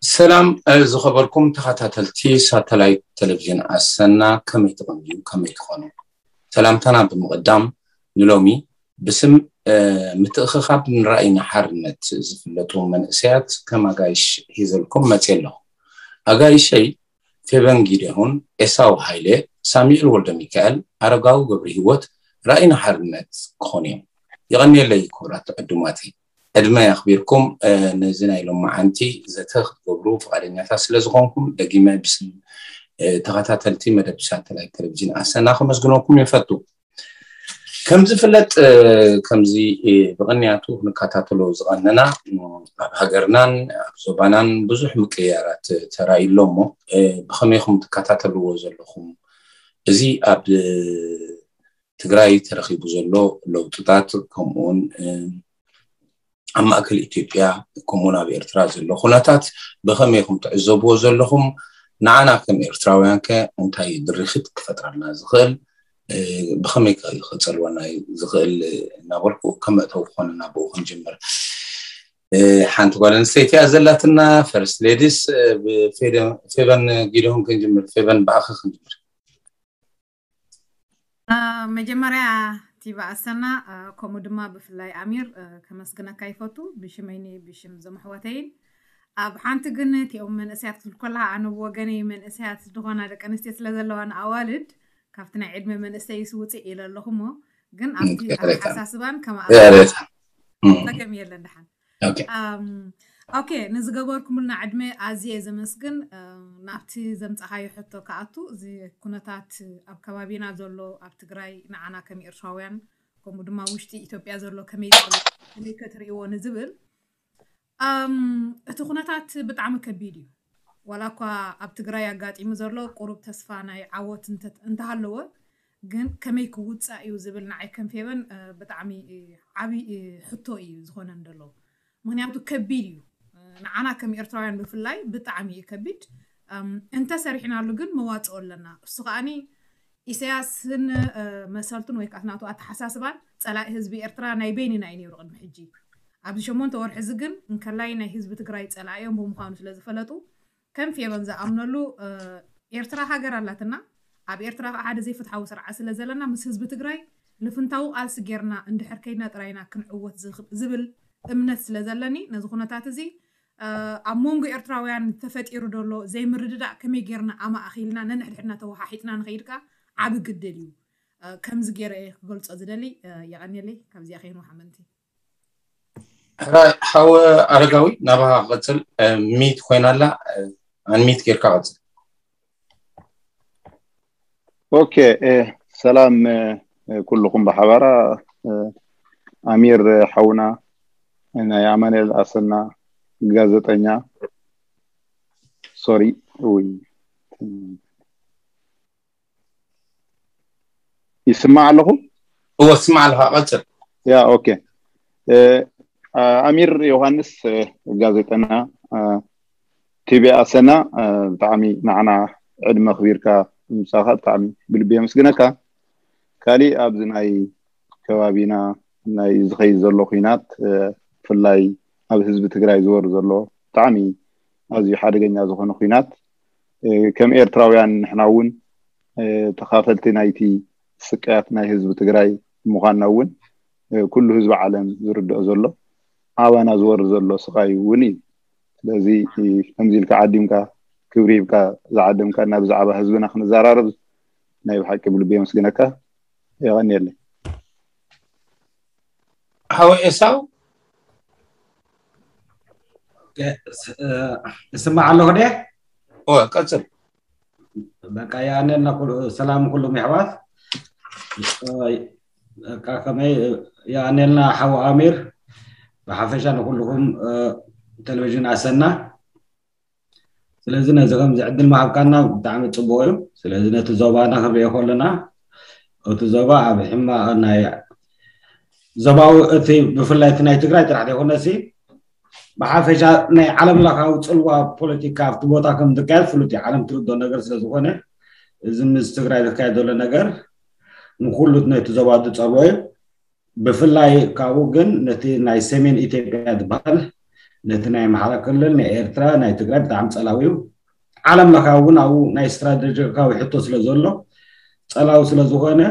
ሰላም ዝኸበርኩም ተኸታተልቲ ሳተላይት ቴሌቪዥን ኣሰና፣ ከመይ ትቕንዩ፣ ከመይ ትኾኑ? ሰላምታና ብምቕዳም፣ ንሎሚ ብስም ምትእኽኻብ ንራእይና ሓርነት ዝፍለጡ መንእሰያት ከም ኣጋይሽ ሒዘልኩም መፅየ ኣለኹ። ኣጋይሸይ ፌበን ጊደሁን፣ ኤሳው ሃይለ፣ ሳሚኤል ወልደ ሚካኤል፣ ኣረጋዊ ገብረ ህይወት ራእይና ሓርነት ክኾኑ እዮም። የቐንየለይ ክቡራት ዕዱማተይ። ዕድመ ኣኽቢርኩም ነዚ ናይ ሎማዓንቲ ዘተ ክትገብሩ ፍቓደኛታት ስለ ዝኾንኩም ደጊመ ብስም ተኸታተልቲ መደብ ሳተላይት ቴሌቪዥን ኣሰና ከመስግነኩም ይፈቱ። ከም ዝፍለጥ ከምዚ ብቕንያቱ ክንከታተሎ ዝቐነና ኣብ ሃገርናን ኣብ ዞባናን ብዙሕ ምቅያራት ተራእዩ ኣሎ እሞ ብኸመይ ኢኹም ትከታተልዎ ዘለኹም? እዚ ኣብ ትግራይ ተረኺቡ ዘሎ ለውጥታት ከምኡውን ኣብ ማእከል ኢትዮጵያ ከምኡውን ኣብ ኤርትራ ዘሎ ኩነታት ብኸመይ ኢኹም ትዕዘብዎ ዘለኹም? ንዓና ከም ኤርትራውያን ከ እንታይ ድርኺት ክፈጥረልና ዝኽእል? ብኸመይ ከ ክጸልወና ዝኽእል እናበልኩ ከም መእተዊ ክኾነና ብኡ ክንጅምር። ሓንቲ ጓል ኣንስተይቲ እያ ዘላትና፣ ፈርስት ሌዲስ ብፌበን ጊደሁን ክንጅምር። ፌበን ብኣኺ ክንጅምር። መጀመርያ ቲባ ኣሰና ከምኡ ድማ ብፍላይ ኣሚር ከመስግነካ ይፈቱ ብሽመይኒ ብሽም ዘመሕዋተይን። ኣብ ሓንቲ ግን እቲኦም መንእሰያት ክትብል ከለካ ኣነ ብወገነይ መንእሰያት ዝኾና ደቂ ኣንስትዮ ስለ ዘለዋ ንኣዋልድ ካብቲ ናይ ዕድመ መንእሰይስ ውፅእ ኢለ ኣለኹ እሞ ግን ኣብቲ ኣተሓሳስባን ከማፀገም የለን ድሓን። ኦኬ፣ ንዝገበርኩምልና ዕድመ ኣዝየ ዘመስግን። ናብቲ ዘምፃኻዮ ሕቶ ክኣቱ፣ እዚ ኩነታት ኣብ ከባቢና ዘሎ ኣብ ትግራይ ንዓና ከም ኤርትራውያን ከምኡ ድማ ውሽጢ ኢትዮጵያ ዘሎ ከመይ ከመይ ከትርእይዎ ንዝብል፣ እቲ ኩነታት ብጣዕሚ ከቢድ እዩ። ዋላ እኳ ኣብ ትግራይ ኣጋጢሙ ዘሎ ቁሩብ ተስፋ ናይ ዓወት እንተሃለወ፣ ግን ከመይ ክውፃእ እዩ ዝብል ንዓይ ከም ፌበን ብጣዕሚ ዓብዪ ሕቶ እዩ ዝኾነን ዘሎ። ምክንያቱ ከቢድ እዩ፣ ንዓና ከም ኤርትራውያን ብፍላይ ብጣዕሚ እዩ ከቢድ። እንተሰሪሕናሉ ግን መዋፅኦ ኣለና። እሱ ከዓኒ ኢሳያስን መሰልቱን ወይ ከዓ ናቱ ኣተሓሳስባን ፀላኢ ህዝቢ ኤርትራ ናይ በይንና እዩ ነይሩ ቅድሚ ሕጂ። ኣብዚ ሸሞንተ ወርሒ እዚ ግን እንከላይ ናይ ህዝቢ ትግራይ ፀላኢኦም ብምዃኑ ስለዝፈለጡ ከም ፌበን ዝኣምነሉ ኤርትራ ሃገር ኣላትና። ኣብ ኤርትራ ከዓ ሓደ ዘይፍትሓዊ ስርዓት ስለ ዘለና ምስ ህዝቢ ትግራይ ልፍንታዊ ቃልሲ ጌርና እንድሕር ከይድና ጥራይና ክንዕወት ዝብል እምነት ስለ ዘለኒ ነዚ ኩነታት እዚ ኣብ መንጎ ኤርትራውያን ተፈጢሩ ዘሎ ዘይምርድዳእ ከመይ ጌርና ኣማእኺልና ነንሕድሕድና ተወሓሒጥና ንኸይድ ከዓ ዓቢ ግድል እዩ። ከምዚ ገይረ እየ ክገልጾ ዝደሊ። የቐንየለይ። ካብዚኣ ከይንወሓመንቲ። ሕራይ ሓወ ኣረጋዊ ናባኻ ክቐጽል። ሚት ኮይና ኣላ፣ ኣንሚት ጌርካ ቀጽል። ኦኬ፣ ሰላም ኩልኹም ብሓባራ። ኣሚር ሓውና፣ ናይ ኣማኑኤል ኣሰና ጋዜጠኛ፣ ሶሪ፣ ውይ፣ ይስማዕ ኣለኹ? እወ፣ ትስማዕ ኣለኻ፣ ቀጽል። ያ፣ ኦኬ። ኣሚር ዮሃንስ፣ ጋዜጠና ቲቪ ኣሰና፣ ብጣዕሚ ንዓና ዕድመ ኣኽቢርካ ምምጻእካ ብጣዕሚ ብልቢ የመስግነካ። ካሊእ ኣብዚ ናይ ከባቢና ናይ ዝኸይድ ዘሎ ኹናት፣ ብፍላይ ኣብ ህዝቢ ትግራይ ዝወርድ ዘሎ ብጣዕሚ ኣዝዩ ሓደገኛ ዝኾነ ኹናት፣ ከም ኤርትራውያን ንሕና እውን ተኻፈልቲ ናይቲ ስቅያት ናይ ህዝቢ ትግራይ ምዃንና እውን ኩሉ ህዝቢ ዓለም ዝርድኦ ዘሎ፣ ኣባና ዝወርድ ዘሎ ስቓይ እውን እዩ። ስለዚ ከምዚ ኢልካ ዓዲምካ ክብሪ ሂብካ ዝዓደምካና ብዛዕባ ህዝብና ክንዘራረብ ናይ ብሓቂ ብልቢ የመስግነካ። የቐንየለይ። ሓወ ኤሳው እስማዕ ኣለኹ ደ ቀፅል። በቃ የቐንየልና። ሰላም ኩሉም የሕዋት። ከመይ የቐንየልና ሓው ኣሚር፣ ብሓፈሻ ንኩልኹም ቴሌቪዥን ኣሰና። ስለዚ ነዚ ከምዚ ዕድል ምሃብካና ብጣዕሚ ፅቡቅ እዩ። ስለዚ ነቲ ዞባና ክንሪኦ ከለና እቲ ዞባ ኣብ ሕማቅ ናይ ዞባዊ እቲ ብፍላይ እቲ ናይ ትግራይ ጥራሕ ዘይኮነሲ ብሓፈሻ ናይ ዓለም ለኻዊ ፅልዋ ፖለቲካ ኣብቲ ቦታ ከም ዝካየድ ፍሉጥ እዩ። ዓለም ትርድኦ ነገር ስለዝኾነ እዚ ምስ ትግራይ ዝካየድ ዘሎ ነገር ንኩሉ ነቲ ዞባ ዝፀልዎ እዩ። ብፍላይ ካብኡ ግን ነቲ ናይ ሰሜን ኢትዮጵያ ዝበሃል ነቲ ናይ ኣምሓራ ክልል፣ ናይ ኤርትራ፣ ናይ ትግራይ ብጣዕሚ ጸላዊ እዩ። ዓለም ለኻዊ እውን ኣብኡ ናይ ስትራቴጂካዊ ሕቶ ስለ ዘሎ፣ ጸላዊ ስለ ዝኾነ፣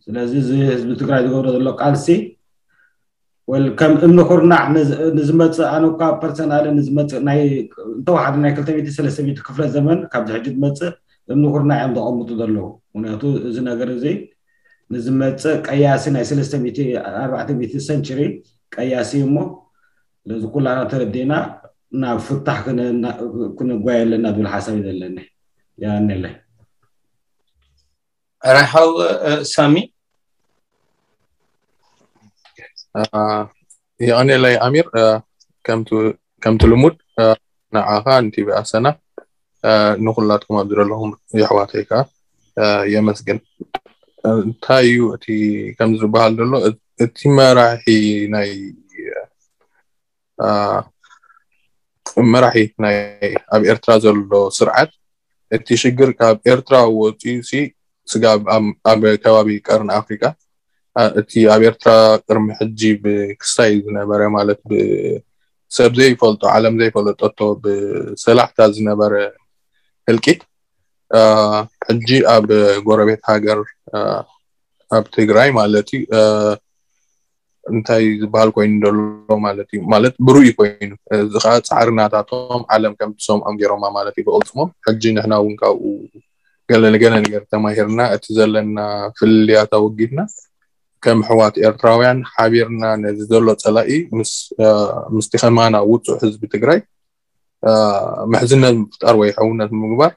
ስለዚ እዚ ህዝቢ ትግራይ ዝገብሮ ዘሎ ቃልሲ ወል ከም እምኒ ኩርናዕ ንዝ- ንዝመጽእ፣ ኣነ እኳ ፐርሰናሊ ንዝመጽእ ናይ እንተወሓደ ናይ ክልተ ሚእቲ ሰለስተ ሚእቲ ክፍለ ዘመን ካብዚ ሕጂ ዝመጽእ እምኒ ኩርናዕ እዮም ዘቐምጡ ዘለዉ። ምክንያቱ እዚ ነገር እዚ ንዝመጽእ ቀያሲ ናይ ሰለስተ ሚእቲ ኣርባዕተ ሚእቲ ሰንቸሪ ቀያሲ እሞ፣ ስለዚ ኩላና ተረዲእና ናብ ፍታሕ ክነ- ክንጓየ ኣለና ዝብል ሓሳብ እዩ ዘለኒ። ያነለ ራሓው ሳሚ የቐኔለይ ኣሚር። ከምቲ ልሙድ ንዓኻ ንቲቪ ኣሰና፣ ንኩላትኩም ኣብዚ ዘለኹም የሕዋተይ ከዓ የመስግን። እንታይ እዩ እቲ ከምዚ ዝበሃል ዘሎ? እቲ መራሒ ናይ መራሒ ናይ ኣብ ኤርትራ ዘሎ ስርዓት፣ እቲ ሽግር ካብ ኤርትራ ወፂኡ ሲ ስጋብ ኣብ ከባቢ ቀርኒ ኣፍሪቃ፣ እቲ ኣብ ኤርትራ ቅድሚ ሕጂ ብክስታይ ዝነበረ፣ ማለት ብሰብ ዘይፈልጦ፣ ዓለም ዘይፈለጠቶ፣ ብሰላሕታ ዝነበረ ህልቂት ሕጂ ኣብ ጎረቤት ሃገር፣ ኣብ ትግራይ ማለት እዩ፣ እንታይ ዝበሃል ኮይኑ ዘሎ ማለት እዩ። ማለት ብሩይ ኮይኑ፣ እዚ ከዓ ፃዕሪ ናታቶም፣ ዓለም ከም ትሰምዖም ገይሮማ ማለት እዩ ብቕልፅሞም። ሕጂ ንሕና እውን ካብኡ ገለ ንገለ ነገር ተማሂርና፣ እቲ ዘለና ፍልልያት ኣወጊድና፣ ከም ኣሕዋት ኤርትራውያን ሓቢርና ነዚ ዘሎ ፀላኢ ምስ ምስቲ ከማና ውፁዕ ህዝቢ ትግራይ ምሕዝነት ምፍጣር ወይ ሕውነት ምግባር፣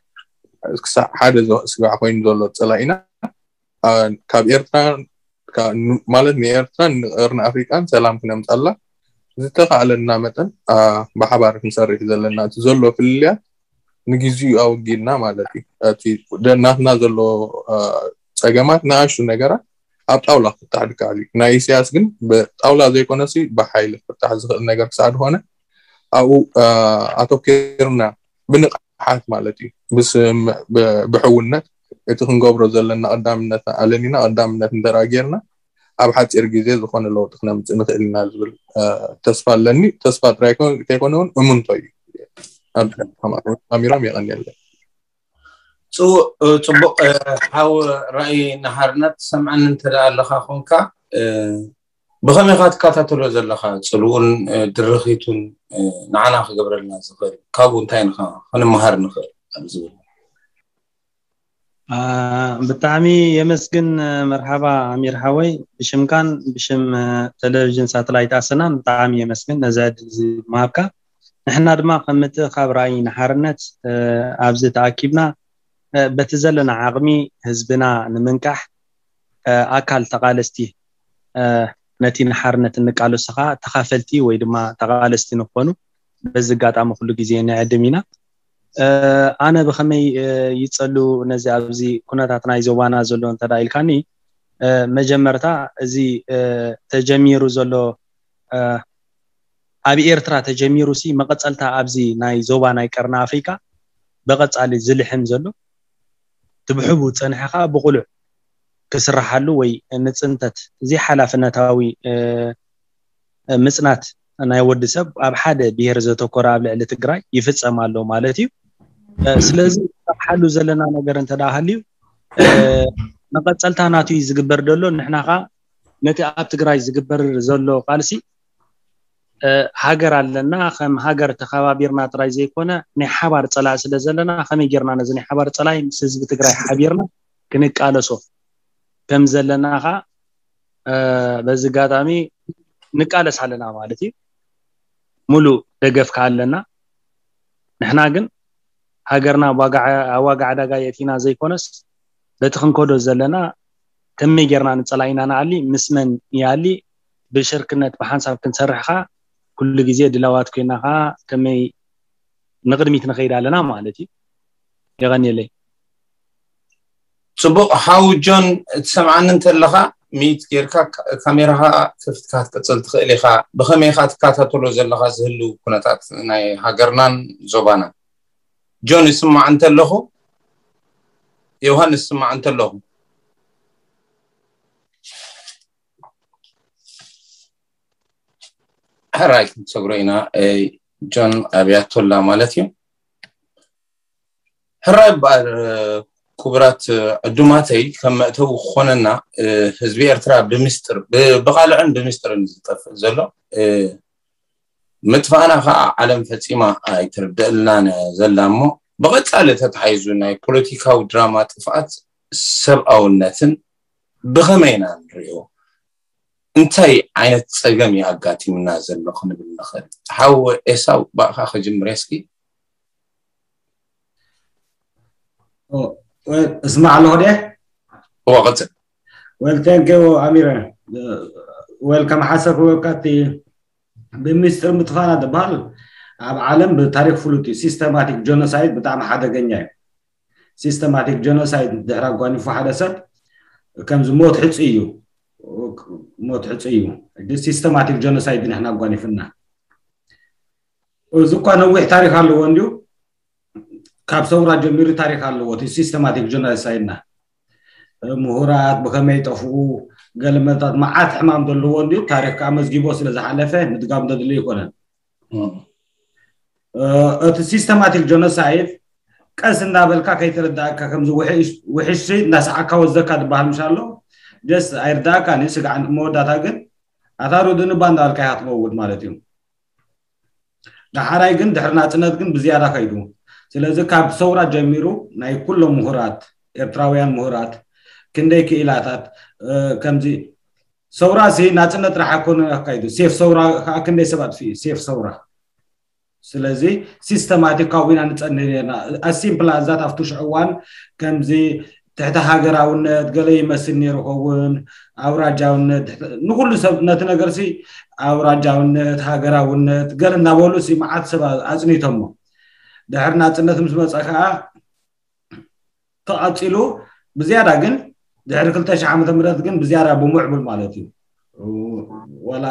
ክሳዕ ሓደ ስጋዕ ኮይኑ ዘሎ ፀላኢና ካብ ኤርትራ፣ ማለት ንኤርትራን ንቀርኒ ኣፍሪቃን ሰላም ክነምፀላ ዝተኻእለና መጠን ብሓባር ክንሰርሕ ዘለና፣ እቲ ዘሎ ፍልልያት ንግዚኡ ኣወጊድና ማለት እዩ። እቲ ናትና ዘሎ ፀገማት፣ ንኣሽቱ ነገራት ኣብ ጣውላ ክፍታሕ ድከኣል እዩ። ናይ ኢሳያስ ግን ብጣውላ ዘይኮነሲ ብሓይሊ ክፍታሕ ዝኽእል ነገር ክሳዕ ዝኾነ ኣብኡ ኣተኪርና ብንቕሓት ማለት እዩ፣ ብስምምዕ፣ ብሕውነት እቲ ክንገብሮ ዘለና ቀዳምነት ኣለኒና፣ ቀዳምነት እንተደኣ ጌርና ኣብ ሓፂር ግዜ ዝኾነ ለውጢ ክነምፅእ ንኽእል ኢና ዝብል ተስፋ ኣለኒ። ተስፋ ጥራይ እንተይኮነ እውን እምንቶ እዩ። ኣሚሮም የቐንየለይ። ፅቡቅ ሓው ራእይ ንሓርነት ሰምዐኒ እንተ ደኣ ኣለኻ ኮንካ ብኸመይ ኢኻ ትከታተሎ ዘለኻ? ፅልኡን ድርኺቱን ንዓና ክገብረልና ዝኽእል ካብኡ እንታይ ንኻ ክንመሃር ንኽእል ኣብ ዝብል። ብጣዕሚ የመስግን። መርሓባ ኣሚር ሓወይ፣ ብሽምካን ብሽም ቴሌቪዥን ሳተላይት ኣሰናን ብጣዕሚ የመስግን ነዚ ዕድል እዚ ምሃብካ። ንሕና ድማ ከም ምትእኻብ ራእይ ንሓርነት ኣብዚ ተኣኪብና በቲ ዘለና ዓቕሚ ህዝብና ንምንቃሕ ኣካል ተቓለስቲ ነቲ ንሓርነት እንቃለሶ ከዓ ተኻፈልቲ ወይ ድማ ተቓለስቲ ንኾኑ በዚ ኣጋጣሚ ኩሉ ግዜ ንዕድም ኢና። ኣነ ብኸመይ ይጸሉ ነዚ ኣብዚ ኩነታት ናይ ዞባና ዘሎ እንተ ኢልካኒ፣ መጀመርታ እዚ ተጀሚሩ ዘሎ ኣብ ኤርትራ ተጀሚሩ ሲ መቐጸልታ ኣብዚ ናይ ዞባ ናይ ቀርኒ ኣፍሪካ ብቐጻሊ ዝልሕም ዘሎ ትብሕቡ ጸንሐ ከዓ ብቑሉዕ ክስራሓሉ ወይ ንፅንተት እዚ ሓላፍነታዊ ምፅናት ናይ ወዲ ሰብ ኣብ ሓደ ብሄር ዘተኮረ ኣብ ልዕሊ ትግራይ ይፍፀም ኣሎ ማለት እዩ። ስለዚ ንሰርሓሉ ዘለና ነገር እንተ ሃልዩ መቐፀልታ ናቱ እዩ ዝግበር ዘሎ። ንሕና ከዓ ነቲ ኣብ ትግራይ ዝግበር ዘሎ ቃልሲ ሃገር ኣለና፣ ከም ሃገር ተኸባቢርና ጥራይ ዘይኮነ ናይ ሓባር ፀላኢ ስለ ዘለና ከመይ ጌርና ነዚ ናይ ሓባር ፀላኢ ምስ ህዝቢ ትግራይ ሓቢርና ክንቃለሶ ከም ዘለና ከዓ በዚ ኣጋጣሚ ንቃለስ ኣለና ማለት እዩ። ሙሉእ ደገፍ ከዓ ኣለና። ንሕና ግን ሃገርና ኣብ ዋጋ ዕዳጋ የእቲና ዘይኮነስ በቲ ክንከዶ ዘለና ከመይ ጌርና ንፀላኢና ንኣሊ፣ ምስ መን ይኣሊ፣ ብሽርክነት ብሓንሳብ ክንሰርሕ ከዓ ኩሉ ግዜ ድላዋት ኮይና ከዓ ከመይ ንቕድሚት ንኸይድ ኣለና ማለት እዩ። የቐንየለይ። ፅቡቕ ሓው ጆን፣ ትሰምዓኒ እንተለኻ ሚዩት ጌርካ ካሜራኻ ከፊትካ ክትቅፅል ትኽእል ኢኻ። ብኸመይ ኢኻ ትከታተሎ ዘለኻ ዝህልው ኩነታት ናይ ሃገርናን ዞባናን? ጆን ይስማዕ እንተለኹ፣ ዮሃንስ ይስማዕ እንተለኹ። ሕራይ ክንሰግሮ ኢና። ጆን ኣብያቶላ ማለት እዩ። ሕራይ እምበኣር ክቡራት ዕዱማተይ፣ ከም መእተዊ ክኾነና፣ ህዝቢ ኤርትራ ብምስጥር ብቓልዕን ብምስጥርን ዝጠፍእ ዘሎ፣ ምጥፋእና ከዓ ዓለም ፈፂማ ኣይትርደእልናን ዘላ። እሞ ብቐፃሊ ተታሒዙ ናይ ፖለቲካዊ ድራማ ጥፍኣት ሰብኣውነትን ብኸመይ ኢና ንሪኦ? እንታይ ዓይነት ፀገም እዩ ኣጋጢምና ዘሎ ክንብል ንኽእል? ሓው ኤሳው፣ ብኣኻ ክጅምር እስኪ። እስማዕ ኣለኹ ደ እወ ቅፅል። ወል ተንክ ዩ ኣሚረ። ወል ከም ሓሳብ ክበካ እቲ ብምስጢር ምጥፋና ዝበሃል ኣብ ዓለም ብታሪክ ፍሉጥ እዩ። ሲስተማቲክ ጀኖሳይድ ብጣዕሚ ሓደገኛ እዩ። ሲስተማቲክ ጀኖሳይድ ድሕሪ ኣጓኒፉ ሓደ ሰብ ከምዚ ሞት ሕፁ እዩ። ሞት ሕፁ እዩ። ሲስተማቲክ ጀኖሳይድ ንሕና ኣጓኒፍና። እዚ እኳ ነዊሕ ታሪክ ኣለዎ እንዲሁ፣ ካብ ሰውራ ጀሚሩ ታሪክ ኣለዎ እቲ ሲስተማቲክ ጀኖሳይድና። ምሁራት ብከመይ ጠፍኡ፣ ገለመታት መዓት ሕማም ዘለዎ እንዲሁ ታሪክ ከዓ መዝጊቦ ስለ ዝሓለፈ ምድጋም ዘድልዮ ኣይኮነን። እቲ ሲስተማቲክ ጀኖሳይድ ቀስ እንዳበልካ ከይተረዳእካ ከምዚ ውሕሽ እንዳሰዓካ ወዘካ ዝበሃል ምሽ ኣሎ። ጀስ ኣይርዳእካን እዩ ስጋዕ መወዳታ ግን ኣታ ሩድኒ ባንዳ ኣልካ ኢኻ ትመውት ማለት እዩ። ዳሓራይ ግን ድሕሪ ናፅነት ግን ብዝያዳ ከይዱ። ስለዚ ካብ ሰውራ ጀሚሩ ናይ ኩሎም ምሁራት ኤርትራውያን ምሁራት ክንደይ ክኢላታት ከምዚ ሰውራ ሲ ናፅነት ጥራሕ ኣይኮነ ኣካይዱ ሴፍ ሰውራ ከዓ ክንደይ ሰብ ኣጥፍኡ ሴፍ ሰውራ። ስለዚ ሲስተማቲካዊ ኢና ንፀንህ ነርና። ኣሲምፕል ኣዛት ኣብቲ ሽዑ እዋን ከምዚ ትሕቲ ሃገራውነት ገለ ይመስል ነይሩ ኸውን ኣውራጃውነት ንኩሉ ሰብ ነቲ ነገር ሲ ኣውራጃውነት ሃገራውነት ገለ እናበሉ ሲ መዓት ሰብ ኣፅኒቶሞ። ድሕሪ ናፅነት ምስ መፀ ከዓ ተቐፂሉ ብዝያዳ ግን ድሕሪ ክልተ ሺሕ ዓመተ ምህረት ግን ብዝያዳ ብምዕቡል ማለት እዩ። ዋላ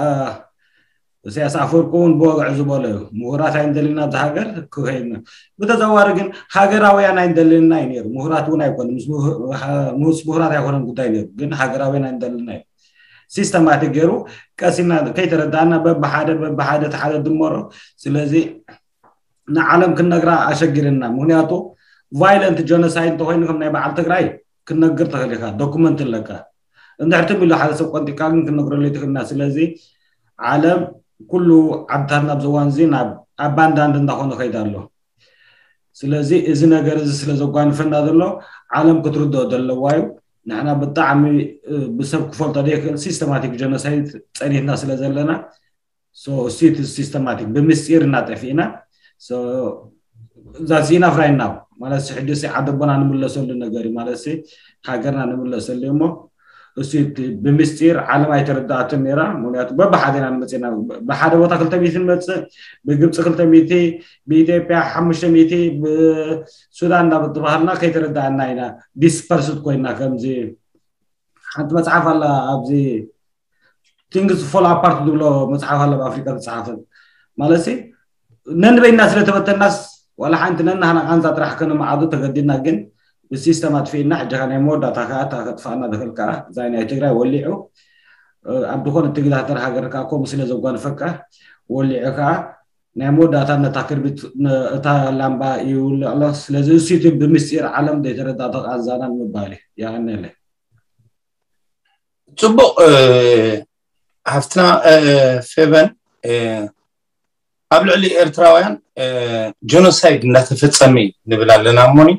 ኢሳያስ ኣፈወርቂ እውን ብወግዒ ዝበሎ እዩ። ምሁራት ኣይንደልን ኣብዚ ሃገር ክኸይድና ብተዘዋዋሪ ግን ሃገራውያን ኣይንደልንና እዩ ነይሩ። ምሁራት እውን ኣይኮነ ምስ ምሁራት ኣይኮነን ጉዳይ ነይሩ ግን ሃገራውያን ኣይንደልንና እዩ። ሲስተማቲክ ገይሩ ቀሲና ከይተረዳእና በብሓደ በብሓደ ተሓደ ድመሮ። ስለዚ ንዓለም ክንነግራ ኣሸጊርና። ምክንያቱ ቫይለንት ጀኖሳይድ እንተኮይኑ ከም ናይ በዓል ትግራይ ክትነግር ትኽእል ኢኻ፣ ዶኩመንት ኣለካ። እንድሕር ትም ኢሉ ሓደ ሰብ ቆንጢካ ግን ክንነግረሉ ኣይትኽእልና። ስለዚ ዓለም ኩሉ ዓድታት ናብዚ እዋን እዚ ናብ ኣባንዳንድ እንዳኾነ ከይዳ ኣሎ። ስለዚ እዚ ነገር እዚ ስለ ዘጓንፈና ዘሎ ዓለም ክትርድኦ ዘለዋ እዩ። ንሕና ብጣዕሚ ብሰብ ክፈልጦ ዘይክእል ሲስተማቲክ ጀኖሳይድ ፀኒትና ስለ ዘለና ሲስተማቲክ ብምስጢር እናጠፊእና ዛሲና ፍራይና ማለት ሕጂ ዓደቦና ንምለሰሉ ነገር ማለት ሃገርና ንምለሰሉ እሞ እሱ ብምስጢር ዓለም ኣይተረዳኣትን ነራ። ምክንያቱ በብሓደ ኢና ንመፅና ብሓደ ቦታ ክልተ ሚእቲ ንመፅእ ብግብፂ ክልተ ሚእቲ ብኢትዮጵያ ሓሙሽተ ሚእቲ ብሱዳን እናተባሃልና ከይተረዳእና ኢና ዲስፐርስድ ኮይና ከምዚ ሓንቲ መፅሓፍ ኣላ ኣብዚ ቲንግስ ፎል ኣፓርት ዝብሎ መፅሓፍ ኣለ ኣብ ኣፍሪካ ዝፀሓፈ ማለት ነንበይና ስለተበተናስ ዋላ ሓንቲ ነናህና ቃንዛ ጥራሕ ከነመዓዱ ተገዲድና ግን ብሲስተም ኣጥፊእና ሕጂ ናይ መወዳእታ ከዓ እታ ከጥፋእና ትኽእል ከዓ እዛ ናይ ትግራይ ወሊዑ ኣብ ዝኾነ ትግዳተር ሃገር ከዓ ከምኡ ስለ ዘጓንፈካ ወሊዑ ከዓ ናይ መወዳእታ ነታ ክርቢት እታ ላምባ ይውልዕ ኣሎ። ስለዚ እሱ እቲ ብምስጢር ዓለም ዘይተረዳእቶ ቃንዛና ንምባል እዩ። የቐንየለይ። ፅቡቕ ሓፍትና ፌቨን ኣብ ልዕሊ ኤርትራውያን ጀኖሳይድ እንዳተፈጸመ እዩ ንብል ኣለና እሞኒ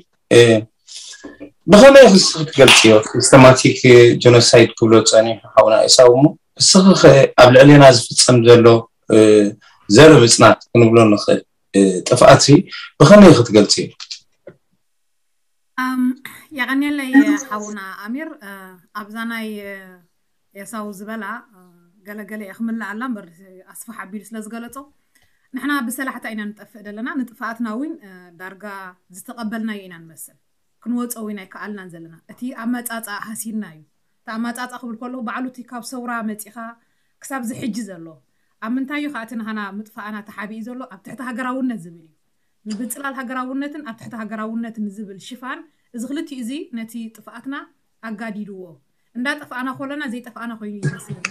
ብኸመይ ክስ ክትገልፅዮ ሲስተማቲክ ጀኖሳይድ ክብሎ ፀኒሑ ሓውና ኤሳው እሞ እስኺ ኣብ ልዕሌና ዝፍፀም ዘሎ ዘር ምፅናት ክንብሎ ንኽእል ጥፍኣት ብኸመይ ክትገልፅዮ? የቐንየለይ ሓውና ኣሚር ኣብዛ ናይ ኤሳው ዝበላ ገለገለ እየ ክምልኣላ እምበር ኣስፋሕ ኣቢሉ ስለ ዝገለፆ ንሕና ብሰላሕታ ኢና ንጠፍእ ዘለና ንጥፍኣትና እውን ዳርጋ ዝተቐበልናዮ ኢና ንመስል ክንወፀ እውን ኣይከኣልናን ዘለና እቲ ኣመፃፃ ሃሲና እዩ እቲ ኣመፃፃ ክብል ከለኩ ባዕሉ እቲ ካብ ሰውራ መፂኻ ክሳብ ዝሕጂ ዘሎ ኣብ ምንታይ እዩ ከኣቲ ንሃና ምጥፋእና ተሓቢኡ ዘሎ ኣብ ትሕቲ ሃገራውነት ዝብል እዩ ምብፅላል ሃገራውነትን ኣብ ትሕቲ ሃገራውነትን ዝብል ሽፋን እዚ ክልቲኡ እዚ ነቲ ጥፍኣትና ኣጋዲድዎ እንዳጠፋእና ኮለና ዘይጠፋእና ኮይኑ ይመስለኒ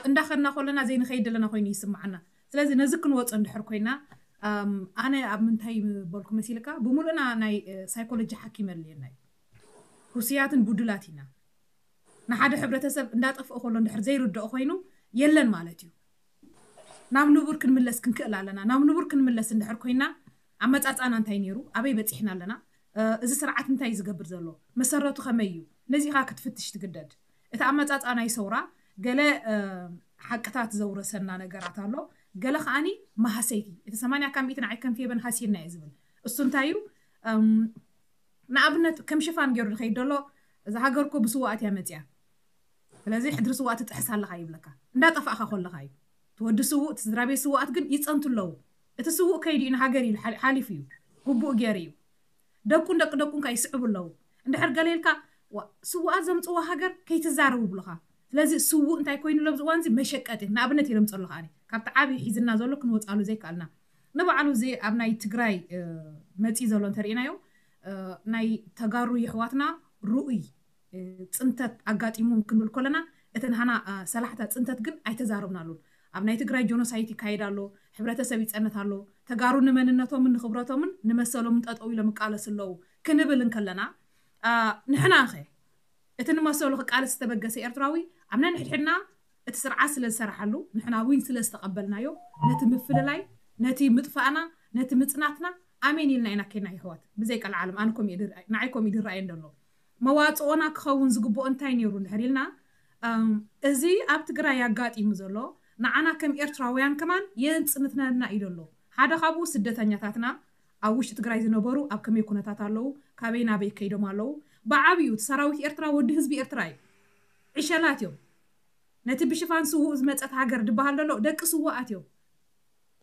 እንዳኸድና ከለና ዘይንኸይድ ዘለና ኮይኑ ይስምዓና። ስለዚ ነዚ ክንወፅእ እንድሕር ኮይና ኣነ ኣብ ምንታይ በልኩ መሲልካ፣ ብምሉእና ናይ ሳይኮሎጂ ሓኪም ኣድልየና እዩ። ህሱያትን ቡዱላት ኢና። ንሓደ ሕብረተሰብ እንዳጠፍኦ ከሎ እንድሕር ዘይርድኦ ኮይኑ የለን ማለት እዩ። ናብ ንቡር ክንምለስ ክንክእል ኣለና። ናብ ንቡር ክንምለስ እንድሕር ኮይና ኣመፃፃና እንታይ ነይሩ፣ ኣበይ በፂሕና ኣለና፣ እዚ ስርዓት እንታይ እዩ ዝገብር ዘሎ፣ መሰረቱ ከመይ እዩ፣ ነዚኻ ክትፍትሽ ትግደድ። እቲ ኣመፃፃ ናይ ሰውራ ገለ ሓቅታት ዘውረሰና ነገራት ኣሎ፣ ገለ ከዓኒ መሃሰይቲ። እቲ ሰማንያ ካብ ሚእቲ ንዓይ ከም ፌበን ሃሲና እየ ዝብል። እሱ እንታይ እዩ? ንኣብነት ከም ሽፋን ገይሩ ዝኸይድ ዘሎ፣ እዛ ሃገር እኮ ብስዋኣት እያ መፅያ፣ ስለዚ ሕድሪ ስዋኣት ትጥሕስ ኣለኻ ይብለካ። እንዳጠፋእካ ከለኻ እዩ። እቲ ወዲ ስውእ፣ እቲ ስድራ ቤት ስዋኣት ግን ይፀንቱ ኣለዉ። እቲ ስውእ ከይዱ እዩ ንሃገር ኢሉ ሓሊፉ እዩ፣ ግቡእ ገይሩ እዩ። ደቁን ደቂ ደቁን ከ ይስዕቡ ኣለዉ። እንድሕር ገለ ኢልካ ስውኣት ዘምፅዋ ሃገር ከይትዛረቡ ብሉኻ። ስለዚ ስውእ እንታይ ኮይኑ ለብዚ እዋን እዚ መሸቀጢ ንኣብነት ኢሎም ፀሎ ከዓኒ ካብቲ ዓብዪ ሒዝና ዘሎ ክንወፃሉ ዘይከኣልና ንባዕሉ እዚ ኣብ ናይ ትግራይ መፂ ዘሎ እንተርኢናዮ ናይ ተጋሩ የሕዋትና ርኡይ ፅንተት ኣጋጢሞም ክንብል ከለና እቲ ንሃና ሰላሕታ ፅንተት ግን ኣይተዛረብናሉን። ኣብ ናይ ትግራይ ጆኖሳይት ይካየድ ኣሎ፣ ሕብረተሰብ ይፀንት ኣሎ፣ ተጋሩ ንመንነቶምን ንክብረቶምን ንመሰሎምን ጠጠው ኢሎም ይቃለሱ ኣለዉ ክንብል እንከለና ንሕና ኸ እቲ ንመሰሉ ክቃለስ ዝተበገሰ ኤርትራዊ ኣብ ነንሕድሕድና እቲ ስርዓት ስለ ዝሰራሓሉ ንሕና እውን ስለ ዝተቐበልናዮ ነቲ ምፍልላይ ነቲ ምጥፋእና ነቲ ምፅናትና ኣሜን ኢልና ኢና ኬና ይሕዋት ብዘይ ቀልዓለም ኣነ ኮም ንዓይ ኮም ይድረኣየ እንደሎ መዋፅኦና ክኸውን ዝግብኦ እንታይ ነይሩ እንድሕር ኢልና እዚ ኣብ ትግራይ ኣጋጢሙ ዘሎ ንዓና ከም ኤርትራውያን ከማን የፅንትነና እዩ ዘሎ ሓደ ካብኡ ስደተኛታትና ኣብ ውሽጢ ትግራይ ዝነበሩ ኣብ ከመይ ኩነታት ኣለዉ ካበይ ናበይ ከይዶም ኣለዉ ብዓብዩ እቲ ሰራዊት ኤርትራ ወዲ ህዝቢ ኤርትራ እዩ ዕሸላት እዮም ነቲ ብሽፋን ስውእ ዝመፀት ሃገር ድበሃል ዘሎ ደቂ ስዋኣት እዮም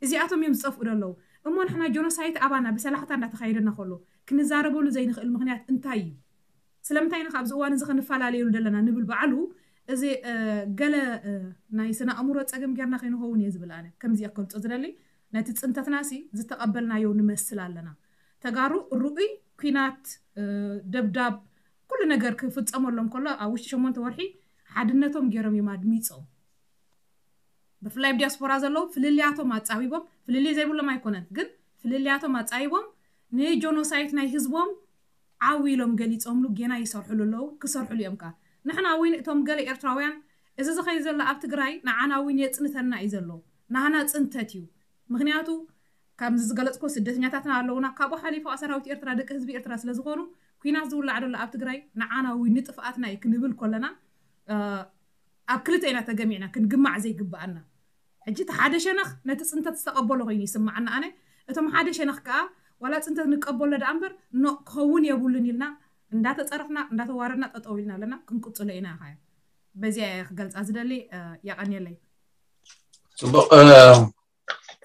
እዚኣቶም እዮም ዝፀፍኡ ዘለዉ እሞ ንሕና ጆኖሳይት ኣባና ብሰላሕታ እንዳተኻየደና ከሎ ክንዛረበሉ ዘይንኽእል ምክንያት እንታይ እዩ ስለምንታይ ኢና ኣብዚ እዋን እዚ ክንፈላለየሉ ዘለና ንብል በዓሉ እዚ ገለ ናይ ስነ ኣእምሮ ፀገም ጌርና ከይንኸውን እየ ዝብል ኣነ ከምዚ እየ ክገልፆ ዝደሊ ነቲ ፅንተትና ሲ ዝተቐበልናዮ ንመስል ኣለና ተጋሩ ርኡይ ኩናት ደብዳብ ኩሉ ነገር ክፍፀመሎም ከሎ ኣብ ውሽጢ ሸሞንተ ወርሒ ሓድነቶም ገይሮም እዮም ኣድሚፆም ብፍላይ ኣብ ዲያስፖራ ዘለዉ ፍልልያቶም ኣፃቢቦም ፍልልይ ዘይብሎም ኣይኮነን ግን ፍልልያቶም ኣፃቢቦም ንጆኖሳይት ናይ ህዝቦም ዓው ኢሎም ገሊፆምሉ ጌና ይሰርሕሉ ኣለዉ ክሰርሕሉ እዮም ከዓ ንሕና እውን እቶም ገለ ኤርትራውያን እዚ ዝኸይ ዘሎ ኣብ ትግራይ ንዓና እውን የፅንተና እዩ ዘሎ ናህና ፅንተት እዩ ምክንያቱ ከምዚ ዝገለፅኮ ስደተኛታትና ኣለውና ካብኡ ሓሊፉ ሰራዊት ኤርትራ ደቂ ህዝቢ ኤርትራ ስለዝኾኑ ኩናት ዝውላዕ ዘሎ ኣብ ትግራይ ንዓና እውን ንጥፍኣትና እዩ ክንብል ከለና ኣብ ክልተ ኢና ተገሚዕና ክንግማዕ ዘይግብኣና ሕጂ እቲ ሓደ ሸነኽ ነቲ ፅንተት ዝተቐበሎ ኮይኑ ይስምዓና ኣነ እቶም ሓደ ሸነኽ ከዓ ዋላ ፅንተት ንቀበሎ ደኣ እምበር ኖ ክኸውን የብሉን ኢልና እንዳተፀረፍና እንዳተዋረድና ጠጠው ኢልና ኣለና ክንቅፅሎ ኢና ኢኻ በዚኣ እየ ክገልፃ ዝደሊ የቐንየለይ ፅቡቅ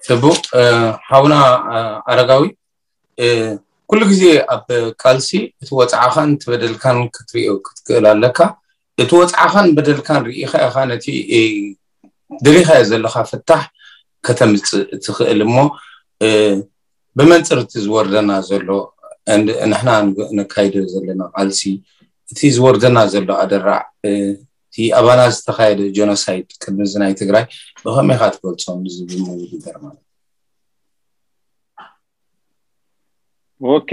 ፅቡቅ ሓውና ኣረጋዊ ኩሉ ግዜ ኣብ ቃልሲ እቲ ወፅዓኻን እቲ በደልካን ክትሪኦ ክትክእል ኣለካ እቲ ወፅዓኻን በደልካን ርኢኻ ኢኻ ነቲ ደሊኻዮ ዘለኻ ፍታሕ ከተምፅእ ትኽእል እሞ ብመንፅር እቲ ዝወርደና ዘሎ ንሕና ነካይዶ ዘለና ቃልሲ እቲ ዝወርደና ዘሎ ኣደራዕ እቲ ኣባና ዝተኻየደ ጀኖሳይድ ቅድሚ እዚ ናይ ትግራይ ብኸመይ ኢኻ ትገልፆ ዝብል ነገር ማለት ኦኬ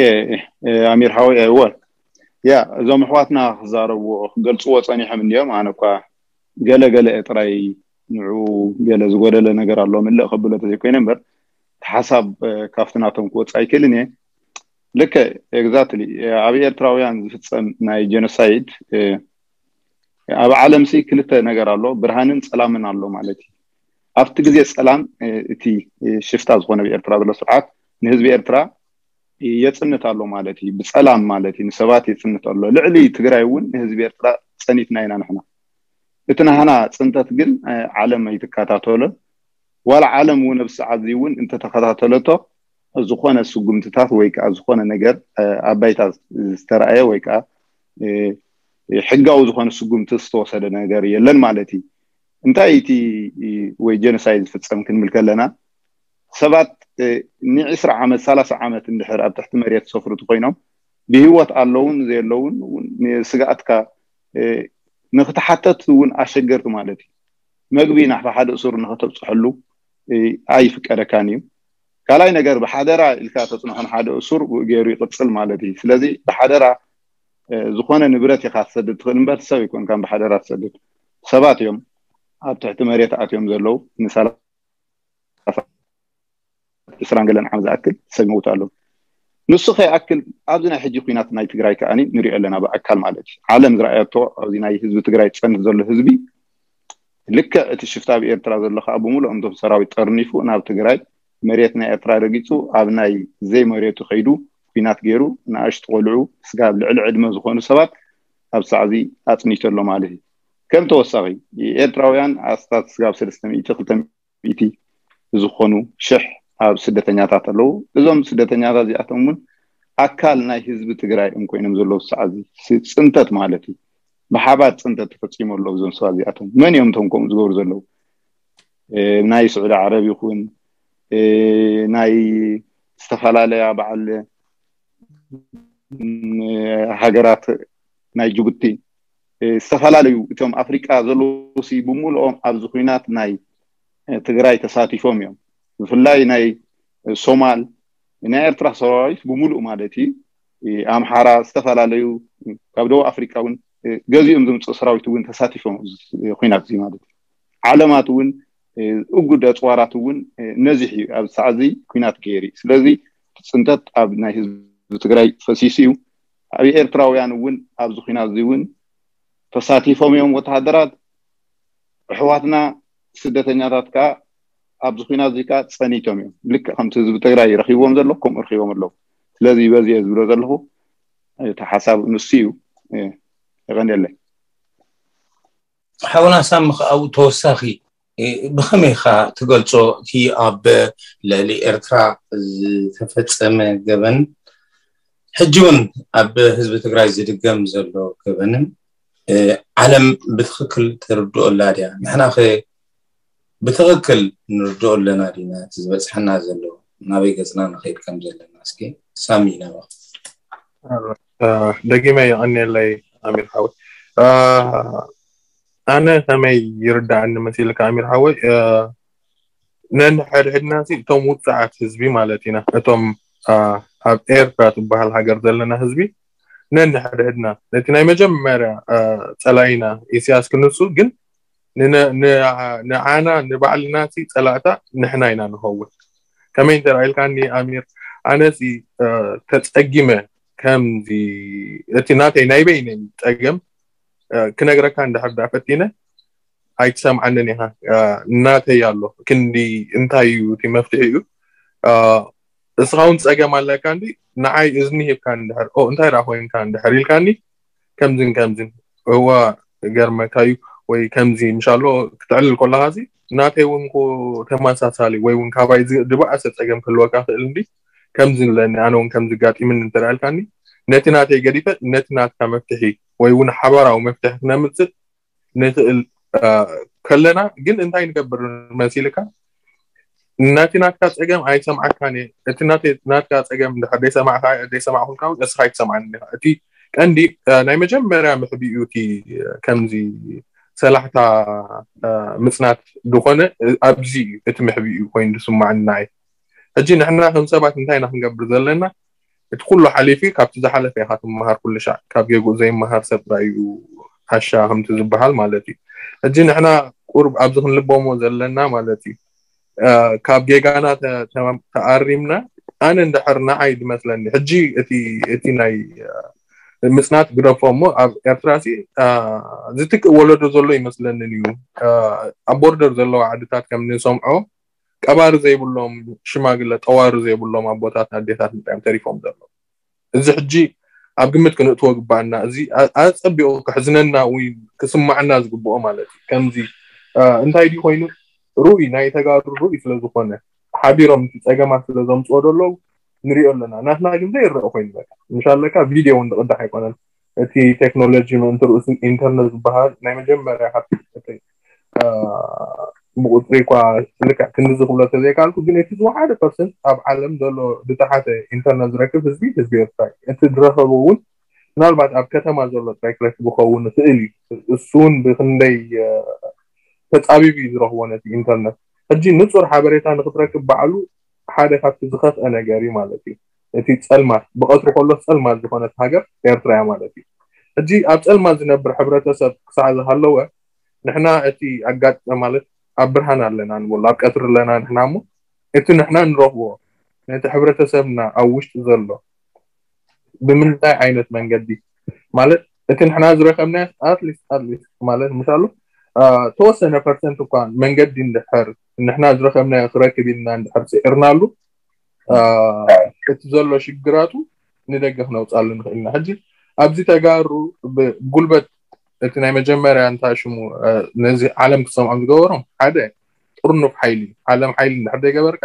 ኣሚር ሓወይ ኣይወ ያ እዞም ኣሕዋትና ክዛረብዎ ክገልፅዎ ፀኒሖም እንዲዮም ኣነ እኳ ገለ ገለ ጥራይ ንዑ ገለ ዝጎደለ ነገር ኣሎ ምልእ ከብሎ ተዘይኮይነ እምበር እቲ ሓሳብ ካብቲ ናቶም ክወፅእ ኣይክእልን እየ ልከ ኤግዛክትሊ ኣብ ኤርትራውያን ዝፍፀም ናይ ጀኖሳይድ ኣብ ዓለም ሲ ክልተ ነገር ኣሎ ብርሃንን ፀላምን ኣሎ ማለት እዩ ኣብቲ ግዜ ፀላም እቲ ሽፍታ ዝኾነ ብኤርትራ ዘሎ ስርዓት ንህዝቢ ኤርትራ የፅንት ኣሎ ማለት እዩ ብፀላም ማለት እዩ ንሰባት የፅንት ኣሎ ልዕሊ ትግራይ እውን ንህዝቢ ኤርትራ ፀኒትና ኢና ንሕና እቲ ናህና ፅንተት ግን ዓለም ኣይትከታተሎን ዋላ ዓለም እውን ኣብዚ ሰዓት እዚ እውን እንተተከታተለቶ ዝኾነ ስጉምትታት ወይ ከዓ ዝኾነ ነገር ኣብ ባይታ ዝተረኣየ ወይ ከዓ ሕጋዊ ዝኾነ ስጉምቲ ዝተወሰደ ነገር የለን ማለት እዩ እንታይ እቲ ወይ ጀኖሳይድ ዝፍፀም ክንብል ከለና ሰባት ንዒስራ ዓመት ሰላሳ ዓመት እንድሕር ኣብ ትሕቲ መሬት ዝሰፍሩ እንተኮይኖም ብህይወት ኣለውን ዘየለውን ስግኣትካ ንክትሓተት እውን ኣሸገርቲ ማለት እዩ መግቢ ናሕባ ሓደ እሱር ንኸተብፅሐሉ ኣይፍቀደካን እዩ። ካልኣይ ነገር ብሓደራ ኢልካ ተፅንሖ ንሓደ እሱር ብኡ ገይሩ ይቕፅል ማለት እዩ። ስለዚ ብሓደራ ዝኾነ ንብረት ኢኻ ትሰድድ ትኽእል እምበር ሰብ ኣይኮንካን ብሓደራ ትሰድድ። ሰባት እዮም ኣብ ትሕቲ መሬት ኣትዮም ዘለዉ ንሰላሳ ዕስራን ገለን ዓመት ዝኣክል ሰብ ይመውት ኣለዉ። ንሱ ከይኣክል ኣብዚ ናይ ሕጂ ኩናት ናይ ትግራይ ከኣ ንሪኦ ኣለና ብኣካል ማለት እዩ። ዓለም ዝረኣየቶ ኣብዚ ናይ ህዝቢ ትግራይ ዝፀንት ዘሎ ህዝቢ ልክዕ እቲ ሽፍታ ኣብ ኤርትራ ዘሎ ከዓ ብምሉኦም እቶም ሰራዊት ጠርኒፉ ናብ ትግራይ መሬት ናይ ኤርትራ ረጊፁ ኣብ ናይ ዘይመሬቱ ከይዱ ኩናት ገይሩ ንኣሽቱ ቆልዑ ስጋብ ልዕሊ ዕድመ ዝኾኑ ሰባት ኣብ ሳዕዚ ኣፅኒቶ ኣሎ ማለት እዩ። ከም ተወሳኺ ኤርትራውያን ኣስታት ስጋብ ሰለስተ ሚእቲ ክልተ ሚእቲ ዝኾኑ ሽሕ ኣብ ስደተኛታት ኣለዉ። እዞም ስደተኛታት እዚኣቶም እውን ኣካል ናይ ህዝቢ ትግራይ እዮም ኮይኖም ዘለዉ ሳዕዚ ጽንተት ማለት እዩ። ብሓባር ፅንተት ተፈፂሙ ኣሎ እዞም ሰባት እዚኣቶም። መን እዮም እቶም ከምኡ ዝገብሩ ዘለዉ? ናይ ስዑዲ ዓረብ ይኹን ናይ ዝተፈላለያ በዓል ሃገራት ናይ ጅቡቲ ዝተፈላለዩ እቶም ኣፍሪቃ ዘለዉ ሲ ብምልኦም ኣብዚ ኩናት ናይ ትግራይ ተሳቲፎም እዮም። ብፍላይ ናይ ሶማል ናይ ኤርትራ ሰራዊት ብምሉእ ማለት እዩ ኣምሓራ ዝተፈላለዩ ካብ ደቡብ ኣፍሪቃ እውን ገዚኦም ዝምፅእ ሰራዊት እውን ተሳቲፎም ኩናት እዚ ማለት እዩ። ዓለማት እውን እጉድ ኣፅዋራት እውን ነዚሕ እዩ ኣብ ሰዓዚ ኩናት ገይሩ። ስለዚ ፅንተት ኣብ ናይ ህዝቢ ትግራይ ፈሲሱ እዩ። ኣብ ኤርትራውያን እውን ኣብዚ ኩናት እዚ እውን ተሳቲፎም እዮም ወተሃደራት። ኣሕዋትና ስደተኛታት ከዓ ኣብዚ ኩናት እዚ ከዓ ፀኒቶም እዮም። ልክዕ ከምቲ ህዝቢ ትግራይ ረኪብዎም ዘሎ ከምኡ ረኪቦም ኣለዉ። ስለዚ በዚ እየ ዝብሎ ዘለኹ። እቲ ሓሳብ ንሱ እዩ። የቐንየለይ። ሓውና ሳሚ ኣብኡ ተወሳኺ ብኸመይ ኢኻ ትገልጾ እቲ ኣብ ልዕሊ ኤርትራ ዝተፈጸመ ገበን ሕጂ እውን ኣብ ህዝቢ ትግራይ ዝድገም ዘሎ ገበንን ዓለም ብትኽክል ትርድኦ ኣላ ድያ? ንሕና ኸ ብትኽክል ንርድኦ ኣለና ዲና? እቲ ዝበፅሐና ዘሎ ናበይ ገፅና ንኸይድ ከም ዘለና እስኪ ሳሚ ናባኻ። ደጊመ የቐንየለይ ኣሚር ሓወይ። ኣነ ከመይ ይርዳእኒ መሲልካ ኣሚር ሓወይ፣ ነንሕድሕድና ሲ እቶም ውፅዓት ህዝቢ ማለት ኢና፣ እቶም ኣብ ኤርትራ ትበሃል ሃገር ዘለና ህዝቢ ነንሕድሕድና ነቲ ናይ መጀመርያ ፀላኢና ኢሳያስ ክንሱ ግን ንዓና ንባዕልና ሲ ፀላእታ ንሕና ኢና ንኸውን። ከመይ እንተ ኢልካኒ ኣሚር፣ ኣነ ሲ ተፀጊመ ከምዚ እቲ ናተይ ናይ በይነይ ፀገም ክነግረካ እንድሕር ዳ ፈቲነ ኣይትሰምዓንን ኢኻ። ናተይ ኣሎ ክንዲ እንታይ እዩ እቲ መፍትሒ እዩ። እስኻ እውን ፀገም ኣለካ እንዲ ንዓይ እዝኒ ሂብካ እንድሕር ኦ እንታይ ደኣ ኮይንካ እንድሕር ኢልካኒ ከምዝን ከምዝን እዋ ገርመካ እዩ ወይ ከምዚ ምሻሎ ክትዕልል ከለኻ ሲ ናተይ እውን እኮ ተመሳሳሊ ወይ እውን ካባይ ዝ- ዝበኣሰ ፀገም ክህልወካ ክእል እንዲ ከምዚ ኣለኒ ኣነ እውን ከምዚ ጋጢምኒ እንተ ደኣ ኢልካኒ ነቲ ናተይ ገዲፈ ነቲ ናትካ መፍትሒ ወይ እውን ሓባራዊ መፍትሒ ክነምፅእ ንኽእል ከለና ግን እንታይ ንገብር መሲልካ ነቲ ናትካ ፀገም ኣይሰምዓካን እየ እቲ ናትካ ፀገም እንድሕር ዘይሰማዕካ ዘይሰማዕኩልካ እውን እስኻ ኣይትሰምዓኒ ኢኻ እቲ ቀንዲ ናይ መጀመርያ ምሕቢኡ እቲ ከምዚ ሰላሕታ ምፅናት ዝኾነ ኣብዚ እዩ እቲ ምሕቢኡ ኮይኑ ዝስማዕኒ ንዓይ ሕጂ ንሕና ከም ሰባት እንታይ ኢና ክንገብር ዘለና እቲ ኩሉ ሓሊፊ ካብቲ ዝሓለፈ ኢኻ ትመሃር ኩሉ ሻዕ ካብ ጌግኡ ዘይመሃር ሰብ ጥራይ እዩ ዓሻ ከምቲ ዝበሃል ማለት እዩ ሕጂ ንሕና ቁሩብ ኣብዚ ክንልበሞ ዘለና ማለት እዩ ካብ ጌጋና ተኣሪምና ኣነ እንድሕር ንዓይ ዝመስለኒ ሕጂ እቲ ናይ ምፅናት ግደፎ እሞ ኣብ ኤርትራ ሲ ዝትክእ ወለዶ ዘሎ ይመስለንን እዩ ኣብ ቦርደር ዘለዋ ዓድታት ከም ንሰምዖ ቀባሪ ዘይብሎም ሽማግለ ጠዋሪ ዘይብሎም ኣቦታት ኣዴታት ምጣዮም ተሪፎም ዘሎ እዚ ሕጂ ኣብ ግምት ክንእትዎ ግባኣና እዚ ኣፀቢቑ ክሕዝነና ወይ ክስማዕና ዝግብኦ ማለት እዩ ከምዚ እንታይ ድዩ ኮይኑ ርኡይ ናይ ተጋሩ ርኡይ ስለዝኾነ ሓቢሮም እቲ ፀገማት ስለዘምፅኦ ዘለዉ ንሪኦ ኣለና ናትና ግን ዘይረአ ኮይኑ በቃ ምሻለካ ቪድዮ እውን ዝቕዳሕ ኣይኮነን እቲ ቴክኖሎጂ ምእንቲ ርእሱ ኢንተርነት ዝበሃል ናይ መጀመርያ ካብቲ ብቁፅሪ እኳ ልክዕ ክንድዚ ክብሎ ተዘይካልኩ ግን እቲ ዝወሓደ ፐርሰንት ኣብ ዓለም ዘሎ ዝተሓተ ኢንተርነት ዝረክብ ህዝቢ ህዝቢ ኤርትራ እዩ እቲ ዝረኸቦ እውን ምናልባት ኣብ ከተማ ዘሎ ጥራይ ክረክብ ይኸውን ይኽእል እዩ እሱ እውን ብክንደይ ተፃቢቡ እዩ ዝረኽቦ ነቲ ኢንተርነት። ሕጂ ንፁር ሓበሬታ ንክትረክብ ባዕሉ ሓደ ካብቲ ዝኸፍአ ነገር እዩ ማለት እዩ። እቲ ፀልማት ብቐትሩ ከሎ ፀልማት ዝኾነት ሃገር ኤርትራ እያ ማለት እዩ። ሕጂ ኣብ ፀልማት ዝነብር ሕብረተሰብ ክሳዕ ዝሃለወ ንሕና እቲ ኣጋጠ ማለት ኣብ ብርሃን ኣለና ንብሎ ኣብ ቀትሪ ኣለና ንሕና እሞ እቲ ንሕና ንረኽቦ ነቲ ሕብረተሰብና ኣብ ውሽጢ ዘሎ ብምንታይ ዓይነት መንገዲ ማለት እቲ ንሕና ዝረኸብናዮ ኣትሊስት ኣትሊስት ማለት ምሻሉ ተወሰነ ፐርሰንት እኳ መንገዲ እንድሕር ንሕና ዝረኸብናዮ ክረክብ ኢልና እንድሕር ስዒርናሉ እቲ ዘሎ ሽግራቱ ንደገ ክነውፃሉ ንኽእል ኢና። ሕጂ ኣብዚ ተጋሩ ብጉልበት እቲ ናይ መጀመርያ እንታይ ሽሙ ነዚ ዓለም ክሰምዖም ዝገበሮም ሓደ ጥርኑፍ ሓይሊ ዓለም ሓይሊ እንድሕር ዘይገበርካ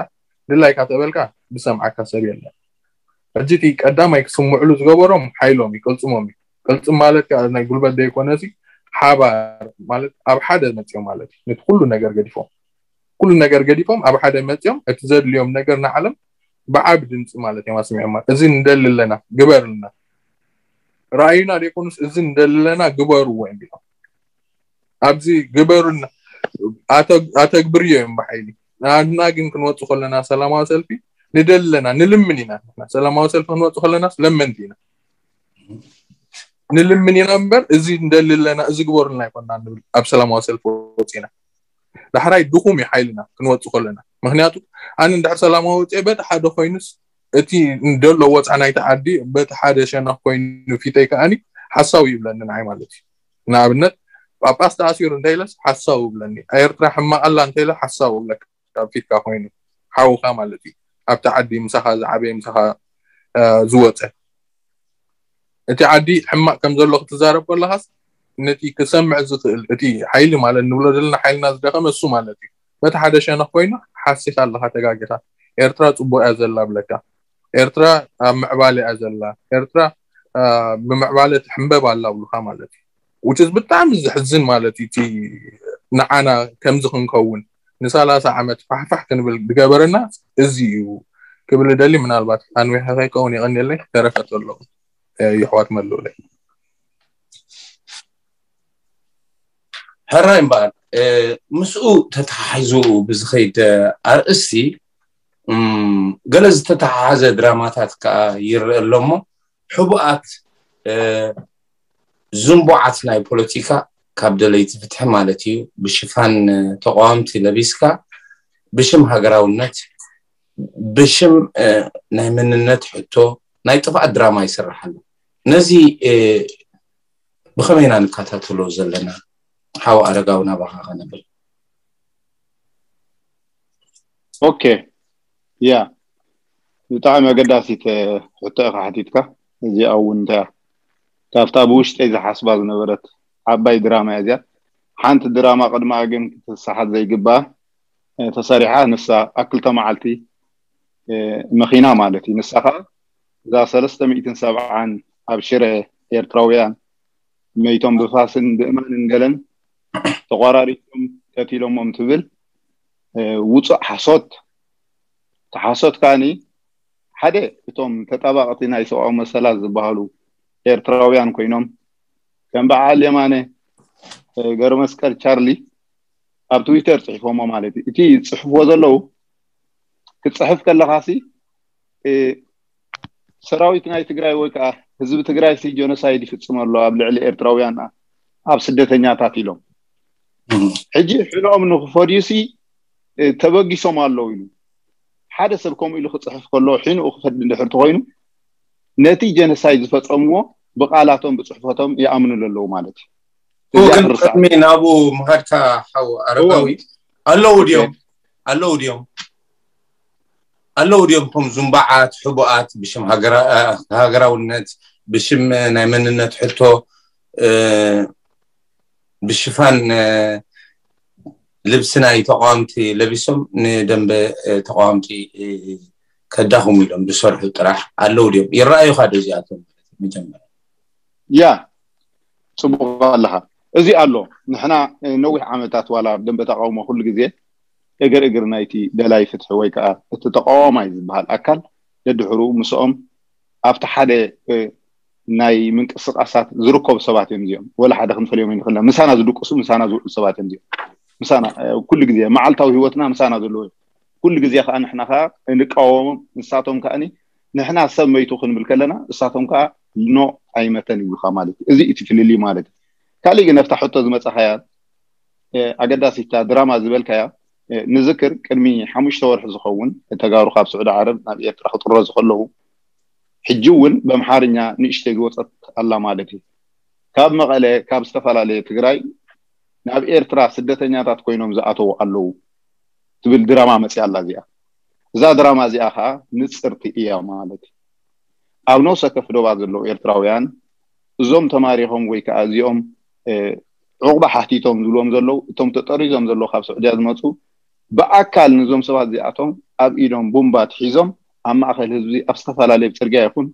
ድላይካ ተበልካ ዝሰምዓካ ሰብ የለን። ሕጂ እቲ ቀዳማይ ክስምዕሉ ዝገበሮም ሓይሎም እዩ፣ ቅልፅሞም እዩ። ቅልፅም ማለት ከዓ ናይ ጉልበት ዘይኮነ ሲ ሓባር ማለት ኣብ ሓደ መፅኦም ማለት እዩ። ነቲ ኩሉ ነገር ገዲፎም ኩሉ ነገር ገዲፎም ኣብ ሓደ መፅኦም እቲ ዘድልዮም ነገር ንዓለም ብዓቢ ድምፂ ማለት እዮም ኣስሚዖማ። እዚ ንደሊ ኣለና ግበርልና፣ ረኣዩና ዘይኮኑስ እዚ ንደሊ ኣለና ግበርዎ እዮም ቢሎም ኣብዚ ግበሩና ኣተግብርዮ እዮም ብሓይሊ። ንኣድና ግን ክንወፅ ከለና ሰላማዊ ሰልፊ ንደሊ ኣለና ንልምን ኢና። ሰላማዊ ሰልፊ ክንወፅ ከለናስ ለመንቲ ኢና ንልምን ኢና እምበር እዚ ንደሊ ኣለና እዚ ግበሩልና ኣይኮና ንብል ኣብ ሰላማዊ ሰልፊ ወፂና። ዳሕራይ ድኹም እዩ ሓይልና ክንወፅ ከለና ምክንያቱ ኣነ እንድሕር ሰላማዊ ወፂአ በቲ ሓደ ኮይኑስ እቲ እንደሎ ወፃ ናይቲ ዓዲ በቲ ሓደ ሸነኽ ኮይኑ ፊተይ ከዓኒ ሓሳዊ ይብለኒ ንዓይ ማለት እዩ። ንኣብነት ጳጳስ ተኣሲሩ እንተኢለስ ሓሳዊ ይብለኒ። ኤርትራ ሕማቕ ኣላ እንተኢለ ሓሳዊ ይብለካ ኣብ ፊትካ ኮይኑ ሓውካ ማለት እዩ። ኣብቲ ዓዲ ምሳኻ ዝዓበየ ምሳኻ ዝወፀ እቲ ዓዲ ሕማቕ ከም ዘሎ ክትዛረብ ከለኻስ ነቲ ክሰምዕ ዝኽእል እቲ ሓይሊ ማለት ንብሎ ዘለና ሓይልና ዝደኸመ እሱ ማለት እዩ። በቲ ሓደ ሸነኽ ኮይኑ ሓሲኻ ኣለኻ ተጋጊኻ። ኤርትራ ፅቡቅ እያ ዘላ ብለካ። ኤርትራ ኣብ ምዕባለ እያ ዘላ። ኤርትራ ብምዕባለ ትሕንበብ ኣላ ብሉካ ማለት እዩ። ውጭስ ብጣዕሚ ዝሕዝን ማለት እዩ። እቲ ንዓና ከምዚ ክንከውን ንሰላሳ ዓመት ፋሕፋሕ ክንብል ዝገበረና እዚ እዩ ክብል ደሊ ምናልባት ኣንዊሐ ከይከውን የቐንየለይ ተረፈ ተለዉ ይሕዋት መልኡለይ። ሕራይ እምበኣር ምስኡ ተተሓሒዙ ብዝኸይድ ኣርእስቲ ገለ ዝተተሓሓዘ ድራማታት ከዓ ይረአ ኣሎ እሞ ሕቡኣት ዝንቡዓት ናይ ፖለቲካ ካብ ደለይቲ ፍትሒ ማለት እዩ ብሽፋን ተቃወምቲ ለቢስካ ብሽም ሃገራውነት ብሽም ናይ መንነት ሕቶ ናይ ጥፍኣት ድራማ ይስራሕ ኣሎ። ነዚ ብኸመይ ኢና ንከታተሎ ዘለና? ሓው ኣረጋዊ ናባኻ ከነብል። ኦኬ ያ ብጣዕሚ ኣገዳሲት ሕቶ ኢኻ ሓቲትካ። እዚኣ እውን እንታይ ካብታ ብውሽጠይ ዝሓስባ ዝነበረት ዓባይ ድራማ እያ እዚኣ። ሓንቲ ድራማ ቅድማ ግን ክትሰሓት ዘይግባ ተሰሪሓ ንሳ ኣብ ክልተ መዓልቲ መኺና ማለት እዩ። ንሳ ከዓ እዛ ሰለስተ ሚእትን ሰብዓን ኣብ ሽረ ኤርትራውያን መይቶም ብፋስን ብእማንን ገለን ተቋራሪቶም ቀቲሎሞም ትብል ውፁእ ሓሶት። እቲ ሓሶት ከዓኒ ሓደ እቶም ተጣባቕቲ ናይ ሰብኣዊ መሰላት ዝበሃሉ ኤርትራውያን ኮይኖም ከም በዓል የማነ ገብረመስቀል ቻርሊ ኣብ ትዊተር ፅሒፎሞ ማለት እዩ። እቲ ዝፅሕፍዎ ዘለዉ ክፅሕፍ ከለኻሲ ሰራዊት ናይ ትግራይ ወይ ከዓ ህዝቢ ትግራይ ሲ ጀኖሳይድ ይፍፅም ኣሎ ኣብ ልዕሊ ኤርትራውያን ኣብ ስደተኛታት ኢሎም ሕጂ ሕኖኦም ንክፈድዩ ሲ ተበጊሶም ኣለዉ ኢሉ ሓደ ሰብ ከምኡ ኢሉ ክፅሕፍ ከሎ ሕንኡ ክፈድ እንድሕር ተኮይኑ ነቲ ጀኖሳይድ ዝፈፀምዎ ብቃላቶም ብፅሕፈቶም ይኣምኑ ኣለዉ ማለት እዩ። ግን ቅድሚ ናብኡ ምኻድካ ሓው ኣረጋዊ ኣለዉ ድዮም ኣለዉ ድዮም ኣለዉ ድዮም እቶም ዝንባዓት ሕቡኣት ብሽም ሃገራውነት ብሽም ናይ መንነት ሕቶ ብሽፋን ልብሲ ናይ ተቃዋምቲ ለቢሶም ንደንበ ተቃዋምቲ ከዳኽሙ ኢሎም ዝሰርሑ ጥራሕ ኣለዉ ድዮም ይረኣዩካ ዶ እዚኣቶም መጀመርያ ያ ፅቡቅ ኣለካ እዚ ኣሎ ንሕና ነዊሕ ዓመታት ዋላ ደንበ ተቃውሞ ኩሉ ግዜ እግር እግር ናይቲ ደላይ ፍትሒ ወይ ከዓ እቲ ተቃዋማይ ዝበሃል ኣካል ደድሕሩ ምስኦም ኣብቲ ሓደ ናይ ምንቅስቃሳት ዝርከቡ ሰባት እዮም እዚኦም ወላ ሓደ ክንፈልዮም ይንክልና ምሳና ዝድቅሱ ምሳና ዝውዕሉ ሰባት እዮም እዚኦም ምሳና ኩሉ ግዜ መዓልታዊ ህይወትና ምሳና ዘለዎ ኩሉ ግዜ ከዓ ንሕና ከዓ እንቃወሞም። ንሳቶም ከዓ ንሕና ሰብ መይቱ ክንብል ከለና እሳቶም ከዓ ኖ ኣይመተን ይብሉካ ማለት እዩ። እዚ እቲ ፍልልይ ማለት እዩ። ካሊእ ግን ኣብታ ሕቶ ዝመፀኻያ ኣገዳሲታ ድራማ ዝበልካያ ንዝክር ቅድሚ ሓሙሽተ ወርሒ ዝኸውን ተጋሩ ካብ ስዑዲ ዓረብ ናብ ኤርትራ ክጥረዙ ከለዉ ሕጂ እውን በምሓርኛ ንእሽተይ ዝወፀት ኣላ ማለት እዩ። ካብ መቐለ ካብ ዝተፈላለየ ትግራይ ናብ ኤርትራ ስደተኛታት ኮይኖም ዝኣተዉ ኣለዉ ትብል ድራማ መፅያ ኣላ እዚኣ። እዛ ድራማ እዚኣ ከዓ ንፅርቲ እያ ማለት እዩ። ኣብ ነፍሰ ከፍ ዶባት ዘለዉ ኤርትራውያን እዞም ተማሪኾም ወይ ከዓ እዚኦም ዕቑባ ሓቲቶም ዝብልዎም ዘለዉ እቶም ተጠሪዞም ዘለዉ ካብ ስዑድያ ዝመፁ ብኣካል ንዞም ሰባት እዚኣቶም ኣብ ኢዶም ቡምባት ሒዞም ኣብ ማእኸል ህዝቢ ኣብ ዝተፈላለየ ፅርግያ ይኹን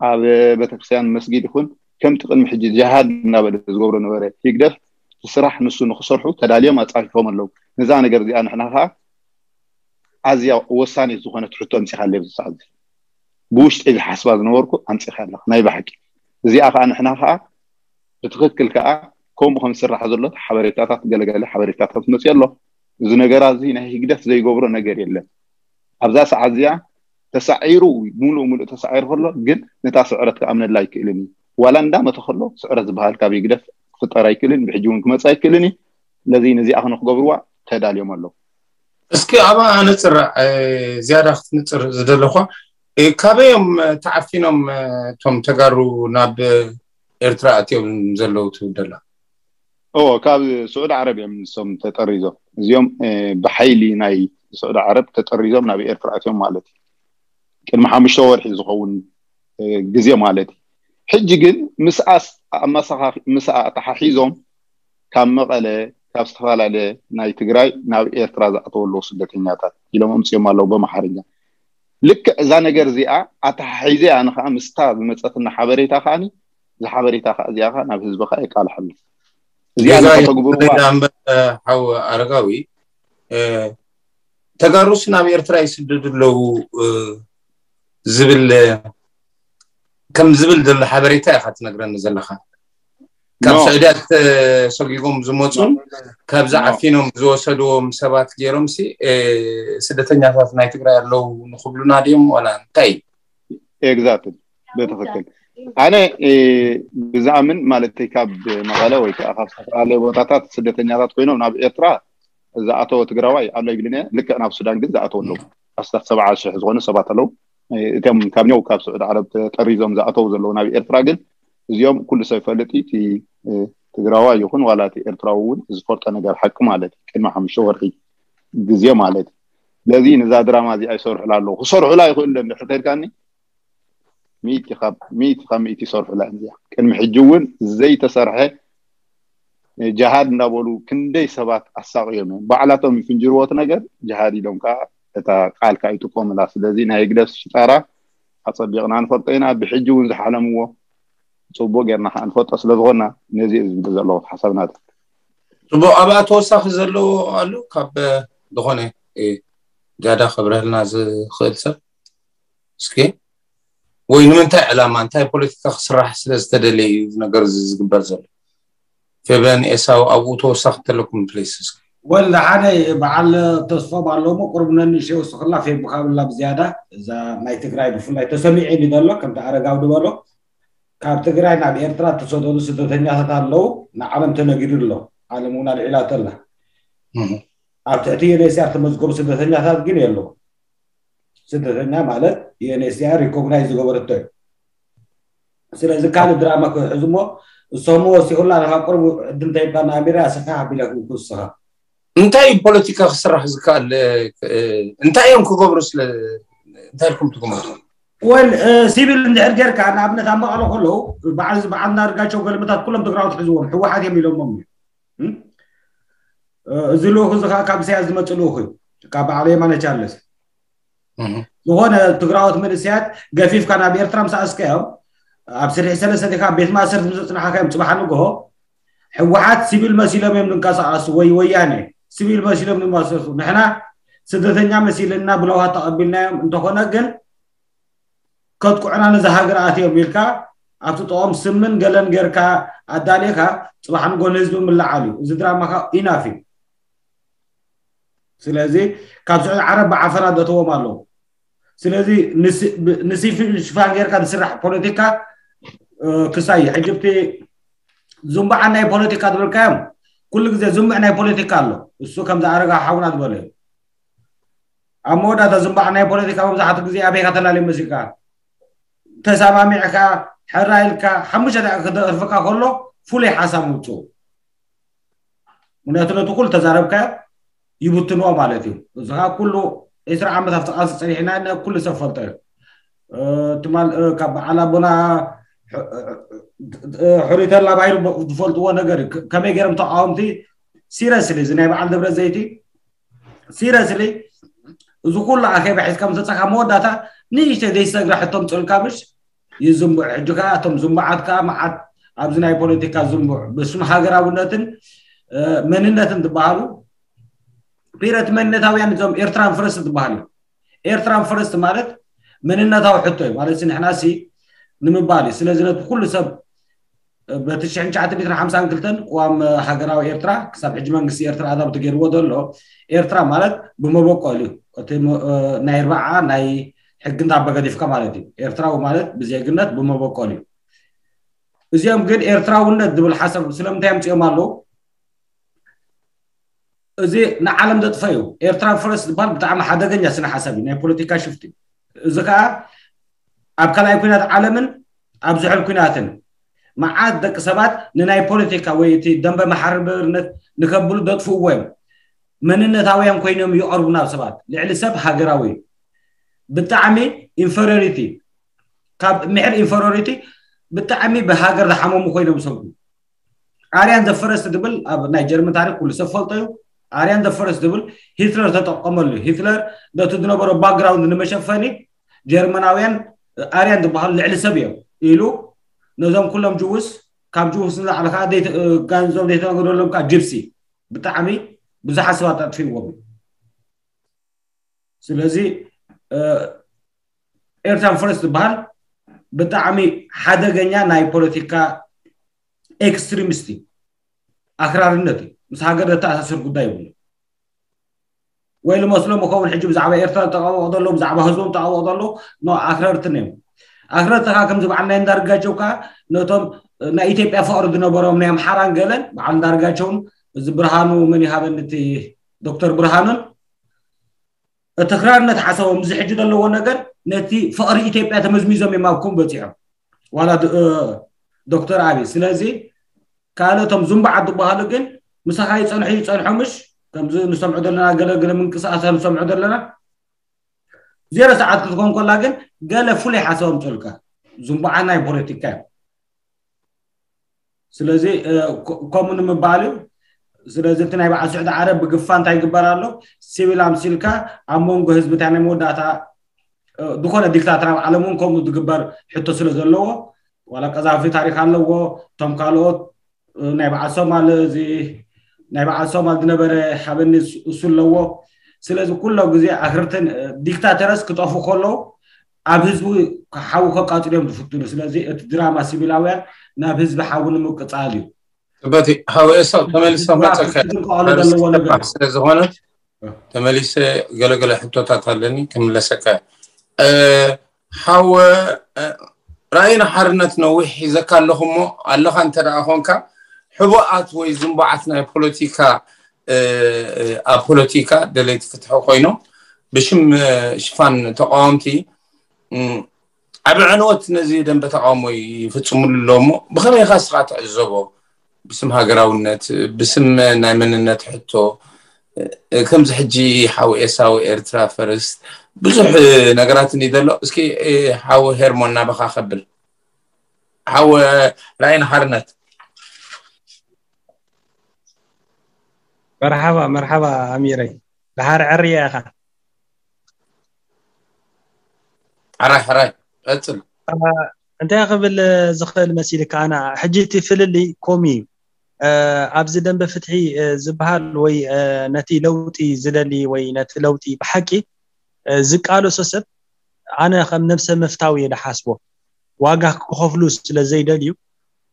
ኣብ ቤተክርስትያን መስጊድ ይኹን ከምቲ ቅድሚ ሕጂ ጅሃድ እናበለ ዝገብሮ ነበረ ህግደፍ እቲ ስራሕ ንሱ ንክሰርሑ ተዳልዮም ኣፃፊፎም ኣለዉ። ነዛ ነገር እዚኣ ንሕና ከዓ ኣዝያ ወሳኒት ዝኾነት ሕቶ ኣምፂኻለ ኣብዚ ሰዓት እዚ። ብውሽጠይ ዝሓስባ ዝነበርኩ ኣምፂኻ ኣለኻ ናይ ብሓቂ። እዚኣ ከዓ ንሕና ከዓ ብትኽክል ከዓ ከምኡ ከም ዝስራሕ ዘሎ ሓበሬታታት ገለገለ ሓበሬታታት መፅዮ ኣሎ። እዚ ነገራ እዚ ናይ ህግደፍ ዘይገብሮ ነገር የለን። ኣብዛ ሰዓት እዚኣ ተሳዒሩ ሙሉእ ሙሉእ ተሳዒሩ ከሎ ግን ነታ ስዕረት ክኣምነላ ኣይክእልን እዩ። ዋላ እንዳመተ ከሎ ስዕረት ዝበሃል ካብ ህግደፍ ክፍጠር ኣይክእልን፣ ብሕጂ እውን ክመፅእ ኣይክእልን እዩ። ስለዚ ነዚኣ ክንክገብርዋ ተዳልዮም ኣለዉ። እስኪ ኣብኣ ኣነፅር ዝያዳ ክትንፅር ዝደለኳ ካበዮም ተዓፊኖም እቶም ተጋሩ ናብ ኤርትራ ኣትዮም ዘለዉ ትብል ደላ? ኦ ካብ ስዑዲ ዓረብ እዮም ንሶም ተጠሪዞም። እዚኦም ብሓይሊ ናይ ስዑዲ ዓረብ ተጠሪዞም ናብ ኤርትራ ኣትዮም ማለት እዩ። ቅድሚ ሓሙሽተ ወርሒ ዝኸውን ግዜ ማለት እዩ። ሕጂ ግን ምስኣስ ኣመሳኻኺ ምስኣ ኣተሓሒዞም ካብ መቐለ ካብ ዝተፈላለየ ናይ ትግራይ ናብ ኤርትራ ዝኣተወ ኣለዉ ስደተኛታት ኢሎም ኣምፅኦም ኣለዉ በመሓርኛ። ልክዕ እዛ ነገር እዚኣ ኣተሓሒዘ ኣነ ከዓ ምስታ ዝመፀትና ሓበሬታ ከዓኒ እዛ ሓበሬታ ከዓ እዚኣ ከዓ ናብ ህዝቢ ከዓ የቃልሐሉ። እዚኣ ንኸተግብርዋ ሓው ኣረጋዊ ተጋሩስ ናብ ኤርትራ ይስደዱ ኣለዉ ዝብል ከም ዝብል ዘሎ ሓበሬታ ኢኻ ትነግረኒ ዘለኻ። ካብ ስዑድያ ተሰጊጎም ዝመፁን ካብዚ ዓፊኖም ዝወሰድዎም ሰባት ገይሮም ሲ ስደተኛታት ናይ ትግራይ ኣለዉ ንክብሉና ድዮም ዋላ እንታይ? ኤግዛክትሊ ብትኽክል። ኣነ ብዝኣምን ማለት ካብ መቐለ ወይ ከዓ ካብ ዝተፈላለየ ቦታታት ስደተኛታት ኮይኖም ናብ ኤርትራ ዝኣተወ ትግራዋይ ኣሎ ይብልን እየ። ልክዕ ናብ ሱዳን ግን ዝኣተወ ኣለዉ ኣስታት ሰብዓ ሽሕ ዝኾኑ ሰባት ኣለዉ። እቶም ካብ ኛው ካብ ስዑድ ዓረብ ተጠሪዞም ዝኣተዉ ዘለዉ ናብ ኤርትራ ግን እዚኦም ኩሉ ሰብ ይፈልጥ እዩ። እቲ ትግራዋይ ይኹን ዋላ እቲ ኤርትራዊ እውን ዝፈልጦ ነገር ሓቂ ማለት እዩ። ቅድሚ ሓሙሽተ ወርሒ ግዜ ማለት እዩ። ስለዚ ነዛ ድራማ እዚኣ ይሰርሑላ ኣለዉ። ክሰርሑላ ይኽእሉ ዶ እንድሕር ተልካኒ ሚእቲ ካብ ሚእቲ ካብ ሚእቲ ይሰርሑላ እዮም እዚኣ። ቅድሚ ሕጂ እውን ዘይተሰርሐ ጅሃድ እንዳበሉ ክንደይ ሰባት ኣሳቕዮም እዮም። ባዕላቶም ይፍንጅርዎ እቲ ነገር ጅሃድ ኢሎም ከዓ እታ ቃል ከዓ ይጥቀሙላ። ስለዚ ናይ ህግደፍ ሽጣራ ኣፀቢቕና ንፈልጦ ኢና። ብሕጂ እውን ዝሓለምዎ ፅቡቅ ጌርና ከዓ ንፈልጦ ስለዝኾና ነዚ እዩ ዝብል ዘለኹ ሓሳብ ናተይ። ፅቡቅ ኣብኣ ተወሳኺ ዘለዎ ኣሎ ካብ ዝኾነ ዝያዳ ከብረህልና ዝኽእል ሰብ እስኪ ወይ ንምንታይ ዕላማ እንታይ ፖለቲካ ክስራሕ ስለ ዝተደለየ እዩ እዚ ነገር እዚ ዝግበር ዘሎ? ፌበን ኤሳው ኣብኡ ተወሳኺ ተለኩም ፕሊስ እስኪ። ወላ ሓደ በዓል ተስፎም ኣለሞ ቁሩብ ነንእሽተይ ወስኽላ ፌብ ካብላ ብዝያዳ እዛ ናይ ትግራይ ብፍላይ ተሰሚዑ ኢሉ ዘሎ ከምቲ ኣረጋዊ ዝበሎ ካብ ትግራይ ናብ ኤርትራ እተሰደዱ ስደተኛታት ኣለዉ ንዓለም ተነጊሩ ኣሎ። ዓለም እውን ኣልዒላቶ ኣላ። ኣብ ትሕቲ ዩኤንኤችሲኣር ተመዝገቡ ስደተኛታት ግን የለዉ። ስደተኛ ማለት ዩኤንኤችሲኣር ሪኮግናይዝ ዝገበረቶ እዩ። ስለዚ ካልእ ድራማ ክሕዝ እሞ እሶም ወሲኹላ ንካ ቁርብ ዕድል እንተይብካ ንኣሚራ ስፋሕ ኣቢላ ክውስኻ። እንታይ እዩ ፖለቲካ ክስራሕ ዝከኣል? እንታይ እዮም ክገብሩ ስለ እንታይ ኢልኩም ትግምቱ? ወል ሲቪል እንድሕር ጌርካ ንኣብነት ኣብ መቐለ ከለዉ በዓል በዓል ናርጋቸው ገልምታት ኩሎም ትግራዎት ሕዝዎም ህወሓት እዮም ኢሎሞም እዩ። እዚ ልኡኽ እዚ ከዓ ካብ ኢሳያስ ዝመፅእ ልኡኽ እዩ። ካብ በዓል የማነ ቻርለስ ዝኾነ ትግራዎት መንእሰያት ገፊፍካ ናብ ኤርትራ ምስ ኣስከዮም ኣብ ስርሒ ሰለስተ ዲኻ ቤት ማእሰርቲ ምስ ኣፅናሓካዮም ፅባሕ ንግሆ ህወሓት ሲቪል መሲሎም እዮም ዝንቀሳቐሱ ወይ ወያነ ሲቪል መሲሎም ዝንቀሳቐሱ ንሕና ስደተኛ መሲልና ብለውሃት ተቐቢልናዮም እንተኾነ ግን ከጥቅዑና ነዚ ሃገር ኣትዮም ኢልካ ኣብቲ ጥቖም ስምን ገለን ጌርካ ኣዳሊእካ ፅባሕ ንግሆ ንህዝቢ ምልዓል እዩ። እዚ ድራማኻ ኢናፍ እዩ። ስለዚ ካብ ስዑዲ ዓረብ ብዓፈና ዘእተዎም ኣለዉ። ስለዚ ንሲ- ብ- ንሲፊ ሽፋን ጌርካ ዝስራሕ ፖለቲካ እ፣ ክሳይ ሕጂ እቲ ዝንባዓ ናይ ፖለቲካ ትብልካዮም ኩሉ ግዜ ዝንብዕ ናይ ፖለቲካ ኣሎ። እሱ ከምዚ ኣረጋ ሓውና ዝበለ እዩ። ኣብ መወዳእታ ዝንባዓ ናይ ፖለቲካ መብዛሕትኡ ግዜ ኣበይካ ተላልዮ መሲልካ ተሰማሚዕካ ሕራ ኢልካ ሓሙሽተ ደቂቃ ክደርፍካ ከሎ ፍሉይ ሓሳብ ምውፅኡ። ምክንያቱ ነቲ ኩሉ ተዛረብካዮ ይብትንዎ ማለት እዩ። እዚ ከዓ ኩሉ ዕስራ ዓመት ኣብቲ ቃልሲ ፀኒሕና ኢና፣ ኩሉ ሰብ ፈልጦ እዩ። እ፣ ትማል እ፣ ካብ በዓል ኣቦና ሕ- እ፣ እ፣ ሕሩይ ተላ ባይሩ ብ- ዝፈልጥዎ ነገር እዩ። ከ- ከመይ ገይሮም ተቃወምቲ ሲረስሊ እዚ ናይ በዓል ደብረ ዘይቲ ሲረስሊ እዚ ኩሉ ኣኼባ ሒዝካ ምስ መፀካ መወዳእታ ንእሽተይ ዘይሰግራ ሕቶ ምፅኡልካ ምሽ ይዝንቡዕ። ሕጂ ከዓ እቶም ዝንቡዓት ከዓ መዓት ኣብዚ ናይ ፖለቲካ ዝንቡዕ ብስም ሃገራውነትን እ፣ መንነትን ዝበሃሉ ፒረት መንነታውያን እዞም ኤርትራን ፈረስት ዝበሃሉ ኤርትራን ፈረስት ማለት መንነታዊ ሕቶ እዩ ማለት ንሕና ሲ ንምባል እዩ። ስለዚ ነቲ ኩሉ ሰብ በቲ ሽሕን ትሽዓተ ሚእትን ሓምሳን ክልተን ቅዋም ሃገራዊ ኤርትራ ክሳብ ሕጂ መንግስቲ ኤርትራ ኣዛብቲ ገይርዎ ዘሎ ኤርትራ ማለት ብመበቆል እዩ። እቲ ሞ- እ፣ ናይ ርባዓ ናይ ሕጊ እንዳበገዲፍካ ማለት እዩ። ኤርትራዊ ማለት ብዜግነት ብመበቆል እዩ። እዚኦም ግን ኤርትራውነት ዝብል ሓሳብ ስለምንታይ ኣምፅኦም ኣለዉ? እዚ ንዓለም ዘጥፈዩ ኤርትራ ፈረስ ዝበሃል ብጣዕሚ ሓደገኛ ስነ ሓሳብ እዩ፣ ናይ ፖለቲካ ሽፍት እዩ። እዚ ከዓ ኣብ ካልኣይ ኩናት ዓለምን ኣብ ዝሑል ኩናትን መዓት ደቂ ሰባት ንናይ ፖለቲካ ወይ እቲ ደንበ ማሕበርነት ንከብሉ ዘጥፍእዎ እዮም። መንነታውያን ኮይኖም ይቐርቡ ናብ ሰባት ልዕሊ ሰብ ሃገራዊ እዩ። ብጣዕሚ ኢንፈሪዮሪቲ ካብ ምሕር ኢንፈሪዮሪቲ ብጣዕሚ ብሃገር ዝሓመሙ ኮይኖም ይሰምዑ። ኣርያን ዘፈረስ ትብል ኣብ ናይ ጀርመን ታሪክ ኩሉ ሰብ ፈልጦ እዩ። ኣርያን ዘፈረስ ትብል ሂትለር ተጠቀመሉ። ሂትለር ነቲ ዝነበሮ ባክግራውንድ ንመሸፈኒ ጀርመናውያን ኣርያን ዝበሃሉ ልዕሊ ሰብ እዮም ኢሉ ነዞም ኩሎም ጅውስ ካብ ጅውስ ንላዕሊ ከዓ ዘይተ- ጋንዞም ዘይተነገረሎም ከዓ ጅፕሲ ብጣዕሚ ብዙሓት ሰባት ኣጥፊዎም እዩ። ስለዚ ኤርትራን ፈረስ ዝበሃል ብጣዕሚ ሓደገኛ ናይ ፖለቲካ ኤክስትሪሚስት እዩ። ኣክራርነት እዩ። ምስ ሃገር ዘተኣሳስር ጉዳይ ይብሉ ወይ ልመስሎም ይኸውን። ሕጂ ብዛዕባ ኤርትራ ተቃወቕ ዘሎ ብዛዕባ ህዝቦም ተቃወቕ ዘሎ ኖ ኣክረርትን እዮም። ኣክረርቲ ከዓ ከምዚ በዓል ናይ እንዳርጋቸው ከዓ ነቶም ናይ ኢትዮጵያ ፍቅሪ ዝነበሮም ናይ ኣምሓራን ገለን በዓል እንዳርጋቸውን እዚ ብርሃኑ መን ይሃበኒ እቲ ዶክተር ብርሃኑን እቲ ክራርነት ሓሳቦም እዚ ሕጂ ዘለዎ ነገር ነቲ ፍቕሪ ኢትዮጵያ ተመዝሚዞም እዮም ኣብ ኩም በፂሖም ዋላ ዶ- እ፣ ዶክተር ኣብይ። ስለዚ ካልኦቶም ዙምባዓት ዝበሃሉ ግን ምሳኻ ይፀንሑ ይፀንሖ ምሽ ከምዚ ንሰምዖ ዘለና ገለገለ ምንቅስቃሳት ንሰምዖ ዘለና ዜሮ ሰዓት ክትኮን ከላ ግን ገለ ፍሉይ ሓሳቦም ፀልካ ዙምባዓ ናይ ፖለቲካ እዮም። ስለዚ እ፣ ኮ- ከምኡ ንምባል እዩ። ስለዚ እቲ ናይ በዓል ስዑዲ ዓረብ ብግፋ እንታይ ይግበር ኣሎ? ሲቪል ኣምሲልካ ኣብ መንጎ ህዝቢ እንታይ ናይ መወዳእታ እ፣ ዝኾነ ዲክታተር ኣብ ዓለም እውን ከምኡ ዝግበር ሕቶ ስለ ዘለዎ ዋላ ቀዛፊ ታሪክ ኣለዎ። እቶም ካልኦት እ፣ ናይ በዓል ሶማል እዚ ናይ በዓል ሶማል ዝነበረ ሓበኒ እሱ ኣለዎ። ስለዚ ኩሎ ግዜ ኣክርትን እ፣ ዲክታተረስ ክጠፉ ከለዉ ኣብ ህዝቢ ሓዊ ከቃፅሉ እዮም ዝፍትኑ። ስለዚ እቲ ድራማ ሲቪላውያን ናብ ህዝቢ ሓዊ ንምቅፃል እዩ። በቲ ሓወ ኤሳው ተመልሶ መፀከ ዝንቀሉ ዘለዎ ነገር ስለ ዝኾነ ተመሊሰ ገለገለ ሕቶታት ኣለኒ ክምለሰካ። እ፣ ሓወ እ፣ ራእይ ንሓርነት ነዊሕ ሒዘካ ኣለኹ እሞ ኣለኻ እንተ ደኣ ኮንካ ሕቡኣት ወይ ዝንቡዓት ናይ ፖለቲካ እ፣ እ፣ ኣብ ፖለቲካ ደለይቲ ፍትሒ ኮይኖም ብሽም እ፣ ሽፋን ተቃወምቲ እም፣ ዓቢ ዕንወት ነዚ ደንበ ተቃውሞ ይፍጽሙሉ ኣለዉ እሞ ብኸመይ ኢኻ እስኻ ትዕዘቦ? ብስም ሃገራውነት ብስም ናይ መንነት ሕቶ እ፣ ከምዚ ሕጂ ሓው ኤሳው ኤርትራ ፈርስት ብዙሕ ነገራትን እዩ ዘሎ። እስኪ እ፣ ሓው ሄርሞን ናባኻ ከብል ሓው ራእይ ንሓርነት መርሓባ መርሓባ ኣሚረይ ድሓር ዕርያ ኢኻ ሓራይ ሓራይ ቀጽል እንታይ ክብል ዝኽእል መሲልካ ኣና ሕጂ እቲ ፍልልይ ኮም እዩ ኣብዚ ደንበ ፍትሒ ዝበሃል ወይ ነቲ ለውጢ ዝደሊ ወይ ነቲ ለውጢ ብሓቂ ዝቃለሶ ሰብ ኣነ ከም ነብሰ ምፍታው እየ ዝሓስቦ ዋጋ ክኸፍሉ ስለ ዘይደልዩ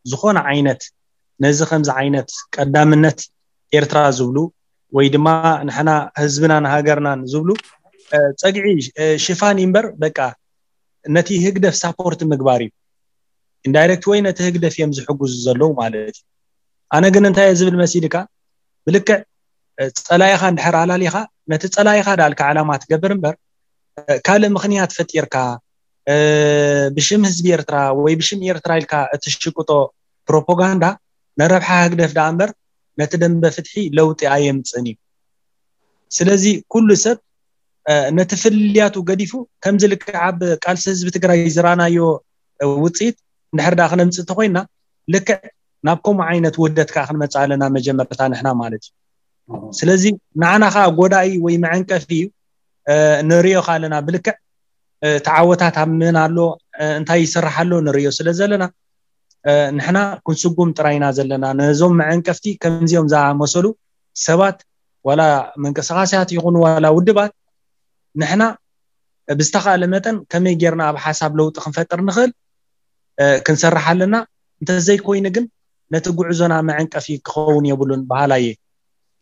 ዝኾነ ዓይነት ነዚ ከምዚ ዓይነት ቀዳምነት ኤርትራ ዝብሉ ወይ ድማ ንሕና ህዝብናን ሃገርናን ዝብሉ እ፣ ጸግዒ እ፣ ሽፋን እዩ እምበር በቃ ነቲ ህግደፍ ሳፖርት ምግባር እዩ። ኢንዳይሬክት ወይ ነቲ ህግደፍ እዮም ዝሕግዙ ዘለዉ ማለት እዩ። ኣነ ግን እንታይ እየ ዝብል መሲልካ ብልክዕ እ፣ ጸላኢኻ እንድሕር ኣላሊኻ ነቲ ጸላኢኻ ዳልካ ዕላማ ትገብር እምበር እ፣ ካልእ ምኽንያት ፈጢርካ እ፣ ብሽም ህዝቢ ኤርትራ ወይ ብሽም ኤርትራ ኢልካ እትሽቅጦ ፕሮፓጋንዳ ንረብሓ ህግደፍ ደኣ እምበር ነቲ ደንበ ፍትሒ ለውጢ ኣየምጽእን እዩ። ስለዚ ኩሉ ሰብ እ፣ ነቲ ፍልልያቱ ገዲፉ ከምዚ ልክዕ ኣብ ቃልሲ ህዝቢ ትግራይ ዝረኣናዮ እ፣ ውፅኢት እንድሕር ደኣ ክነምፅእ እንተኮይና ልክዕ ናብ ከምኡ ዓይነት ውህደት ከዓ ክንመፅእ ኣለና መጀመርታ ንሕና ማለት እዩ። ስለዚ ንዓና ከዓ ጎዳኢ ወይ መዐንቀፊ እዩ እ፣ ንሪኦ ከዓ ኣለና ብልክዕ እ፣ ተዓወታት ኣብ ምን ኣሎ እ፣ እንታይ ይስራሕ ኣሎ ንሪኦ ስለ ዘለና እ፣ ንሕና ክንስጉም ጥራይ ኢና ዘለና። ነዞም መዐንቀፍቲ ከምዚኦም ዝኣመሰሉ ሰባት ዋላ ምንቅስቃሳት ይኹኑ ዋላ ውድባት ንሕና ብዝተኻእለ መጠን ከመይ ጌርና ኣብ ሓሳብ ለውጢ ክንፈጥር ንኽእል እ፣ ክንሰርሕ ኣለና። እንተዘይኮይኑ ግን ነቲ ጉዕዞና መዐንቀፊ ክኸውን የብሉን በሃላይ እየ።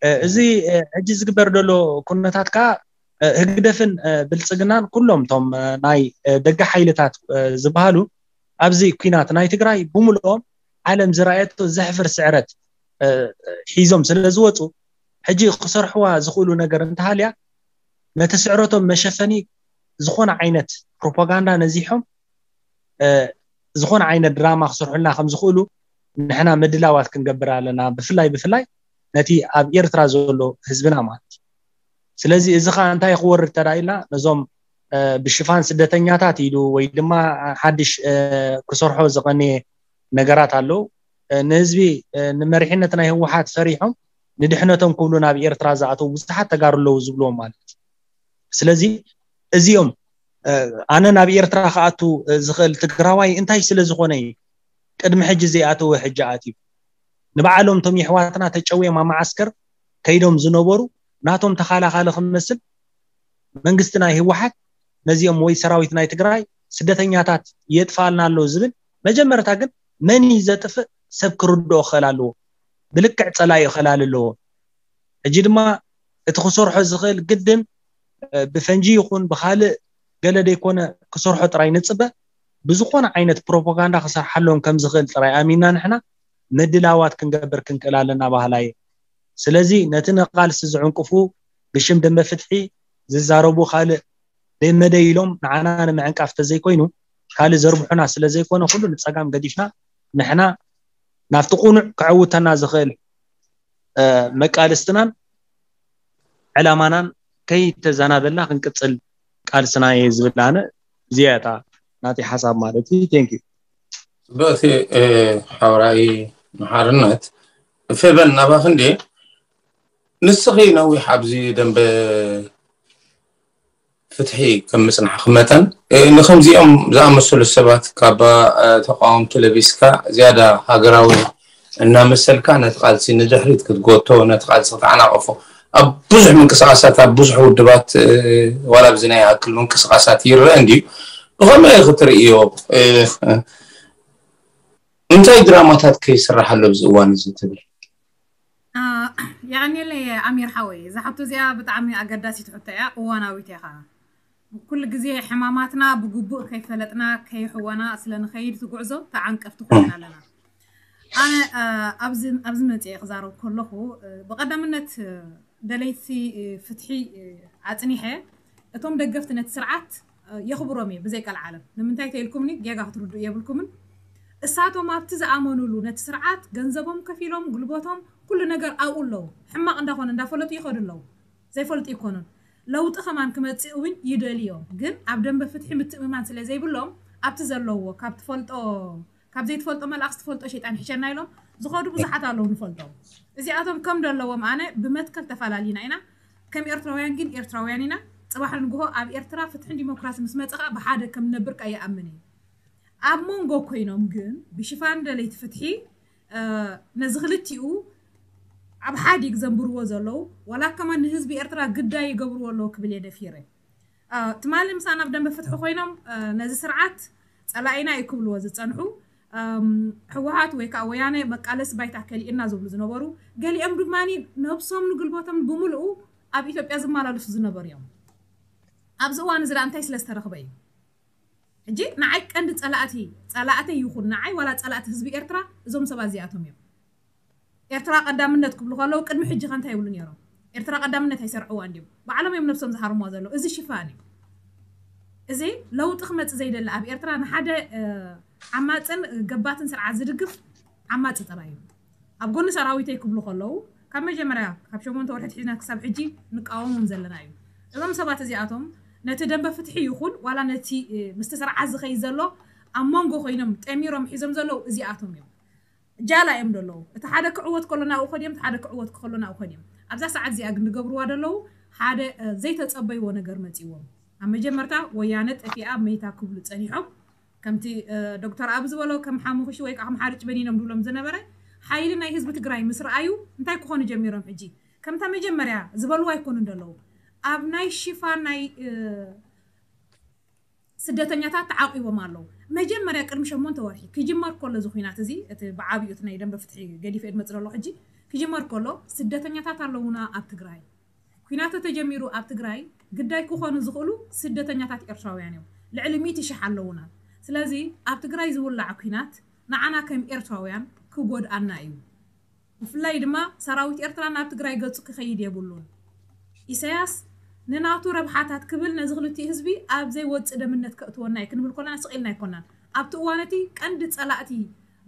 እ፣ እዚ እ፣ ሕጂ ዝግበር ዘሎ ኩነታት ከዓ እ፣ ህግደፍን እ፣ ብልፅግናን ኩሎም እቶም እ፣ ናይ እ፣ ደገ ሓይልታት እ፣ ዝበሃሉ ኣብዚ ኲናት ናይ ትግራይ ብምልኦም ዓለም ዝረኣየቶ ዘሕፍር ስዕረት እ፣ ሒዞም ስለ ዝወፁ ሕጂ ክሰርሕዋ ዝኽእሉ ነገር እንተሃልያ ነቲ ስዕረቶም መሸፈኒ ዝኾነ ዓይነት ፕሮፓጋንዳ ነዚሖም እ፣ ዝኾነ ዓይነት ድራማ ክሰርሑልና ከም ዝኽእሉ ንሕና ምድላዋት ክንገብር ኣለና። ብፍላይ ብፍላይ ነቲ ኣብ ኤርትራ ዘሎ ህዝብና ማለት እዩ። ስለዚ እዚ ኸዓ እንታይ ክወርድ ተዳኢልና ነዞም እ፣ ብሽፋን ስደተኛታት ኢሉ ወይ ድማ ሓድሽ እ፣ ክሰርሖ ዝቐነየ ነገራት ኣለዉ። እ፣ ንህዝቢ እ፣ ንመሪሕነት ናይ ህወሓት ፈሪሖም ንድሕነቶም ክብሉ ናብ ኤርትራ ዝኣተዉ ብዙሓት ተጋሩ ኣለዉ ዝብልዎም ማለት እዩ። ስለዚ እዚኦም እ፣ ኣነ ናብ ኤርትራ ክኣቱ እ፣ ዝኽእል ትግራዋይ እንታይ ስለ ዝኾነ እዩ ቅድሚ ሕጂ ዘይኣተወ ሕጂ ኣትዩ? ንባዕሎም እቶም የሕዋትና ተጨውዮም ኣብ መዓስከር ከይዶም ዝነበሩ ናቶም ተኻላኻሊ ክመስል መንግስቲ ናይ ህወሓት ነዚኦም ወይ ሰራዊት ናይ ትግራይ ስደተኛታት የጥፋልና ኣሎ ዝብል መጀመርታ ግን መን እዩ ዘጥፍእ ሰብ ክርድኦ ክኽእል ኣለዎ። ብልክዕ ፀላኢ ክላል ኣለዎ። ሕጂ ድማ እቲ ክሰርሖ ዝኽእል ግድን እ፣ ብፈንጂ ይኹን ብኻልእ ገለ ደይኮነ ክሰርሖ ጥራይ ንፅበ ብዝኾነ ዓይነት ፕሮፓጋንዳ ክሰርሓሎም ከም ዝኽእል ጥራይ ኣሚንና ንሕና ምድላዋት ክንገብር ክንክእል ኣለና በሃላይ እየ። ስለዚ ነቲ ንቓልሲ ዝዕንቅፉ ብሽም ደንበ ፍትሒ ዝዛረቡ ካልእ ደመደ ኢሎም ንዓና ንምዕንቃፍ ተዘይኮይኑ ካልእ ዘርብሑና ስለ ዘይኮነ ኩሉ ንፀጋም ገዲፍና ንሕና ናብቲ ቁኑዕ ከዕውተና ዝኽእል እ፣ መቃልስትናን ዕላማናን ከይተዘናበልና ክንቅፅል ቃልስና እየ ዝብል ኣነ። እዚኣ እታ ናተይ ሓሳብ ማለት እዩ። Thank you። ጽብቕቲ እ፣ ሓውራይ ንሓርነት ፌበን ናባኺ እንዴ ንስኺ ነዊሕ ኣብዚ ደንበ ፍትሒ ከም ምጽናሕኪ መጠን እ፣ ንከምዚኦም ዝኣመሰሉ ሰባት ካብ እ፣ ተቃወምቲ ለቢስካ ዝያዳ ሃገራዊ እናመሰልካ ነቲ ቃልሲ ንድሕሪት ክትጎቶ ነቲ ቃልሲ ክትዓናቐፎ ኣብ ብዙሕ ምንቅስቃሳት ኣብ ብዙሕ ውድባት እ፣ ዋላ ኣብዚ ናይ ኣክል ምንቅስቃሳት ይረአ እንድዩ ብኸመይ ክትርእዮ እ፣ እንታይ ድራማታት ከይስራሕ ኣሎ ኣብዚ እዋን እዚ ትብል የቐንየለይ ኣሚር ሓወይ፣ እዛ ሕቶ እዚኣ ብጣዕሚ ኣገዳሲት ሕቶ እያ፣ እዋናዊት እያ ከዓ። ኩሉ ግዜ ሕማማትና ብግቡእ ከይፈለጥና ከይሕወና ስለ ንኸይድ እቲ ጉዕዞ ተዓንቀፍቲ ኮይና ኣለና። ኣነ ኣብዚ መፅአ ክዛረብ ከለኹ ብቐዳምነት ደለይቲ ፍትሒ ኣፅኒሐ እቶም ደገፍቲ ነቲ ስርዓት የኽብሮም እየ ብዘይ ቀልዓለም። ንምንታይ ተይልኩምኒ ጌጋ ክትርድኡ የብልኩምን። እሳቶም ኣብቲ ዝኣመኑሉ ነቲ ስርዓት ገንዘቦም ከፊሎም ጉልበቶም ኩሉ ነገር ኣብኡ ኣለዉ። ሕማቕ እንዳኾነ እንዳፈለጡ ይኸዱ ኣለዉ። ዘይፈልጡ ይኮኑን። ለውጢ ከማን ክመፅእ እውን ይደልዮም። ግን ኣብ ደንበ ፍትሒ ምትእምማን ስለ ዘይብሎም ኣብቲ ዘለዎ ካብ ትፈልጦ ካብ ዘይትፈልጦ መልኣኽ ዝትፈልጦ ሸይጣን ይሕሸና ኢሎም ዝኸዱ ብዙሓት ኣለዉ ንፈልጦም። እዚኣቶም ከም ደለዎም ኣነ ብመትከል ተፈላሊና ኢና። ከም ኤርትራውያን ግን ኤርትራውያን ኢና። ፅባሕ ንግሆ ኣብ ኤርትራ ፍትሕን ዲሞክራሲ ምስ መፀ ከዓ ብሓደ ከም ንነብር ከዓ ይኣምን እየ። ኣብ መንጎ ኮይኖም ግን ብሽፋን ደለይቲ ፍትሒ ነዚ ክልቲኡ ኣብ ሓዲግ ዘንብርዎ ዘለዉ ዋላ ከማን ንህዝቢ ኤርትራ ግዳይ ይገብርዎ ኣለዉ ክብል እየ ደፊረ። ትማሊ ምሳና ኣብ ደንበ ፍትሒ ኮይኖም ነዚ ስርዓት ፀላኢና እዩ ክብልዎ ዝፀንሑ ህወሓት ወይ ከዓ ወያነ መቃለሲ ባይታ ከሊእና ዝብሉ ዝነበሩ፣ ገሊኦም ድማ ነብሶም ንግልቦቶም ብምልኡ ኣብ ኢትዮጵያ ዝመላለሱ ዝነበሩ እዮም። ኣብዚ እዋን እዚ ደኣ እንታይ ስለ ዝተረኽበ እዩ? ሕጂ ንዓይ ቀንዲ ፀላእቲ፣ ፀላእተይ ይኹን ንዓይ ዋላ ፀላእቲ ህዝቢ ኤርትራ እዞም ሰባት እዚኣቶም እዮም። ኤርትራ ቀዳምነት ክብሉ ከለዉ ቅድሚ ሕጂ ከ እንታይ ይብሉ ነይሮም? ኤርትራ ቀዳምነት ኣይሰርዕዋን ድዮም? ባዕሎም እዮም ነብሶም ዝሃርምዋ ዘለዉ። እዚ ሽፋን እዩ። እዚ ለውጢ ክመፅእ ዘይደሊ ኣብ ኤርትራ ንሓደ ዓማፅን ገባትን ስርዓት ዝድግፍ ዓማፂ ጥራይ እዩ። ኣብ ጎኒ ሰራዊተይ ክብሉ ከለዉ ካብ መጀመርያ ካብ ሸሞንተ ወርሒ ትሒዝና ክሳብ ሕጂ ንቃወሞም ዘለና እዩ። እዞም ሰባት እዚኣቶም ነቲ ደንበ ፍትሒ ይኹን ዋላ ነቲ ምስቲ ስርዓት ዝኸይድ ዘሎ ኣብ መንጎ ኮይኖም ጠሚሮም ሒዞም ዘለዉ እዚኣቶም እዮም። ጃላ እዮም ዘለዉ። እቲ ሓደ ክዕወት ከሎ ናብኡ ከድዮም፣ እቲ ሓደ ክዕወት ከሎ ናብኡ ከድዮም። ኣብዛ ሰዓት እዚኣ ግን ዝገብርዋ ዘለዉ ሓደ ዘይተጸበይዎ ነገር መጺዎም። ኣብ መጀመርታ ወያነ ጠፊኣ መይታ ክብሉ ጸኒሖም። ከምቲ ዶክተር ኣብ ዝበሎ ከም ሓሙኽሽ ወይ ከዓ ከም ሓርጭ በኒኖም ድብሎም ዝነበረ ሓይሊ ናይ ህዝቢ ትግራይ ምስ ረኣዩ እንታይ ክኾኑ ጀሚሮም? ሕጂ ከምታ መጀመርያ ዝበልዋ ኣይኮኑን ዘለዉ። ኣብ ናይ ሽፋን ናይ ስደተኛታት ተዓቂቦም ኣለዉ። መጀመርያ ቅድሚ ሸሞንተ ወርሒ ክጅመር ከሎ እዚ ኩናት እዚ እቲ ብዓብዩ እቲ ናይ ደንበ ፍትሒ ገዲፈ ድመፅ ዘሎ ሕጂ ክጅመር ከሎ ስደተኛታት ኣለዉና ኣብ ትግራይ። ኩናት ተጀሚሩ ኣብ ትግራይ ግዳይ ክኾኑ ዝኽእሉ ስደተኛታት ኤርትራውያን እዮም። ልዕሊ ሚእቲ ሽሕ ኣለዉና። ስለዚ ኣብ ትግራይ ዝውላዕ ኩናት ንዓና ከም ኤርትራውያን ክጎድኣና እዩ። ብፍላይ ድማ ሰራዊት ኤርትራ ናብ ትግራይ ገጹ ክኸይድ የብሉን። ኢሳያስ ንናቱ ረብሓታት ክብል ነዚ ክልቲኡ ህዝቢ ኣብ ዘይወጽእ ደምነት ከእትወና እዩ ክንብል ኮለና ስቕ ኢልና ኣይኮናን። ኣብቲ እዋን እቲ ቀንዲ ጸላእቲ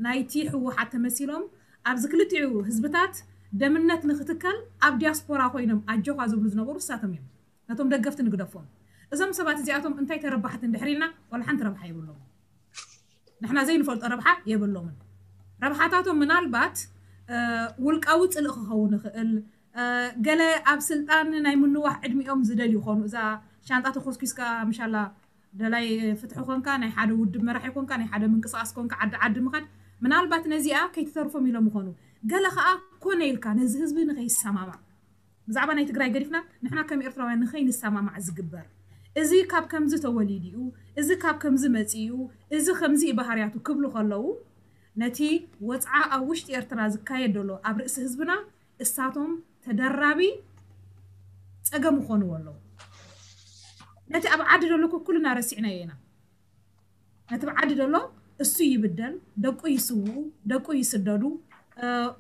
ናይቲ ህወሓት ተመሲሎም ኣብዚ ክልቲኡ ህዝብታት ደምነት ንክትከል ኣብ ዲያስፖራ ኮይኖም ኣጆኻ ዝብሉ ዝነበሩ እሳቶም እዮም። ነቶም ደገፍቲ ንግደፎም። እዞም ሰባት እዚኣቶም እንታይ ተረባሕቲ እንድሕር ኢልና ዋላ ሓንቲ ረብሓ የብሎም። ንሕና ዘይንፈልጦ ረብሓ የብሎምን። ረብሓታቶም ምናልባት ውልቃዊ ፅልእ ክኸውን ይኽእል። ገለ ኣብ ስልጣን ናይ ምንዋሕ ዕድሚኦም ዝደልዩ ይኾኑ። እዛ ሻንጣ ተኾስኪስካ ምሻላ ደላይ ፍትሒ ኮንካ፣ ናይ ሓደ ውድብ መራሒ ኮንካ፣ ናይ ሓደ ምንቅስቃስ ኮንካ፣ ዓዲ ዓዲ ምኻድ ምናልባት ነዚኣ ከይትተርፎም ኢሎም ይኾኑ። ገለ ከዓ ኮነ ኢልካ ነዚ ህዝቢ ንኸይሰማማዕ ብዛዕባ ናይ ትግራይ ገዲፍና ንሕና ከም ኤርትራውያን ንኸይንሰማማዕ ዝግበር፣ እዚ ካብ ከምዚ ተወሊዱ እዩ፣ እዚ ካብ ከምዚ መፂኡ እዩ፣ እዚ ከምዚ እዩ ባህርያቱ ክብሉ ከለዉ ነቲ ወፅዓ ኣብ ውሽጢ ኤርትራ ዝካየድ ዘሎ ኣብ ርእሲ ህዝብና እሳቶም ተደራቢ ፀገም ይኾንዎ ኣለዉ። ነቲ ኣብ ዓዲ ዘሎ ኩልና ረሲዕናዮ ኢና። ነቲ ብዓዲ ዘሎ እሱ ይብደል፣ ደቁ ይስውኡ፣ ደቁ ይስደዱ፣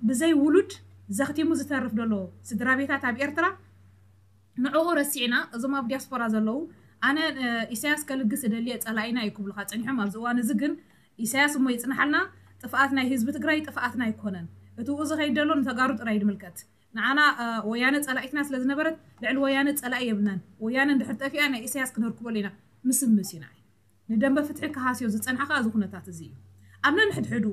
ብዘይ ውሉድ ዘኽቲሙ ዝተርፍ ዘሎ ስድራ ቤታት ኣብ ኤርትራ ንዕኡ ረሲዕና እዞም ኣብ ዲያስፖራ ዘለዉ ኣነ ኢሳያስ ከልግስ እደልየ ጸላኢና እዩ ክብሉኻ ጸኒሖም። ኣብዚ እዋን እዚ ግን ኢሳያስ እሞ ይጽንሓልና፣ ጥፍኣት ናይ ህዝቢ ትግራይ ጥፍኣትና ኣይኮነን። እቲ ኡ ዝኸይድ ዘሎ ንተጋሩ ጥራይ ድምልከት። ንዓና ወያነ ጸላኢትና ስለ ዝነበረት ልዕሊ ወያነ ጸላኢ የብልናን። ወያነ እንድሕር ጠፊኣ ናይ ኢሳያስ ክነርክበሉ ኢና ምስምስ ኢና። ንደንበ ፍትሒ ክሃስዮ ዝጸንሐ ከኣ እዚ ኩነታት እዚ እዩ። ኣብ ነንሕድሕዱ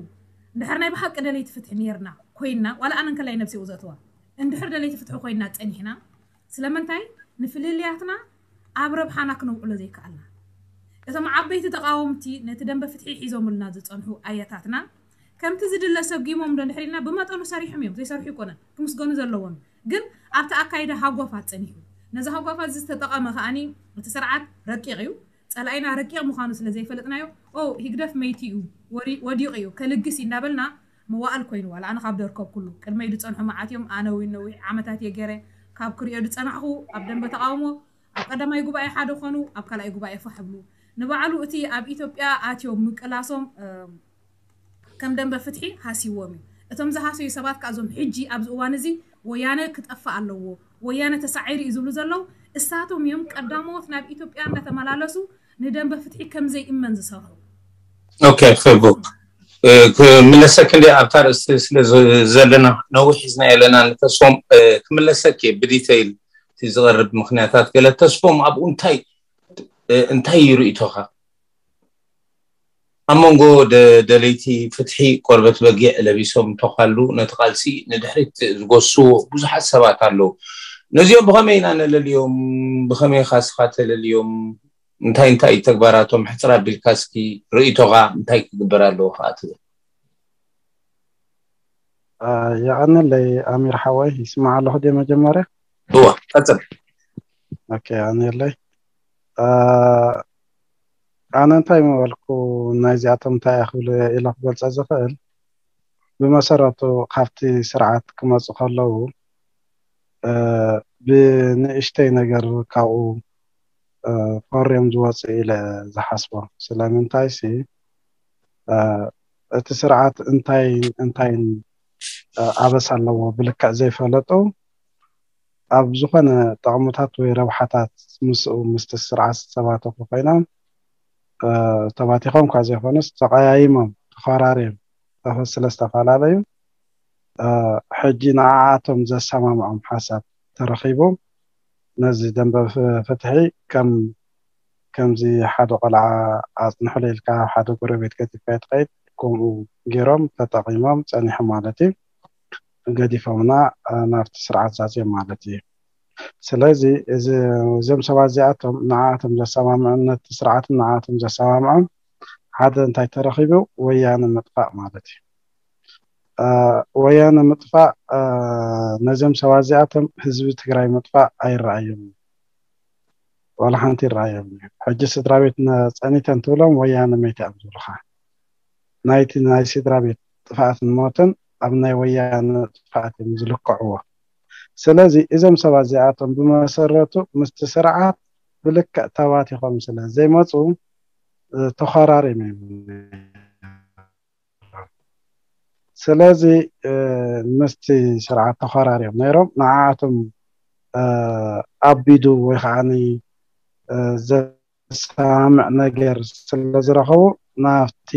እንድሕር ናይ ብሓቂ ደለይቲ ፍትሒ ኔርና ኮይንና ዋላ ኣነ እንከላይ ነብሰይ እየ ዘእትዋ እንድሕር ደለይቲ ፍትሒ ኮይንና ጸኒሕና ስለምንታይ ንፍልልያትና ኣብ ረብሓና ክነውዕሎ ዘይከኣልና? እቶም ዓበይቲ ተቓወምቲ ነቲ ደንበ ፍትሒ ሒዞምልና ዝጸንሑ ኣያታትና ከምቲ ዝድለ ሰጊሞም ዶ እንድሕር ኢልና ብመጠኑ ሰሪሖም እዮም ዘይሰርሑ ኣይኮነን ክምስገኑ ዘለዎም ግን ኣብቲ ኣካይዳ ሃጓፋት ጸኒሑ ነዚ ሃጓፋት እዚ ዝተጠቐመ ከኣኒ እቲ ስርዓት ረቂቕ እዩ ጸላኢና ረቂቕ ምዃኑ ስለ ዘይፈለጥናዮ ኦ ሂግደፍ መይቲ እዩ ወዲቑ እዩ ከልግስ እዩ እንዳበልና መዋእል ኮይኑ ዋላ ኣነ ካብ ደርከብ ኩሉ ቅድመይ ዝጸንሑ መዓት እዮም ኣነ እውን ነዊሕ ዓመታት እየ ገይረ ካብ ክሪኦ ዝጸናሕኹ ኣብ ደንበ ተቓውሞ ኣብ ቀዳማይ ጉባኤ ሓደ ኾኑ ኣብ ካልኣይ ጉባኤ ፋሕ ብሉ ንባዕሉ እቲ ኣብ ኢትዮጵያ ኣትዮም ምቅላሶም ከም ደንበ ፍትሒ ሃስይዎም እዩ። እቶም ዝሃሰዩ ሰባት ከኣ እዞም ሕጂ ኣብዚ እዋን እዚ ወያነ ክጠፍእ ኣለዎ፣ ወያነ ተሳዒሩ እዩ ዝብሉ ዘለዉ እሳቶም እዮም ቀዳሞት ናብ ኢትዮጵያ እንዳተመላለሱ ንደንበ ፍትሒ ከም ዘይእመን ዝሰርሑ። ኦኬ ፌቡ ክምለሰክ እንደ ኣብታ ርእስቲ ስለ ዘለና ነዊሕ ሒዝና የለና ንተስፎም ክምለሰክ እየ ብዲተይል እቲ ዝቐርብ ምክንያታት ገለ ተስፎም ኣብኡ እንታይ እንታይ ይርእቶኻ ኣብ መንጎ ደለይቲ ፍትሒ ቆርበት በጊዕ ለቢሶም እንተኳሉ ነቲ ቃልሲ ንድሕሪት ዝጎስዎ ብዙሓት ሰባት ኣለዉ። ነዚኦም ብኸመይ ኢና ነለልዮም? ብኸመይ ኢኻ ስኻ ተለልዮም? እንታይ እንታይ እዩ ተግባራቶም? ሕፅር ኣቢልካ እስኪ ርእይቶኻ እንታይ ክግበር ኣለዎ ከዓ ትብል? የቐንለይ ኣሚር ሓወይ ይስማዕ ኣለኹ ድየ መጀመርያ? እወ ቀፅል። ኦኬ የቐንየለይ። ኣነ እንታይ ምበልኩ፣ ናይዚኣቶም እንታይ እየ ክብል ኢለ ክገልጸ ዝኽእል፣ ብመሰረቱ ካብቲ ስርዓት ክመፁ ከለዉ፣ እ፣ ብንእሽተይ ነገር ካብኡ፣ እ፣ ፈርዮም ዝወፁ ኢለ ዝሓስቦ። ስለምንታይሲ፣ እ፣ እቲ ስርዓት እንታይን እንታይን፣ እ፣ ኣበሳ ኣለዎ ብልክዕ ዘይፈለጡ፣ ኣብ ዝኾነ ጥቕምታት ወይ ረብሓታት ምስኡ፣ ምስቲ ስርዓት ዝተባተኹ ኮይኖም፣ እ፣ ተባቲኾም እኳ ዘይኮኑስ፣ ተቐያይሞም፣ ተኾራርዮም፣ ተፈ-፣ ስለ ዝተፈላለዩ፣ እ፣ ሕጂ ንዓኣቶም ዘሰማምዖም ሓሳብ ተረኺቡ፣ ነዚ ደንበ ፍ-፣ ፍትሒ ከም፣ ከምዚ ሓደ ቆልዓ ኣጽንሕሉ ኢልካ ሓደ ጎረቤት ገዲፍካ ትኸይድ፣ ከምኡ ገይሮም ተጠቒሞም ጸኒሖም ማለት እዩ። ገዲፎምና፣ እ፣ ናብቲ ስርዓት ዛዝዮም ማለት እዩ። ስለዚ እዚ፣ እዞም ሰባት እዚኣቶም ንዓኣቶም ዘሰማምዕን ነቲ ስርዓትን ንዓኣቶም ዘሰማምዖም ሓደ እንታይ ተረኺቡ? ወያነ ምጥፋእ ማለት እዩ። እ፣ ወያነ ምጥፋእ፣ እ፣ ነዞም ሰባት እዚኣቶም ህዝቢ ትግራይ ምጥፋእ ኣይረኣዮም። ዋላ ሓንቲ ይረኣዮም እዩ። ሕጂ ስድራ ቤት ነ-፣ ጸኒተን ትብሎም ወያነ መይተ እዮም ዝብሉኻ። ናይቲ ናይ ስድራ ቤት ጥፍኣትን ሞትን ኣብ ናይ ወያነ ጥፍኣት እዮም ዝልክዕዎ። ስለዚ እዞም ሰባት እዚኣቶም ብመሰረቱ ምስቲ ስርዓት ብልክዕ ተባቲኾም ስለ ዘይመፁ፣ እ፣ ተኾራሪም እዮም። ስለዚ፣ እ፣ ምስቲ ስርዓት ተኾራሪም ነይሮም ንዓኣቶም፣ እ፣ ኣቢዱ ወይ ከዓኒ፣ እ፣ ዘሰማምዕ ነገር ስለ ዝረኸቡ ናብቲ፣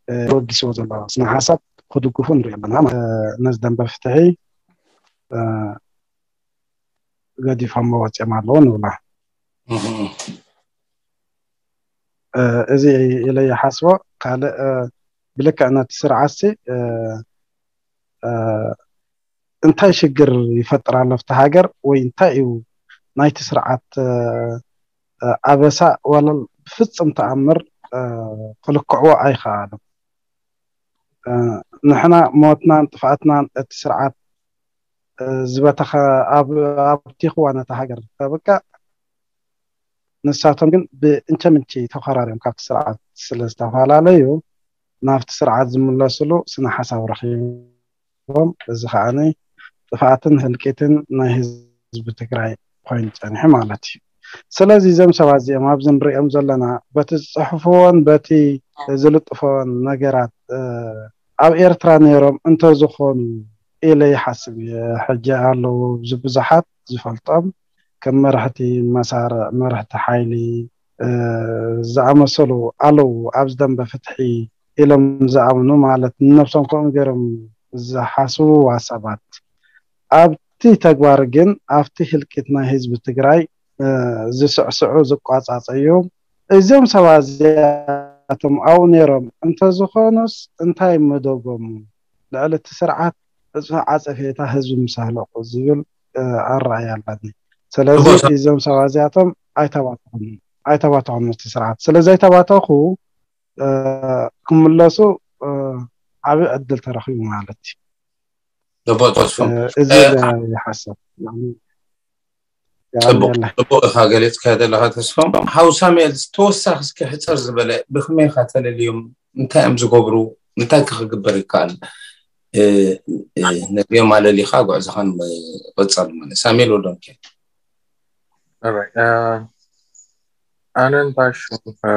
እ፣ ተበጊስዎ ዘሎ ስነ ሓሳብ ክድግፉ ንርኢ ኣለና። እ፣ ነዚ ደንበ ፍትሒ፣ እ፣ ገዲፎሞ ወፂኦም ኣለዉ ንብላ። እህ። እ፣ እዚ ኢለ ይሓስቦ። ካልእ፣ እ፣ ብልክዕ ነቲ ስርዓትሲ፣ እ፣ እ፣ እንታይ ሽግር ይፈጥር ኣሎ ኣብቲ ሃገር ወይ እንታይ እዩ ናይቲ ስርዓት፣ እ፣ እ፣ ኣበሳ ዋላ ብፍጹም ተኣምር፣ እ፣ ክልክዕዎ ኣይኸኣሉን። እ፣ ንሕና ሞትናን ጥፍኣትናን እቲ ስርዓት፣ እ፣ ዝበተኸ ኣብ-፣ ኣብቲኽዋ ነታ ሃገር ተብቅዕ፣ ንሳቶም ግን ብእንቸምንቸ ተኾራርዮም ካብቲ ስርዓት ስለ ዝተፈላለዩ ናብቲ ስርዓት ዝምለስሉ ስነ ሓሳብ ረኺቦም። እዚ ከዓኒ ጥፍኣትን ህልቂትን ናይ ህዝቢ ትግራይ ኮይኑ ጸኒሑ ማለት እዩ። ስለዚ እዞም ሰባት እዚኦም ኣብዚ ንሪኦም ዘለና በቲ ዝጽሕፍዎን በቲ ዝልጥፍዎን ነገራት፣ እ፣ ኣብ ኤርትራ ነይሮም እንተዝኾኑ ኢለ ይሓስብ እየ። ሕጂ ኣለዉ ኣብዚ ብዙሓት ዝፈልጦም ከም መራሕቲ መሳርዕ፣ መራሕቲ ሓይሊ፣ እ፣ ዝኣመሰሉ ኣለዉ ኣብዚ ደንበ ፍትሒ ኢሎም ዝኣምኑ ማለት ንነብሶም ከምኡ ገይሮም ዝሓስብዋ ሰባት። ኣብቲ ተግባር ግን ኣብቲ ህልቂት ናይ ህዝቢ ትግራይ፣ እ፣ ዝስዕስዑ ዝቋጻጸዩ እዞም ሰባት እዚኣቶም ኣብኡ ነይሮም እንተዝኾኑስ እንታይ ምደገሙ? ልዕሊ እቲ ስርዓት እጽ-፣ ዓጸፌታ ህዝቢ ምስ ኣህለቑ ዝብል፣ እ፣ ኣረኣእያ ኣለኒ። ስለዚ ጽቡቅ ሰ- እዞም ሰባት እዚኣቶም ኣይተባትዑን፣ ኣይተባትዑን ምስቲ ስርዓት። ስለ ዘይተባተኹ፣ እ፣ ክምለሱ፣ እ፣ ዓቢ ዕድል ተረኺቡ ማለት እዩ። ጽቡቅ ተስፎም። እ፣ እዚ እ፣ ኢለ ይሓስብ። ጽቡቅ፣ የቐንየለይ። ጽቡቅ ኢኻ ገሊጽካ ዘለኻ ተስፎም። ሓው ሳሙኤል፣ ተወሳኺ እስኪ ሕጽር ዝበለ ብኸመይ ኢኻ ተለልዮም? እንታይ እዮም ዝገብሩ? እንታይ ከ ክግበር ይከኣል? እ፣ እ፣ ነዚኦም ኣለሊኻ ጉዕዞኻ ንምቕጻል ማለት። ሳሙኤል ወልደሚካኤል። Alright፣ እ፣ ኣነ እንታይ ሽም፣ እ፣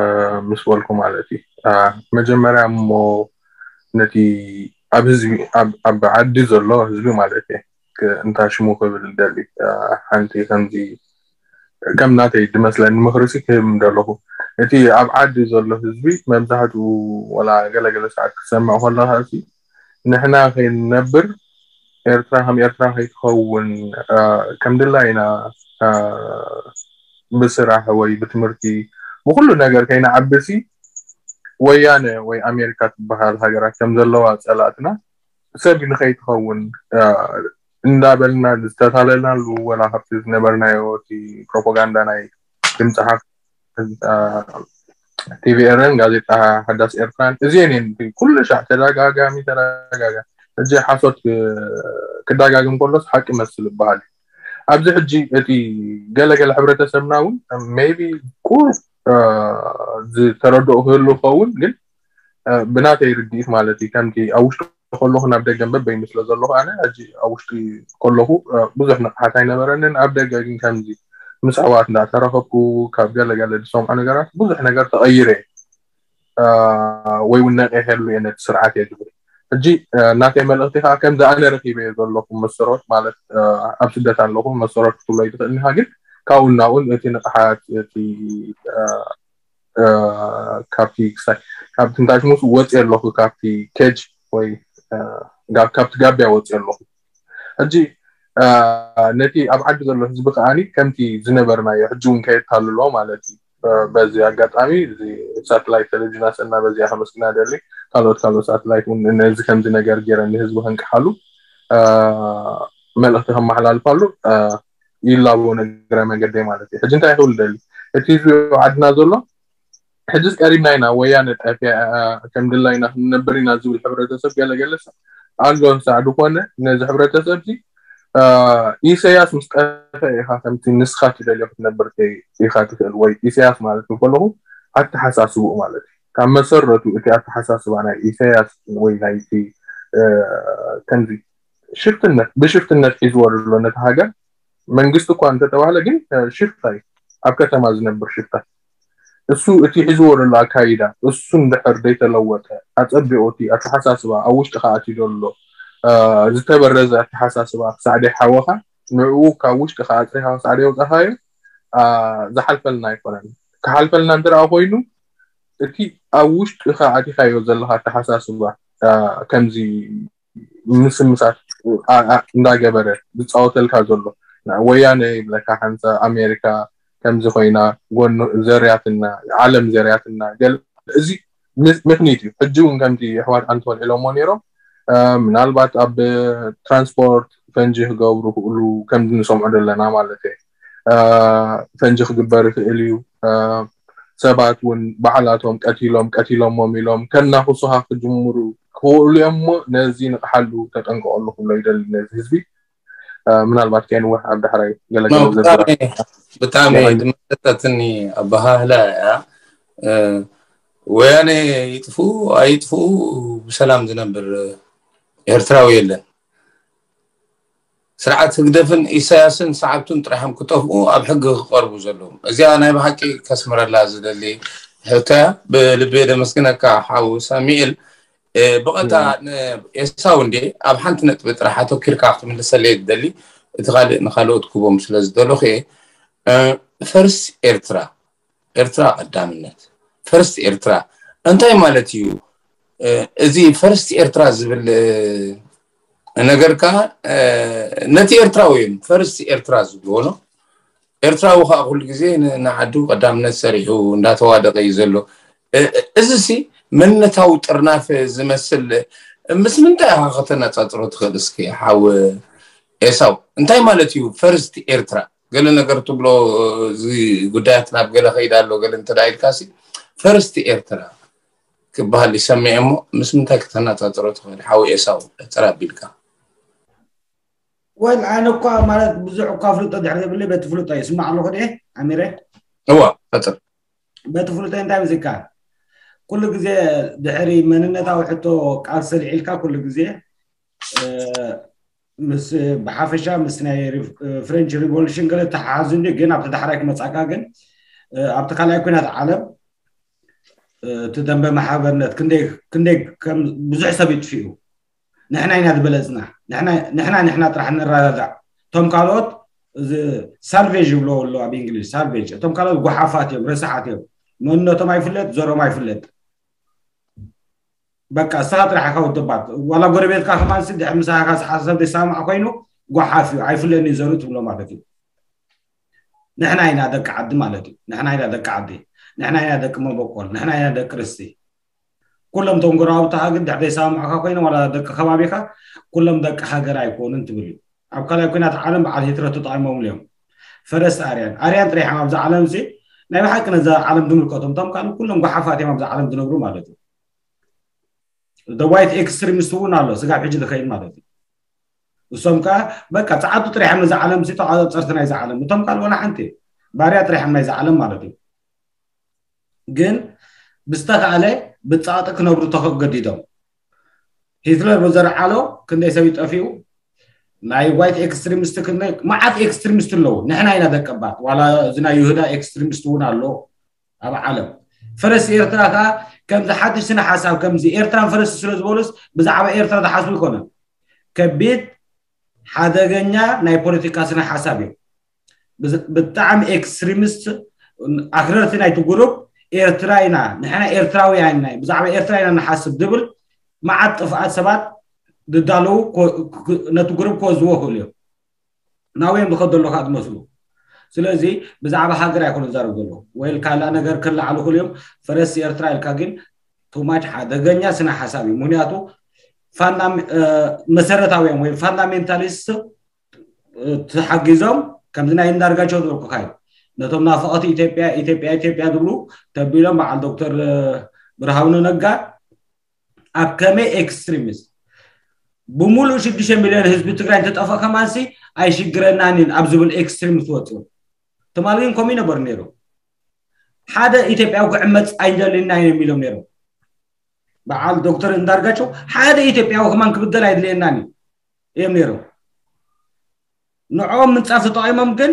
ምስ በልኩ ማለት እዩ። እ፣ መጀመርያ እሞ ነቲ ኣብ ህዝቢ፣ ኣብ፣ ኣብ ዓዲ ዘሎ ህዝቢ ማለት እየ። ክ-፣ እንታይ ሽሙ ክብል ደሊ፣ እ፣ ሓንቲ ከምዚ ከም ናተይ ዝመስለኒ ምኽሪ ሲ ክህብ ምደለኹ። እቲ ኣብ ዓዲ ዘሎ ህዝቢ መብዛሕትኡ ወላ ገለገለ ሰዓት ክትሰምዕ ከለኻ ሲ ንሕና ከይንነብር ኤርትራ ከም ኤርትራ ከይትኸውን፣ እ፣ ከም ድላይና፣ እ፣ ብስራሕ ወይ ብትምህርቲ ብኹሉ ነገር ከይንዓቢ ሲ ወያነ ወይ ኣሜሪካ ትበሃል ሃገራት ከም ዘለዋ ጸላእትና ሰብ ንኸይትኸውን፣ እ፣ እንዳበልና ዝተታለልናሉ ወላ ካብቲ ዝነበርናዮ እቲ ፕሮፓጋንዳ ናይ ድምፂ ሓፍ፣ እ፣ ቲቪ ኤረን ጋዜጣ ሓዳስ ኤርትራን እዚአን እየን ኩሉ ሻዕ ተደጋጋሚ ተደጋጋሚ። ሕጂ ሓሶት ክ-፣ ክደጋግም ከሎስ ሓቂ መስል ይበሃል እዩ። ኣብዚ ሕጂ እቲ ገለገለ ሕብረተሰብና እውን ሜይቢ ቁሩብ ዝተረድኦ ክህሉ ይኸውን፣ ግን ብናተይ ርድኢት ማለት እዩ። ከምቲ ኣብ ውሽጢ ከለኹ ናብ ደገ በበይኑ ስለ ዘለኹ፣ ኣነ ሕጂ ኣብ ውሽጢ ከለኹ ብዙሕ ንቕሓት ኣይነበረንን። ኣብ ደገ ግን ከምዚ ምስ ኣሕዋት እንዳተራኸብኩ ካብ ገለገለ ዝሰምዖ ነገራት ብዙሕ ነገር ተቐይረ ወይ እውን ነቒሐሉ እየ ነቲ ስርዓት እየ ዝብል። ሕጂ ናተይ መልእኽቲ ከዓ ከምዚ ኣነ ረኺበ ዘለኹ መሰረት ማለት ኣብ ስደት ኣለኹ መሰረት ክትብሎ ይትኽእል ኢኻ፣ ግን ካብኡ ናብኡን እቲ ንቕሓት እቲ ካብቲ ክሳይ ካብቲ እንታይ ሽሙስ ወፅየ ኣለኹ ካብቲ ኬጅ ወይ ካብቲ ጋቢያ ወፅየ ኣለኹ። ሕጂ ነቲ ኣብ ዓዲ ዘሎ ህዝቢ ከዓኒ ከምቲ ዝነበርናዮ ሕጂ እውን ከየታልሎ ማለት እዩ። በዚ ኣጋጣሚ እዚ ሳተላይት ቴሌቪዥን ኣሰና በዚኣ ከመስግና ደሊ፣ ካልኦት ካልኦት ሳተላይት እውን ነዚ ከምዚ ነገር ገይረን ንህዝቢ ከንቅሓሉ መልእኽቲ ከመሓላልፋሉ ይላቦ እግረ መንገደይ ማለት እዩ። ሕጂ እንታይ ክብል ደሊ፣ እቲ ህዝቢ ዓድና ዘሎ ሕጂስ ቀሪብና ኢና፣ ወያነ ጠፊኣ፣ ከም ድላይና ክንነብር ኢና ዝብል ሕብረተሰብ ገለገለ ኣሎ። ሳዕ ዝኾነ ነዚ ሕብረተሰብ እዚ ኢሳያስ ምስ ጠፈ ኢኻ ከምቲ ንስኻ ትደልዮ ክትነብር ኢኻ ትኽእል። ወይ ኢሳያስ ማለት ከለኹ ኣተሓሳስብኡ ማለት እዩ። ካብ መሰረቱ እቲ ኣተሓሳስባ ናይ ኢሳያስ ወይ ናይቲ ከምዚ ሽፍትነት ብሽፍትነት ሒዝዎ ዘሎ ነቲ ሃገር መንግስቲ እኳ እንተተባህለ ግን ሽፍታ እዩ። ኣብ ከተማ ዝነብር ሽፍታ እሱ እቲ ሒዝዎ ዘሎ ኣካይዳ እሱ እንድሕር ዘይተለወጠ ኣጸቢቑ እቲ ኣተሓሳስባ ኣብ ውሽጢ ከኣትዩ ዘሎ ዝተበረዘ ኣተሓሳስባ ክሳዕ ደይሓወኻ ንዕኡ ካብ ውሽጢ ከኣጽሪኻ ክሳዕ ደይወጻኻዮ ዝሓልፈልና ኣይኮነን። ክሓልፈልና እንተ ደኣ ኮይኑ እቲ ኣብ ውሽጢ ከኣቲኻዮ ዘለኻ ኣተሓሳስባ ከምዚ ምስምሳት እንዳገበረ ዝፃወተልካ ዘሎ ወያነ ይብለካ ሓንሳ ኣሜሪካ ከምዚ ኮይና ጎኑ ዘርያትና ዓለም ዘርያትና ገለ እዚ ምክኒት እዩ። ሕጂ እውን ከምቲ ኣሕዋት ኣንቶን ኢሎሞ ነይሮም ምናልባት ኣብ ትራንስፖርት ፈንጂ ክገብሩ ክእሉ ከምዚ ንሰምዖ ዘለና ማለት እዩ። ፈንጂ ክግበር ይኽእል እዩ። ሰባት እውን ባዕላቶም ቀቲሎም ቀቲሎሞም ኢሎም ከናኽሱኻ ክጅምሩ ክኽእሉ እዮም እሞ ነዚ ንቕሓሉ ተጠንቀቐሉ ክብሎ ይደሊ ነዚ ህዝቢ። ምናልባት ከይንውሕ ኣብ ዳሕራይ ገለገለ ብጣዕሚ ድመሰጠትኒ ኣበሃህላ እያ። ወያነ ይጥፍኡ ኣይጥፍኡ ብሰላም ዝነብር ኤርትራዊ የለን። ስርዓት ህግደፍን ኢሳያስን ሰዓብቱን ጥራሕም ክጠፍኡ ኣብ ሕጊ ክቐርቡ ዘለዎም። እዚኣ ናይ ብሓቂ ከስምረላ ዝደሊ ሕቶ እያ። ብልቢ ደመስግነካ ሓው ሳሚኤል። ብቐጥታ ንኤሳው እንዴ ኣብ ሓንቲ ነጥቢ ጥራሕ ኣተኪርካ ክትምልሰለይ ትደሊ፣ እቲ ካልእ ንካልኦት ክቦም ስለ ዝደለኹ እየ። ፈርስ ኤርትራ ኤርትራ ቀዳምነት ፈርስት ኤርትራ እንታይ ማለት እዩ? እዚ ፈርስት ኤርትራ ዝብል ነገር ከዓ ነቲ ኤርትራዊ እዮም ፈርስት ኤርትራ ዝብልዎ ነው። ኤርትራዊ ከዓ ኩሉ ግዜ ንዓዱ ቀዳምነት ሰሪሑ እንዳተዋደቀ እዩ ዘሎ። እዚ ሲ መንነታዊ ጥርናፍ ዝመስል ምስ ምንታይ ኢኻ ከተነፃፅሮ ትኽእል? እስኪ ሓው ኤሳው እንታይ ማለት እዩ ፈርስት ኤርትራ? ገለ ነገር ትብሎ እዚ ጉዳያት ናብ ገለ ከይዳ ኣሎ ገለ እንተ ኢልካ ሲ ፈርስት ኤርትራ ክበሃል ይሰምዕ እሞ ምስ ምንታይ ክተነፃፅሮ ትኽእል ሓው ኤሳው? ሕፅር ኣቢልካ። ወል ኣነ እኳ ማለት ብዙሕ እኳ ፍልጦ ድሕሪ ዘብለይ በቲ ፍልጦ ይስማዕ ኣለኹ ድየ ኣሚረ? እዋ ሕፅር በቲ ፍልጦ እንታይ ምስካ ኩሉ ግዜ ድሕሪ መንነታዊ ሕቶ ቃል ሰሊዒልካ ኩሉ ግዜ ምስ ብሓፈሻ ምስ ናይ ፍሬንች ሪቮሉሽን ገለ ተሓሓዙ እንዲ ግን ኣብቲ ዳሕራይ ክመፃካ ግን ኣብቲ ካልኣይ ኩናት ዓለም እቲ ደንበ ማሕበርነት ክንደይ ብዙሕ ሰብ ይጥፍኡ ንሕና ኢና ዝበለፅና ንሕና ንሕና ጥራሕ ንረጋጋዕ እቶም ካልኦት እዚ ሳልቬጅ ይብሎ ኣሎ ኣብ እንግሊዝ ሳልቬጅ እቶም ካልኦት ጓሓፋት እዮም ረሳሓት እዮም መንነቶም ኣይፍለጥ ዘሮም ኣይፍለጥ በቃ እስኻ ጥራሕ ኢኻ ውድባት ዋላ ጎረቤትካ ከማን ሲ ድሕር ምሳኻ ዝሓሳብ ዘይሰማማዕ ኮይኑ ጓሓፍ እዩ ኣይፍለኒ ዘሩ ትብሎ ማለት እዩ ንሕና ኢና ደቂ ዓዲ ማለት እዩ ንሕና ኢና ደቂ ዓዲ ንሕና ኢና ደቂ መበቆል ንሕና ኢና ደቂ ርስቲ ኩሎም ቶም ጎረባብትኻ ግን ድሕር ዘይሰማማዕካ ኮይኖም ዋላ ደቂ ከባቢኻ ኩሎም ደቂ ሃገር ኣይኮኑን ትብል እዩ ኣብ ካልኣይ ኩናት ዓለም በዓል ሂትለር ተጠቒሞምሉ እዮም ፈረስት ኣርያን ኣርያን ጥራሕ እዮም ኣብዚ ዓለም ሲ ናይ ብሓቂ ነዛ ዓለም ዝምልከቶም እቶም ካልእ ኩሎም ጓሓፋት እዮም ኣብዚ ዓለም ዝነብሩ ማለት እዩ the white extremist እውን ኣሎ ስጋብ ሕጂ ዝኸይድ ማለት እዩ እሶም ከዓ በቃ ፀዓቱ ጥራሕ እዮም ነዛ ዓለም ሲ ተቋፀርቲ ናይዛ ዓለም እቶም ካልእ ዋላ ሓንቲ ባርያ ጥራሕ እዮም ናይዛ ዓለም ማለት እዩ ግን ብዝተኻእለ ብጻቕጢ ክነብሩ ተገዲዶም። ሂትለር ብዘርዓሎ ክንደይ ሰብ ይጠፊኡ፣ ናይ ዋይት ኤክስትሪሚስት ክንደይ መዓት ኤክስትሪሚስት ኣለዉ። ንሕና ኢና ደቀባት። ዋላ እዚ ናይ ይሁዳ ኤክስትሪሚስት እውን ኣሎ ኣብ ዓለም። ፈረስ ኤርትራ ከዓ ከምዚ ሓድሽ ስነ ሓሳብ ከምዚ ኤርትራን ፈረስ ስለ ዝበሉስ ብዛዕባ ኤርትራ ዝሓስቡ ኣይኮነን። ከቢድ ሓደገኛ ናይ ፖለቲካ ስነ ሓሳብ እዩ። ብጣዕሚ ኤክስትሪሚስት ኣክረርቲ ናይቲ ጉሩብ ኤርትራ ኢና ንሕና ኤርትራውያን ኢና ብዛዕባ ኤርትራ ኢና ንሓስብ ዝብል መዓት ጥፍኣት ሰባት ዝዳለዉ ነቲ ጉሩብ ክወዝዎ ክእሉ እዮም። ናበይ እዮም ዝኸዱ ኣለዉ ከዓ ዝመስሉ። ስለዚ ብዛዕባ ሃገር ኣይኮነ ዝዛረቡ ዘለዉ ወይ ካልኣ ነገር ክለዓሉ ክእሉ እዮም። ፈረስ ኤርትራ ኢልካ ግን ቱማች ሓደገኛ ስነ ሓሳብ እዩ። ምክንያቱ መሰረታውያን ወይ ፋንዳሜንታሊስት ተሓጊዞም ከምዚ ናይ እንዳርጋቸው ዝበልኩካ እዩ። ነቶም ናፍቐቲ ኢትዮጵያ ኢትዮጵያ ኢትዮጵያ ዝብሉ ተቢሎም በዓል ዶክተር ብርሃኑ ነጋ ኣብ ከመይ ኤክስትሪሚስት ብሙሉእ ሽዱሽተ ሚልዮን ህዝቢ ትግራይ እንተጠፍኦ ከማንሲ ኣይሽግረናን እዩ ኣብ ዝብል ኤክስትሪሚስት ወፅኡ። ትማሊ ግን ከምኡ ይነበሩ ነይሩ። ሓደ ኢትዮጵያዊ ክዕመፅ ኣይንደልናን እዮም ኢሎም ነይሮም። በዓል ዶክተር እንዳርጋቸው ሓደ ኢትዮጵያዊ ከማን ክብደል ኣይድልየናን እዩ እዮም ነይሮም። ንዕኦም ምንፃፍ ተጠቒሞም ግን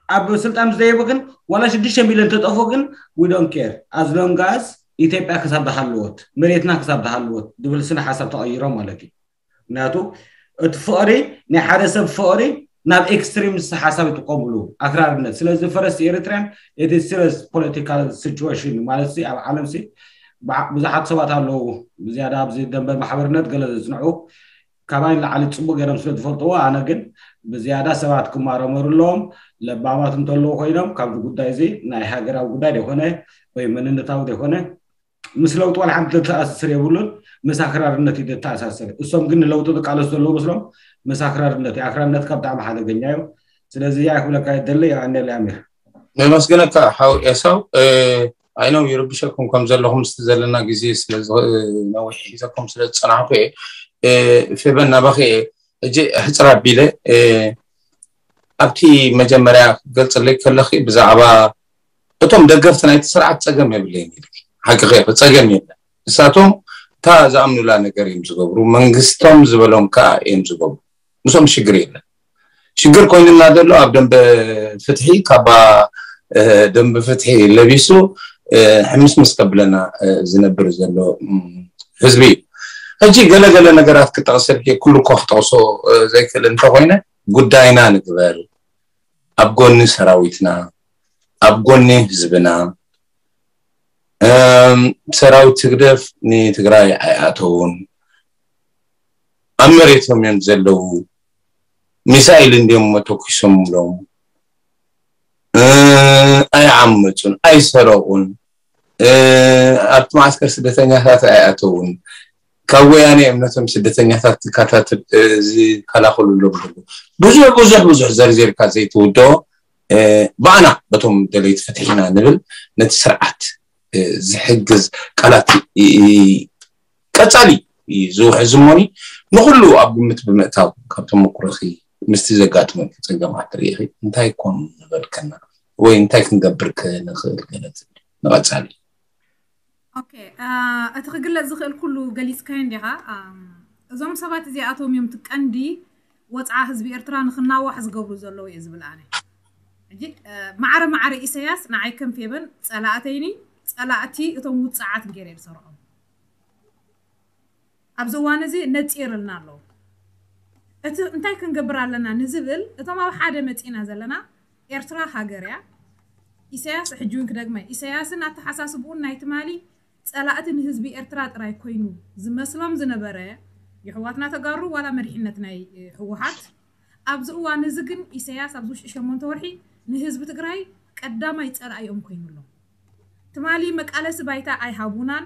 ኣብ ስልጣን ምስ ደየቡ ግን ዋላ ሽዱሽተ ሚልዮን ተጠፍኡ ግን we don't care as long as ኢትዮጵያ ክሳብ ዝሃለወት መሬትና ክሳብ ዝሃለወት ዝብል ስነ ሓሳብ ተቐይሮም ማለት እዩ። ምክንያቱ እቲ ፍቕሪ ናይ ሓደ ሰብ ፍቕሪ ናብ ኤክስትሪምስ ሓሳብ ይጥቀምሉ ኣክራርነት። ስለዚ ፈረስ ኤሪትሪያን እቲ ሲሪየስ ፖለቲካል ሲቹዌሽን ማለት ሲ ኣብ ዓለም ሲ ብዙሓት ሰባት ኣለዉ ብዝያዳ ኣብዚ ደንበ ማሕበርነት ገለ ዘጽንዑ ካባይ ንላዕሊ ጽቡቅ ገይሮም ስለ ዝፈልጥዎ ኣነ ግን ብዝያዳ ሰባት ክማረመሩ ኣለዎም። ለባማት እንተለዉ ኮይኖም ካብዚ ጉዳይ እዚ ናይ ሃገራዊ ጉዳይ ዘይኮነ ወይ መንነታዊ ዘይኮነ ምስ ለውጢ ዋላ ሓንቲ ዘተኣሳስር የብሉን። ምስ ኣክራርነት እዩ ዘተኣሳስር። እሶም ግን ንለውጢ ዝቃለሱ ዘለዉ መስሎም ምስ ኣክራርነት እዩ። ኣክራርነትካ ብጣዕሚ ሓደገኛ እዩ። ስለዚ እያ ክብለካ ይደሊ። የቐንየለይ ኣሚር። ነመስግነካ ሓው ኤሳው። ኣይ ነው ይርብሸኩም ከም ዘለኹም ምስቲ ዘለና ግዜ ስለ ነዊሕ ሒዘኩም ስለ ዝፀናሕኩ እየ። ፌበን ናባኺ እየ። ሕጂ ሕፅር ኣቢለ ኣብቲ መጀመርያ ክገልፅለይ ከለኺ ብዛዕባ እቶም ደገፍቲ ናይቲ ስርዓት ፀገም የብለይን ኢልኪ። ሓቂ ከ ፀገም የለን። ንሳቶም እታ ዝኣምኑላ ነገር እዮም ዝገብሩ፣ መንግስቶም ዝበሎም ከዓ እዮም ዝገብሩ። ምስኦም ሽግር የለን። ሽግር ኮይኑና ዘሎ ኣብ ደንበ ፍትሒ ካባ ደንበ ፍትሒ ለቢሱ ሕምስምስ ከብለና ዝነብር ዘሎ ህዝቢ እዩ። ሕጂ ገለገለ ነገራት ክጠቕሰልኪ ኩሉ እኮ ክጠቕሶ ዘይክእል እንተኮይነ ጉዳይና ንግበር። ኣብ ጎኒ ሰራዊትና፣ ኣብ ጎኒ ህዝብና። ሰራዊት ህግደፍ ንትግራይ ኣይኣተውን። ኣብ መሬቶም እዮም ዘለዉ። ሚሳይል እንዲዮም መተኩሶምሎም። ኣይዓመፁን፣ ኣይሰረቑን። ኣብቲ ማዓስከር ስደተኛታት ኣይኣተውን። ካብ ወያነ እዮም ነቶም ስደተኛታት ዝከላኸሉሎም ዘለዉ። ብዙሕ ብዙሕ ብዙሕ ዘርዚርካ ዘይትውድኦ ብኣና በቶም ደለይቲ ፍትሒ ኢና ንብል ነቲ ስርዓት ዝሕግዝ ቃላት ቀፃሊ ዝውሕዝ እሞኒ ንኩሉ ኣብ ግምት ብምእታው ካብ ተመኩሮኺ ምስቲ ዘጋጥመኪ ፀገማት ርኢኺ እንታይ ኮን ንበልከና ወይ እንታይ ክንገብር ከ ንኽእል ገለ ትብሊ ንቐፃሊ። ኦኬ እቲ ክግለፅ ዝኽእል ኩሉ ገሊፅካዮ እንዲኻ። እዞም ሰባት እዚኣቶም እዮም እቲ ቀንዲ ወፅዓ ህዝቢ ኤርትራ ንክናዋሕ ዝገብሩ ዘለዉ እየ ዝብል ኣነ። ሕጂ ማዕረ ማዕረ ኢሳያስ ንዓይ ከም ፌበን ፀላእተይኒ ፀላእቲ እቶም ውፅዓት ገይረ ዝሰርዖም ኣብዚ እዋን እዚ ነፂርልና ኣለዉ። እቲ እንታይ ክንገብር ኣለና ንዝብል እቶም ኣብ ሓደ መፂና ዘለና ኤርትራ ሃገር እያ። ኢሳያስ ሕጂ እውን ክደግመ ኢሳያስን ኣተሓሳስብኡን ናይ ትማሊ ፀላእቲ ንህዝቢ ኤርትራ ጥራይ ኮይኑ ዝመስሎም ዝነበረ የሕዋትና ተጋሩ ዋላ መሪሕነት ናይ ህወሓት ኣብዚ እዋን እዚ ግን ኢሳያስ ኣብዚ ውሽጢ ሸሞንተ ወርሒ ንህዝቢ ትግራይ ቀዳማይ ፀላኢኦም ኮይኑ ኣሎ። ትማሊ መቃለሲ ባይታ ኣይሃቡናን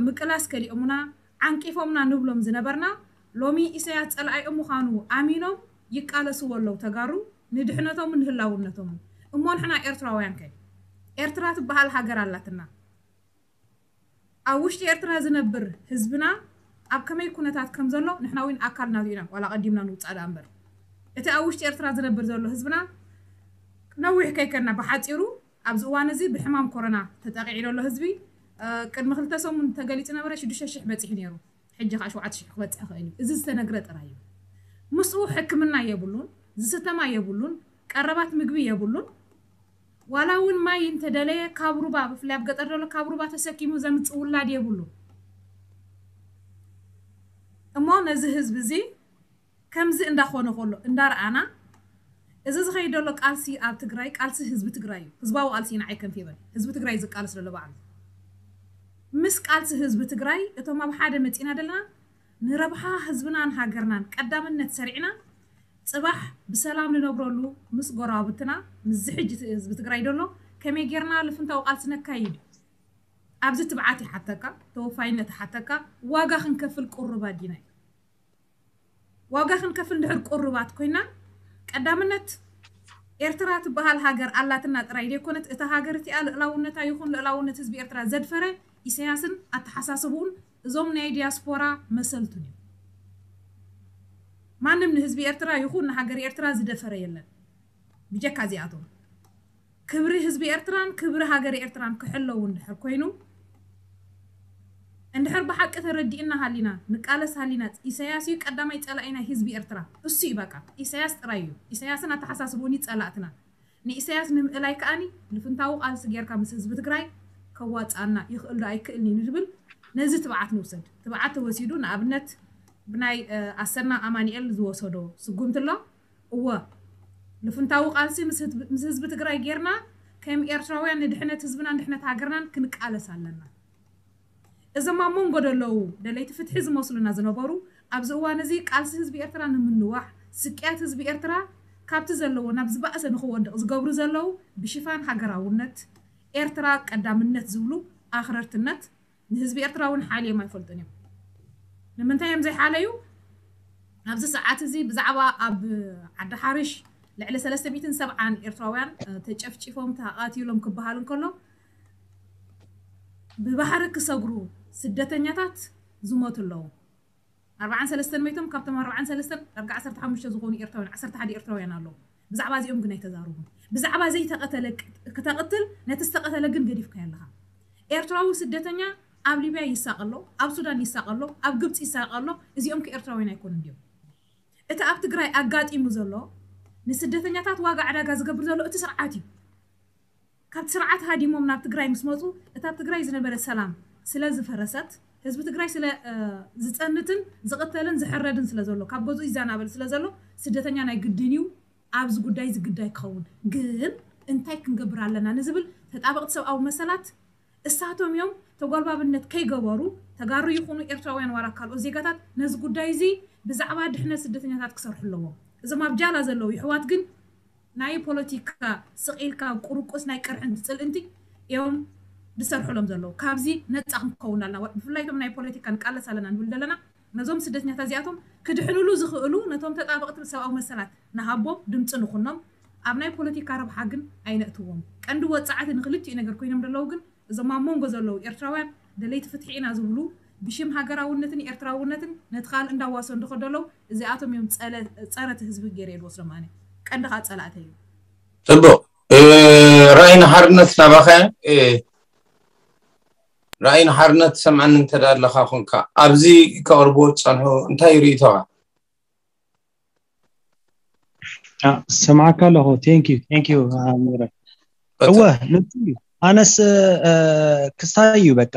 ምቅላስ ከሊኦምና ዓንቂፎምና ንብሎም ዝነበርና ሎሚ ኢሳያስ ፀላኢኦም ምዃኑ ኣሚኖም ይቃለስዎ ኣለዉ ተጋሩ ንድሕነቶምን ንህላውነቶምን። እሞ ንሕና ኤርትራውያን ከ ኤርትራ ትበሃል ሃገር ኣላትና። ኣብ ውሽጢ ኤርትራ ዝነብር ህዝብና ኣብ ከመይ ኩነታት ከም ዘሎ ንሕና እውን ኣካል ናቱ ኢና ዋላ ቀዲምና ንውፃእ ደኣ እምበር እቲ ኣብ ውሽጢ ኤርትራ ዝነብር ዘሎ ህዝብና ነዊሕ ከይከድና ብሓፂሩ ኣብዚ እዋን እዚ ብሕማም ኮሮና ተጠቂዑ ዘሎ ህዝቢ ቅድሚ ክልተ ሰሙን ተገሊፁ ነበረ ሽዱሽተ ሽሕ በፂሑ ነይሩ። ሕጂ ከዓ ሸውዓተ ሽሕ ክበፅሕ ይኽእል እዩ። እዚ ዝተነግረ ጥራይ እዩ። ምስኡ ሕክምና የብሉን፣ ዝስተማ የብሉን፣ ቀረባት ምግቢ የብሉን። ዋላ እውን ማይ እንተደለየ ካብ ሩባ፣ ብፍላይ ኣብ ገጠር ዘሎ ካብ ሩባ ተሰኪሙ ዘምፅእ ውላድ የብሉን። እሞ ነዚ ህዝቢ እዚ ከምዚ እንዳኾነ ከሎ እንዳረኣና፣ እዚ ዝኸይድ ዘሎ ቃልሲ ኣብ ትግራይ ቃልሲ ህዝቢ ትግራይ እዩ። ህዝባዊ ቃልሲ እዩ፣ ንዓይ ከንፊበን። ህዝቢ ትግራይ ዝቃለስ ዘሎ ባዕሉ። ምስ ቃልሲ ህዝቢ ትግራይ እቶም ኣብ ሓደ መፂና ዘለና ንረብሓ ህዝብናን ሃገርናን ቀዳምነት ሰሪዕና ፅባሕ ብሰላም ንነብረሉ ምስ ጎረባብትና ምስዚ ሕጂ ህዝቢ ትግራይ ዘሎ ከመይ ጌርና ልፍንታዊ ቃልሲ ነካይድ? ኣብዚ ትብዓት ይሓተካ፣ ተወፋይነት ይሓተካ። ዋጋ ክንከፍል ቁሩባት ዲና? ዋጋ ክንከፍል እንድሕር ቁሩባት ኮይና ቀዳምነት ኤርትራ ትበሃል ሃገር ኣላትና ጥራይ ዘይኮነት እታ ሃገር እቲኣ ልእላውነታ ይኹን ልእላውነት ህዝቢ ኤርትራ ዘድፈረ ኢሳያስን ኣተሓሳስብኡን እዞም ናይ ዲያስፖራ መሰልቱን እዮም። ማንም ንህዝቢ ኤርትራ ይኹን ንሃገር ኤርትራ ዝደፈረ የለን ብጀካ እዚኣቶም። ክብሪ ህዝቢ ኤርትራን ክብሪ ሃገር ኤርትራን ክሕለው እንድሕር ኮይኑ እንድሕር ብሓቂ ተረዲእና ሃሊና ንቃለስ ሃሊና ኢሳያስ እዩ ቀዳማይ ጸላኢ ናይ ህዝቢ ኤርትራ። እሱ እዩ በቃ። ኢሳያስ ጥራይ እዩ። ኢሳያስን ኣተሓሳስብኡን እዩ ጸላእትና። ንኢሳያስ ንምእላይ ከኣኒ ልፍንታዊ ቃልሲ ጌርካ ምስ ህዝቢ ትግራይ ከዋፅኣና ይኽእል ዶ ኣይክእልን እዩ ንብል። ነዚ ትብዓት ንውሰድ። ትብዓት ተወሲዱ ንኣብነት ብናይ ኣሰና ኣማኒኤል ዝወሰዶ ስጉምቲ ኣሎ። እወ ልፍንታዊ ቃልሲ ምስ ህዝቢ ትግራይ ጌርና ከም ኤርትራውያን ንድሕነት ህዝብናን ድሕነት ሃገርናን ክንቃለስ ኣለና። እዞም ኣብ መንጎ ዘለዉ ደለይቲ ፍትሒ ዝመስሉና ዝነበሩ ኣብዚ እዋን እዚ ቃልሲ ህዝቢ ኤርትራ ንምንዋሕ ስቅያት ህዝቢ ኤርትራ ካብቲ ዘለዎ ናብ ዝበኣሰ ንክወድቕ ዝገብሩ ዘለዉ ብሽፋን ሃገራውነት ኤርትራ ቀዳምነት ዝብሉ ኣኽረርትነት ንህዝቢ ኤርትራ እውን ሓልዮም ኣይፈልጡን እዮም። ንምንታይ እዮም ዘይሓለዩ? ኣብዚ ሰዓት እዚ ብዛዕባ ኣብ ዓዲ ሓርሽ ልዕሊ ሰለስተ ሚእትን ሰብዓን ኤርትራውያን ተጨፍጪፎም ተቓቲሎም ክበሃል እንከሎ ብባህሪ ክሰግሩ ስደተኛታት ዝሞቱ ኣለዉ። ኣርባዓን ሰለስተን መይቶም ካብቶም ኣርባዓን ሰለስተን ዳርጋ ዓሰርተ ሓሙሽተ ዝኾኑ ኤርትራውያን ዓሰርተ ሓደ ኤርትራውያን ኣለዉ። ብዛዕባ እዚኦም ግን ኣይተዛረቡን። ብዛዕባ ዘይተቐተለ ክተቕትል ነቲ ዝተቐተለ ግን ገዲፍካዮ ኣለኻ። ኤርትራዊ ስደተኛ ኣብ ሊብያ ይሳቐ ኣሎ፣ ኣብ ሱዳን ይሳቐ ኣሎ፣ ኣብ ግብፂ ይሳቐ ኣሎ። እዚኦም ከ ኤርትራውያን ኣይኮኑን ድዮም? እቲ ኣብ ትግራይ ኣጋጢሙ ዘሎ ንስደተኛታት ዋጋ ዕዳጋ ዝገብር ዘሎ እቲ ስርዓት እዩ። ካብቲ ስርዓት ሃዲሞም ናብ ትግራይ ምስ መፁ እታ ኣብ ትግራይ ዝነበረ ሰላም ስለ ዝፈረሰት ህዝቢ ትግራይ ስለ ዝፀንትን ዝቕተልን ዝሕረድን ስለ ዘሎ ካብ ገዝኡ ይዘናበል ስለ ዘሎ ስደተኛ ናይ ግድን እዩ ኣብዚ ጉዳይ እዚ ግዳይ ክኸውን። ግን እንታይ ክንገብር ኣለና ንዝብል ተጣበቕቲ ሰብኣዊ መሰላት እሳቶም እዮም ተጓልባብነት ከይገበሩ ተጋሩ ይኹኑ ኤርትራውያን ዋላ ካልኦት ዜጋታት ነዚ ጉዳይ እዚ ብዛዕባ ድሕነት ስደተኛታት ክሰርሑ ኣለዎም። እዞም ኣብ ጃላ ዘለዉ ይሕዋት ግን ናይ ፖለቲካ ስቕ ኢልካ ቁርቁስ ናይ ቅርሕንቲ ፅልእንቲ እዮም ዝሰርሑሎም ዘለዉ። ካብዚ ነፃ ክንከውን ኣለና። ብፍላይ እቶም ናይ ፖለቲካ ንቃለስ ኣለና ንብል ዘለና ነዞም ስደተኛታት እዚኣቶም ክድሕንሉ ዝኽእሉ ነቶም ተጣበቕቲ ሰብኣዊ መሰላት ንሃቦም፣ ድምፂ ንኹኖም፣ ኣብ ናይ ፖለቲካ ረብሓ ግን ኣይነእትዎም። ቀንዲ ወፃዕቲ ንክልቲኡ ነገር ኮይኖም ዘለዉ ግን እዞም ኣብ መንጎ ዘለዉ ኤርትራውያን ደለይቲ ፍትሒ ኢና ዝብሉ ብሽም ሃገራውነትን ኤርትራውነትን ነቲ ካልእ እንዳዋሰ እንድኸ ዘለዉ እዚኣቶም እዮም ፀረ እቲ ህዝቢ ገይረ ዝወስዶም ኣነ ቀንዲ ከዓ ፀላእተ እዩ። ፅቡቅ። ራእይ ንሓርነት ናባኸ። ራእይ ንሓርነት ሰምዓኒ እንተ ኣለኻ ኮንካ ኣብዚ ከቕርብዎ ዝፀንሑ እንታይ ርእይቶኻ? ሰምዓካ ኣለኹ። Thank you, thank you ኣሚረ። እወ ንሱ እዩ። ኣነስ ክስታይ እዩ በቃ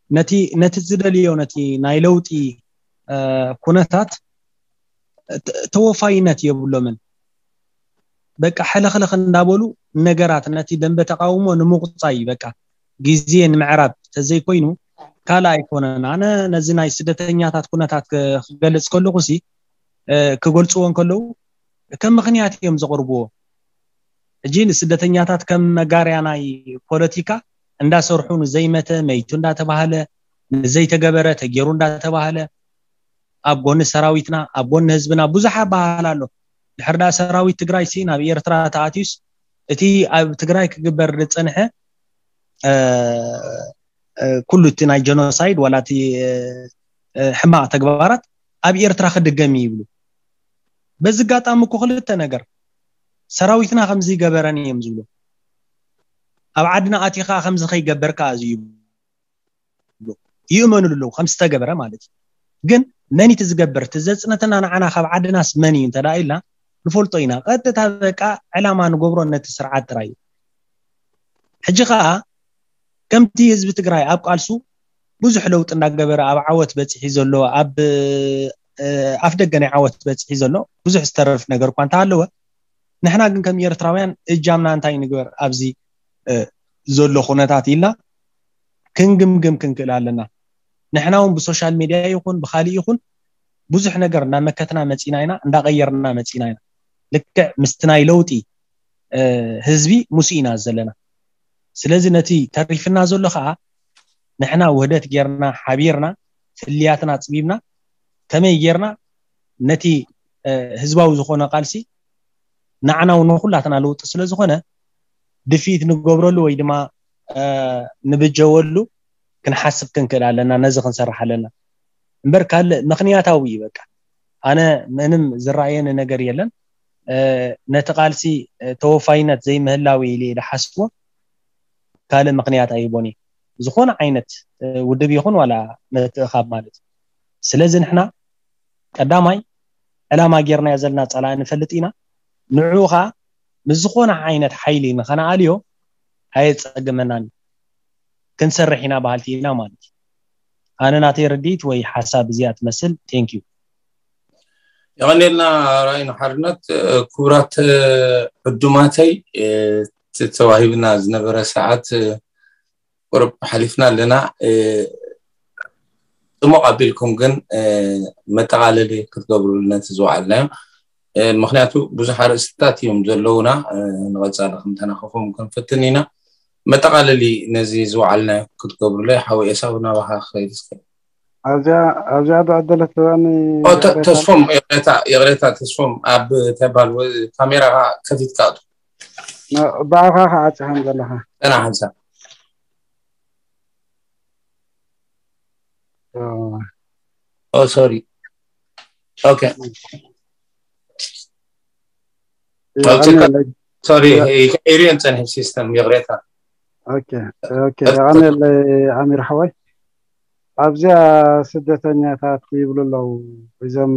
ነቲ ነቲ ዝደልዮ ነቲ ናይ ለውጢ ኩነታት ተወፋይነት የብሎምን። በቃ ሕልኽልኽ እንዳበሉ ነገራት ነቲ ደንበ ተቃውሞ ንምቁፃይ በቃ ግዜ ንምዕራብ ተዘይኮይኑ ካልእ ኣይኮነን። ኣነ ነዚ ናይ ስደተኛታት ኩነታት ክገልፅ ከለኹ ሲ ክገልፅዎ እንከለዉ ከም ምኽንያት እዮም ዘቕርብዎ። ሕጂ ንስደተኛታት ከም መጋርያ ናይ ፖለቲካ እንዳሰርሑ ንዘይመተ መይቱ እንዳተባህለ ንዘይተገበረ ተጌሩ እንዳተባህለ ኣብ ጎኒ ሰራዊትና ኣብ ጎኒ ህዝብና ብዙሕ ኣባህል ኣሎ። ድሕር ዳ ሰራዊት ትግራይ ሲ ናብ ኤርትራ ተኣትዩስ እቲ ኣብ ትግራይ ክግበር ዝፀንሐ ኩሉ እቲ ናይ ጀኖሳይድ ዋላ እቲ ሕማቕ ተግባራት ኣብ ኤርትራ ክድገም ይብሉ። በዚ ኣጋጣሚ እኮ ክልተ ነገር ሰራዊትና ከምዚ ይገበረን እዮም ዝብሉ። ኣብ ዓድና ኣትኻ ከምዚ ከይገበርካ እዚ ይብሉ፣ ይእመኑሉ ኣለዉ ከም ዝተገበረ ማለት እዩ። ግን መን እቲ ዝገብር? እቲ ዘጽነተና ንዓና ካብ ዓድናስ መን እዩ እንተ ደኣ ኢልና ንፈልጦ ኢና። ቀጥታ በቃ ዕላማ ንገብሮ ነቲ ስርዓት ጥራይ እዩ። ሕጂ ኸኣ ከምቲ ህዝቢ ትግራይ ኣብ ቃልሱ ብዙሕ ለውጢ እንዳገበረ ኣብ ዓወት በፂሒ ዘሎ፣ ኣብ ኣፍ ደገ ናይ ዓወት በፂሒ ዘሎ ብዙሕ ዝተረፍ ነገር እኳ እንተሃለወ፣ ንሕና ግን ከም ኤርትራውያን እጃምና እንታይ ንግበር ኣብዚ ዘሎ ኩነታት ኢልና ክንግምግም ክንክእል ኣለና። ንሕና እውን ብሶሻል ሚድያ ይኹን ብካሊእ ይኹን ብዙሕ ነገር እናመከትና መፂና ኢና፣ እንዳቀየርና መፂና ኢና። ልክዕ ምስቲ ናይ ለውጢ ህዝቢ ሙስ ኢና ዘለና። ስለዚ ነቲ ተሪፍና ዘሎ ከዓ ንሕና ውህደት ጌርና ሓቢርና ፍልያትና ኣፅቢብና ከመይ ጌርና ነቲ ህዝባዊ ዝኾነ ቃልሲ ንዓና እውን ንኩላትና ለውጢ ስለ ዝኾነ ድፊት ንገብረሉ ወይ ድማ ንብጀወሉ ክንሓስብ ክንክእል ኣለና። ነዚ ክንሰርሕ ኣለና እምበር ካልእ ምክንያታዊ እዩ። በቃ ኣነ ምንም ዝረኣየኒ ነገር የለን። ነቲ ቃልሲ ተወፋይነት ዘይምህላው ኢለ ዝሓስቦ ካልእ ምክንያት ኣይቦን እዩ። ዝኾነ ዓይነት ውድብ ይኹን ዋላ ምትእኻብ ማለት እዩ። ስለዚ ንሕና ቀዳማይ ዕላማ ጌርናዮ ዘለና ጸላኢ ንፈልጥ ኢና። ንዕኡ ኸኣ ምስ ዝኾነ ዓይነት ሓይሊ ንኸነኣልዮ ኣየጸግመናን እዩ። ክንሰርሕ ኢና በሃልቲ ኢና ማለት እዩ። ኣነ ናተይ ርድኢት ወይ ሓሳብ እዚኣ ትመስል። Thank you። የቐኔልና ራእይን ሓርነት። ክቡራት ዕዱማተይ፣ ተዋሂብና ዝነበረ ሰዓት ቁርብ ሓሊፍና ኣለና። ጽሙቕ ኣቢልኩም ግን መጠቓለሊ ክትገብሩ ነቲ ዝወዓልናዮ፣ ምክንያቱ ብዙሕ ኣርእስትታት እዮም ዘለውና። ንቐጻሊ ክንተናኸፎም ክንፍትን ኢና። መጠቓለሊ ነዚ ዝወዓልናዮ ክትገብሩለይ ሓወይ ኤሳው ናባኻ ክኸይድ እስከ። ኣብዚኣ ኣብዚኣ ዝዕደለት እዋን ተስፎም ይቕሬታ ይቕሬታ ተስፎም ኣብ ተባል ካሜራ ከፊትካ ኣቱ ብኣኻ ከዓፅኻን ዘለኻ ጠና ሓንሳ ኦ ሶሪ ኦኬ ሶሪ ይቀይርዮን ፀንሒ ሲስተም ይቕሬታ የቐንየለይ ኣሚር ሓወይ ኣብዚኣ ስደተኛታት ይብሉ ኣለዉ እዞም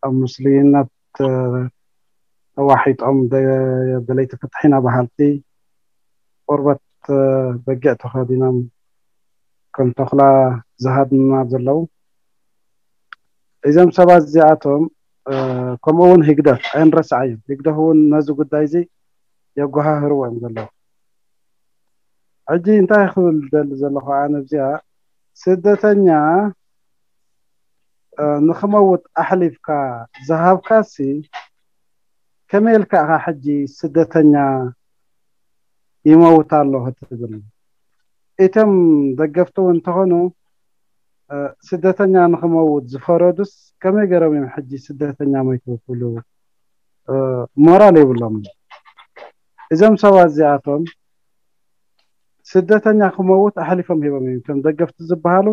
ኣብ ምስሉይነት ተዋሒጦም ደለይቲ ፍትሒ ኢና በሃልቲ ቆርበት በጊዕ ተኸዲኖም ከም ተኹላ ዝሃድኑና ዘለዉ እዞም ሰባት እዚኣቶም ከምኡ እውን ህግደፍ ኣይንረስዓዮም ህግደፍ እውን ነዚ ጉዳይ እዚ የጓሃህርዎ እዮም ዘለዉ ሕጂ እንታይ ክብል ደሊ ዘለኹ ኣነ ኣብዚኣ ስደተኛ ንክመውት ኣሕሊፍካ ዝሃብካሲ ከመይ ኢልካ ኢኻ ሕጂ ስደተኛ ይመውት ኣሎ ክትብል እቶም ደገፍቲ እውን እንተኾኑ ስደተኛ ንክመውት ዝፈረዱስ ከመይ ገይሮም እዮም ሕጂ ስደተኛ ሞይቱ ክብሉ ሞራል የብሎም እዞም ሰባት እዚኣቶም ስደተኛ ክመውት ኣሕሊፎም ሂቦም እዮም እቶም ደገፍቲ ዝበሃሉ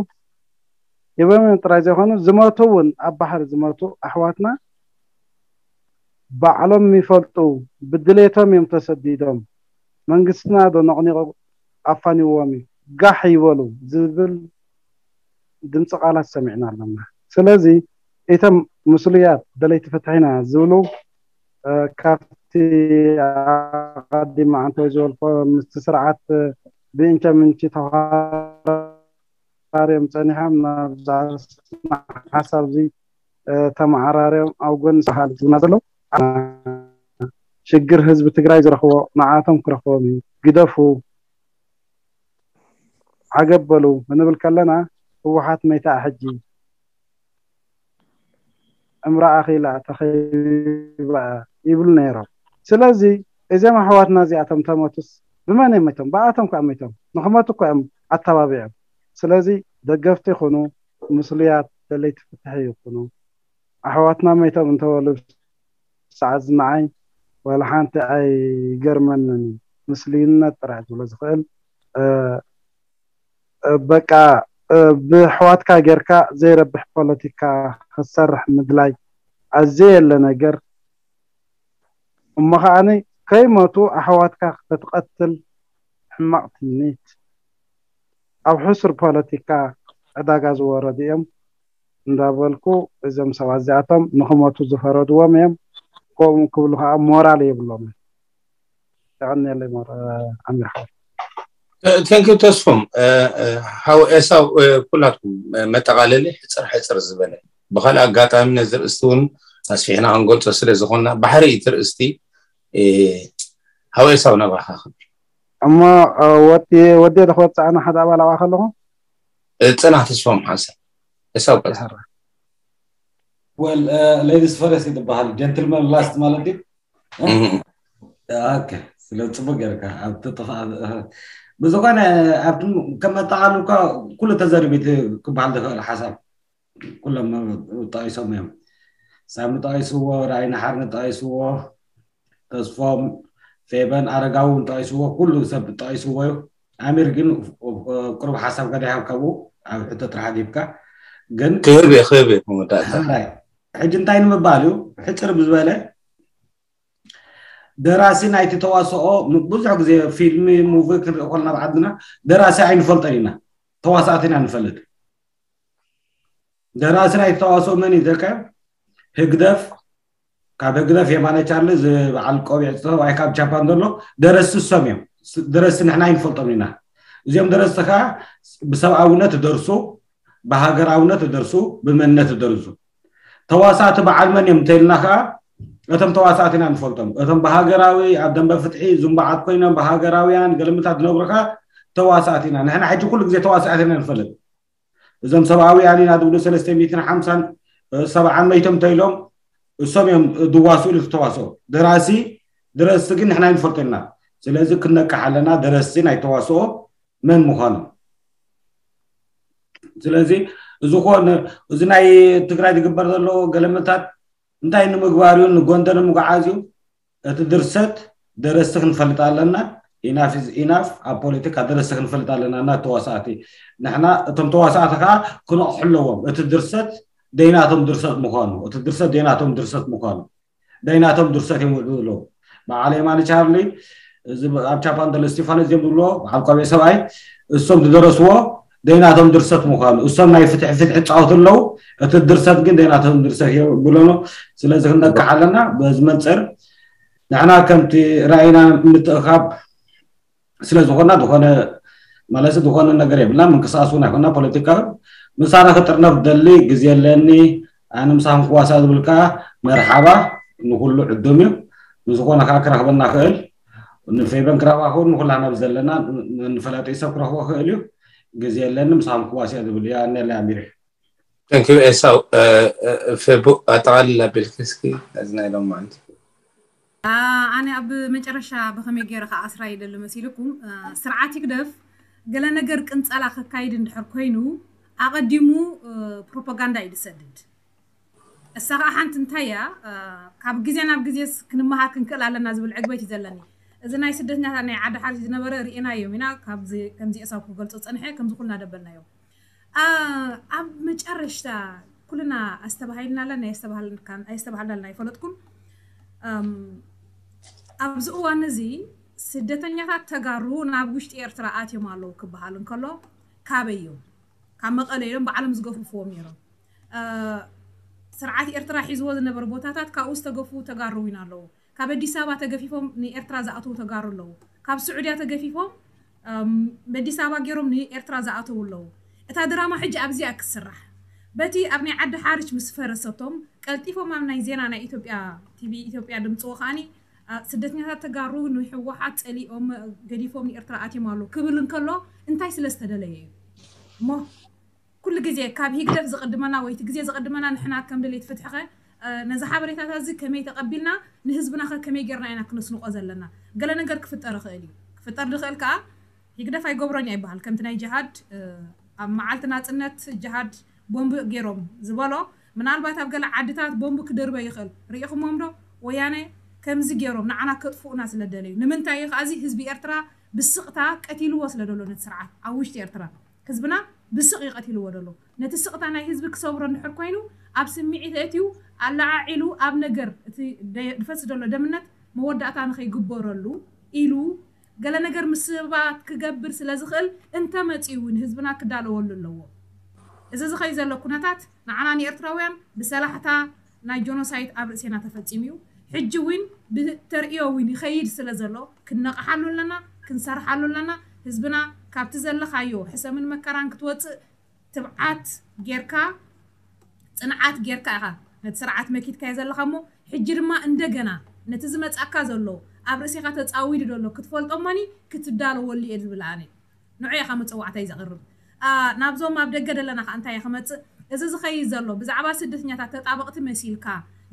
ሂቦም እዮም ጥራይ ዘይኮኑ ዝመቱ እውን ኣብ ባሕሪ ዝመቱ ኣሕዋትና ባዕሎም ይፈልጡ ብድሌቶም እዮም ተሰዲዶም መንግስትና ዶ ነቕኒቑ ኣፋኒዎም እዩ ጋሕ ይበሉ ዝብል ድምፂ ቃላት ሰሚዕና ኣለና ስለዚ እቶም ምስሉያት ደለይቲ ፍትሒና ዝብሉ ካብቲ ኣቐዲማ ኣንተ ዝበልኮ ምስቲ ስርዓት ብእንቸ ምንቺ ተኻርዮም ፀኒሖም ናብ ሓሳብ እዚ ተመዓራርዮም ኣብ ጎኒ ሰሃሊ ዝብና ዘለዉ ሽግር ህዝቢ ትግራይ ዝረኽቦ ንዓቶም ክረኽቦም እዩ ግደፉ ዓገብ በሉ ክንብል ከለና ህወሓት መይታ ሕጂ እምራኣ ኺላ ተኸይባ ይብሉ ነይሮም ስለዚ እዚም ኣሕዋትና እዚኣቶም ተመቱስ ብመን እዮም መይቶም ብኣቶም ከዓ መይቶም ንክመቱ እኮ እዮም ኣተባቢዖም ስለዚ ደገፍቲ ይኹኑ ምስሉያት ደለይቲ ፍትሒ ይኹኑ ኣሕዋትና መይቶም እንተበሉ ሰዓት ዝንዓይ ዋላ ሓንቲ ኣይገርመንን እዩ ምስልዩነት ጥራሕ ዝብሎ ዝኽእል በቃ ብሕዋትካ ጌርካ ዘይረብሕ ፖለቲካ ክትሰርሕ ምድላይ ኣዘየለ ነገር እሞ ከዓኒ ከይሞቱ ኣሕዋትካ ከተትቐትል ሕማቕ ትምኒት። ኣብ ሕሱር ፖለቲካ ዕዳጋ ዝወረዱ እዮም እንዳበልኩ፣ እዞም ሰባት እዚኣቶም ንኽሞቱ ዝፈረድዎም እዮም። ከምኡ ክብሉ ከዓ ሞራል የብሎም። ተቐንየለይ ሞር ኣሚር ሓወይ። ተንኪ ተስፎም። ሓው ኤሳው፣ ኩላትኩም መጠቓለሊ ሕፅር ሕፅር ዝበለ፣ ብካልእ ኣጋጣሚ ነዚ ርእስቲ እውን ኣስፊሕና ክንገልፆ ስለ ዝኾንና፣ ባሕሪ እቲ ርእስቲ። ሓው ኤሳው፣ ናባኻ ክብል። እሞ ወዲ ወዲ ዶ ክወፅኣና ሓደ ኣባል ኣብኣ ከለኹ? ፅናሕ ተስፎም ሓሰን። ኤሳው ቀፅል። Well, ladies first ይትበሃል፣ ጀንትልመን ላስት ማለት እዩ። ስለ ፅቡቅ ጌርካ ኣብቲ ጥፋ ብዝኮነ ኣብቲ ከም ኣጠቃልልካ ኩሉ ተዘሪቢት ክበሃል ዝኽእል ሓሳብ ኩሎም ጠቂሶም እዮም። ሳሚ ጠቂስዎ፣ ራይና ሓርነ ጠቂስዎ፣ ተስፎም፣ ፌበን፣ ኣረጋዊ እውን ጠቂስዎ፣ ኩሉ ሰብ ጠቂስዎ እዩ። ኣሚር ግን ቅሩብ ሓሳብ ከደይሃብካ ብኡ ኣብ ሕቶ ጥራሕ ኣድሂብካ ግን ክህብ እየ ክህብ እየ መወዳእታ። ሕራይ ሕጂ እንታይ ንምባል እዩ? ሕፅር ብዝበለ ደራሲ ናይቲ ተዋስኦ ብዙሕ ግዜ ፊልሚ ሙቪ ክንርኢ ከለና ኣብ ዓድና ደራሲ ኣይንፈልጦን ኢና፣ ተዋሳእቲ ኢና ንፈልጥ። ደራሲ ናይቲ ተዋስኦ መን እዩ ተልካ? ህግደፍ። ካብ ህግደፍ የማነ ቻርሊ ዝበዓል ቆቢዕ ዝጠዋይ ካብ ጃፓን ዘሎ ደረስቲ እሶም እዮም። ደረስቲ ንሕና ኣይንፈልጦም ኢና። እዚኦም ደረስቲ ከዓ ብሰብኣውነት ደርሱ፣ ብሃገራውነት ደርሱ፣ ብመንነት ደርሱ። ተዋሳእቲ በዓል መን እዮም እንተልና ከዓ እቶም ተዋሳእቲ ኢና ንፈልጦም። እቶም ብሃገራዊ ኣብ ደንበ ፍትሒ ዝንባዓት ኮይኖም ብሃገራውያን ገልምታት ዝነብሩ ከዓ ተዋሳእቲ ኢና። ንሕና ሕጂ ኩሉ ግዜ ተዋሳእቲ ኢና ንፈልጥ። እዞም ሰብኣውያን ኢና ዝብሉ ሰለስተ ሚእትን ሓምሳን ሰብዓን መይቶም እንተኢሎም እሶም እዮም ዝዋስኡ ኢሉ ዝተዋስኦ ደራሲ። ደረስቲ ግን ንሕና ይንፈልጦ ኢና። ስለዚ ክነቅሕ ኣለና ደረስቲ ናይ ተዋስኦ መን ምዃኑ። ስለዚ እዚ ኮን እዚ ናይ ትግራይ ዝግበር ዘሎ ገለመታት እንታይ ንምግባር እዩ? ንጎንደር ንምጉዓዝ እዩ። እቲ ድርሰት ደረስቲ ክንፈልጥ ኣለና። ኢናፍ ኢዝ ኢናፍ። ኣብ ፖለቲካ ደረስቲ ክንፈልጥ ኣለና እና ተዋሳእቲ ንሕና እቶም ተዋሳእቲ ከዓ ክነቕሑ ኣለዎም። እቲ ድርሰት ደይናቶም ድርሰት ምዃኑ እቲ ድርሰት ደይናቶም ድርሰት ምዃኑ ደይናቶም ድርሰት እዮም ዝብሉ ኣለዉ። በዓል የማነ ቻርሊ እዚ ኣብ ጃፓን ዘሎ እስቲፋኖስ እዮም ዝብልዎ በዓል ቆቢዕ ሰብኣይ እሶም ዝደረስዎ ደይናቶም ድርሰት ምዃኑ እሶም ናይ ፍትሒ ፍትሒ ይፃወቱ ኣለዉ። እቲ ድርሰት ግን ደይናቶም ድርሰት እዮም ዝብሉ ኣለዉ። ስለዚ ክንነቅሕ ኣለና። በዚ መንፅር ንሕና ከምቲ ራእይና ምትእኻብ ስለ ዝኾና ዝኾነ ማለት ዝኾነ ነገር የብልና። ምንቅስቃስ እውን ኣይኮና ፖለቲካዊ ምሳና ክጥርነፍ ደሊ ግዜ ኣለኒ ኣነ ምሳኹም ክዋሳ ዝብል ከዓ መርሓባ ንኩሉ ዕዱም እዩ። ንዝኾነ ከዓ ክረኽበና ክእል ንፌበን ክረኽባ ክእል ንኩላና ዘለና ንፈላጢ ሰብ ክረኽቦ ክእል እዩ። ግዜ ኣለኒ ምሳኹም ክዋሳ ዝብል እዩ ኣነለ ኣሚር እዩ። Thank you ኤሳው። ፌቡ ኣጠቃልል ኣቢልኪ እስኪ እዚ ናይ ሎማዓንቲ። ኣነ ኣብ መጨረሻ ብከመይ ገይረ ከኣስራ ይደሊ መሲልኩም ስርዓት ይግደፍ ገለ ነገር ቅንፀላ ከካይድ እንድሕር ኮይኑ ኣቐዲሙ ፕሮፓጋንዳ እዩ ዝሰድድ። እሳ ከዓ ሓንቲ እንታይ እያ ካብ ግዜ ናብ ግዜስ ክንመሃር ክንክእል ኣለና ዝብል ዕግበት እዩ ዘለኒ። እዚ ናይ ስደተኛታት ናይ ዓዲ ሓርሽ ዝነበረ ርኢናዮም ኢና። ከምዚ ኤሳው ክገልፆ ፀንሐ ከምዚ ኩልና ደበልናዮ። ኣብ መጨረሽታ ኩልና ኣስተባሂልናለን ኣየስተባሃልናለን ኣይፈለጥኩን። ኣብዚ እዋን እዚ ስደተኛታት ተጋሩ ናብ ውሽጢ ኤርትራ ኣትዮም ኣለዉ ክበሃል እንከሎ ካበይ እዮም? ካብ መቐለ እዮም ባዕሎም ዝገፍፍዎም ነይሮም። ስርዓት ኤርትራ ሒዝዎ ዝነበረ ቦታታት ካብኡ ዝተገፍዉ ተጋሩ እውን ኣለዉ። ካብ ኣዲስ ኣበባ ተገፊፎም ንኤርትራ ዝኣተዉ ተጋሩ ኣለዉ። ካብ ስዑድያ ተገፊፎም በዲስ ኣበባ ገይሮም ንኤርትራ ዝኣተዉ ኣለዉ። እታ ድራማ ሕጂ ኣብዚኣ ክትስራሕ በቲ ኣብ ናይ ዓዲ ሓርች ምስ ፈረሰቶም ቀልጢፎም ኣብ ናይ ዜና ናይ ኢትዮጵያ ቲቪ ኢትዮጵያ ድምፅዎ ከዓኒ ስደተኛታት ተጋሩ ንህወሓት ፀሊኦም ገዲፎም ንኤርትራ ኣትዮም ኣለዉ ክብል እንከሎ እንታይ ስለ ዝተደለየ እዩ እሞ ኩሉ ግዜ ካብ ሂግደፍ ዝቕድመና ወይ እቲ ግዜ ዝቕድመና ንሕና ከም ደለይቲ ፍትሒ ኸ ነዚ ሓበሬታታት እዚ ከመይ ተቐቢልና ንህዝብና ኸ ከመይ ጌርና ኢና ክነስንቖ ዘለና? ገለ ነገር ክፍጠር ይኽእል እዩ። ክፍጠር ዝኽእል ከኣ ሂግደፍ ኣይገብሮን እያ ይበሃል። ከምቲ ናይ ጅሃድ ኣብ መዓልቲ ናጽነት ጅሃድ ቦምብ ጌሮም ዝበሎ ምናልባት ኣብ ገለ ዓድታት ቦምብ ክድርበ ይኽእል። ርኢኹሞም ዶ? ወያነ ከምዚ ጌሮም ንዓና ከጥፍኡና ስለ ደለዩ። ንምንታይ እዩ ከኣ እዚ ህዝቢ ኤርትራ ብስቕታ ቀቲልዎ ስለ ደሎ ነቲ ስርዓት ኣብ ውሽጢ ኤርትራ ህዝብና ብስቕ እዩ ቀቲልዎ ደሎ። ነቲ ስቕታ ናይ ህዝቢ ክሰብሮ እንድሕር ኮይኑ ኣብ ስምዒት ኣእትዩ ኣለዓዒሉ ኣብ ነገር እቲ ዝፈስ ዘሎ ደምነት መወዳእታ ንኸይግበረሉ ኢሉ ገለ ነገር ምስ ሰባት ክገብር ስለ ዝኽእል እንተመጺኡ እውን ህዝብና ክዳለወሉ ኣለዎ። እዚ ዝኸይ ዘሎ ኩነታት ንዓና ንኤርትራውያን ብሰላሕታ ናይ ጆኖሳይድ ኣብ ርእሴና ተፈጺሙ እዩ። ሕጂ እውን ብተርእዮ እውን ይኸይድ ስለ ዘሎ ክንነቕሓሉ ኣለና፣ ክንሰርሓሉ ኣለና። ህዝብና ካብቲ ዘለኻዮ ሕሰምን መከራን ክትወፅእ ትብዓት ጌርካ፣ ፅንዓት ጌርካ ኢኻ ነቲ ስርዓት መኪትካዮ ዘለኻ እሞ፣ ሕጂ ድማ እንደገና ነቲ ዝመፃካ ዘሎ ኣብ ርእሴኻ ተፃዊዱ ዘሎ ክትፈልጦ እሞኒ ክትዳለወሉ እየ ዝብል ኣነ። ንዑ ኢኻ መፀዋዕታይ ዘቕርብ። ናብዞም ኣብ ደገ ዘለና ከዓ እንታይ ክመፅእ? እዚ ዝኸይድ ዘሎ ብዛዕባ ስደተኛታት ተጣበቕቲ መሲልካ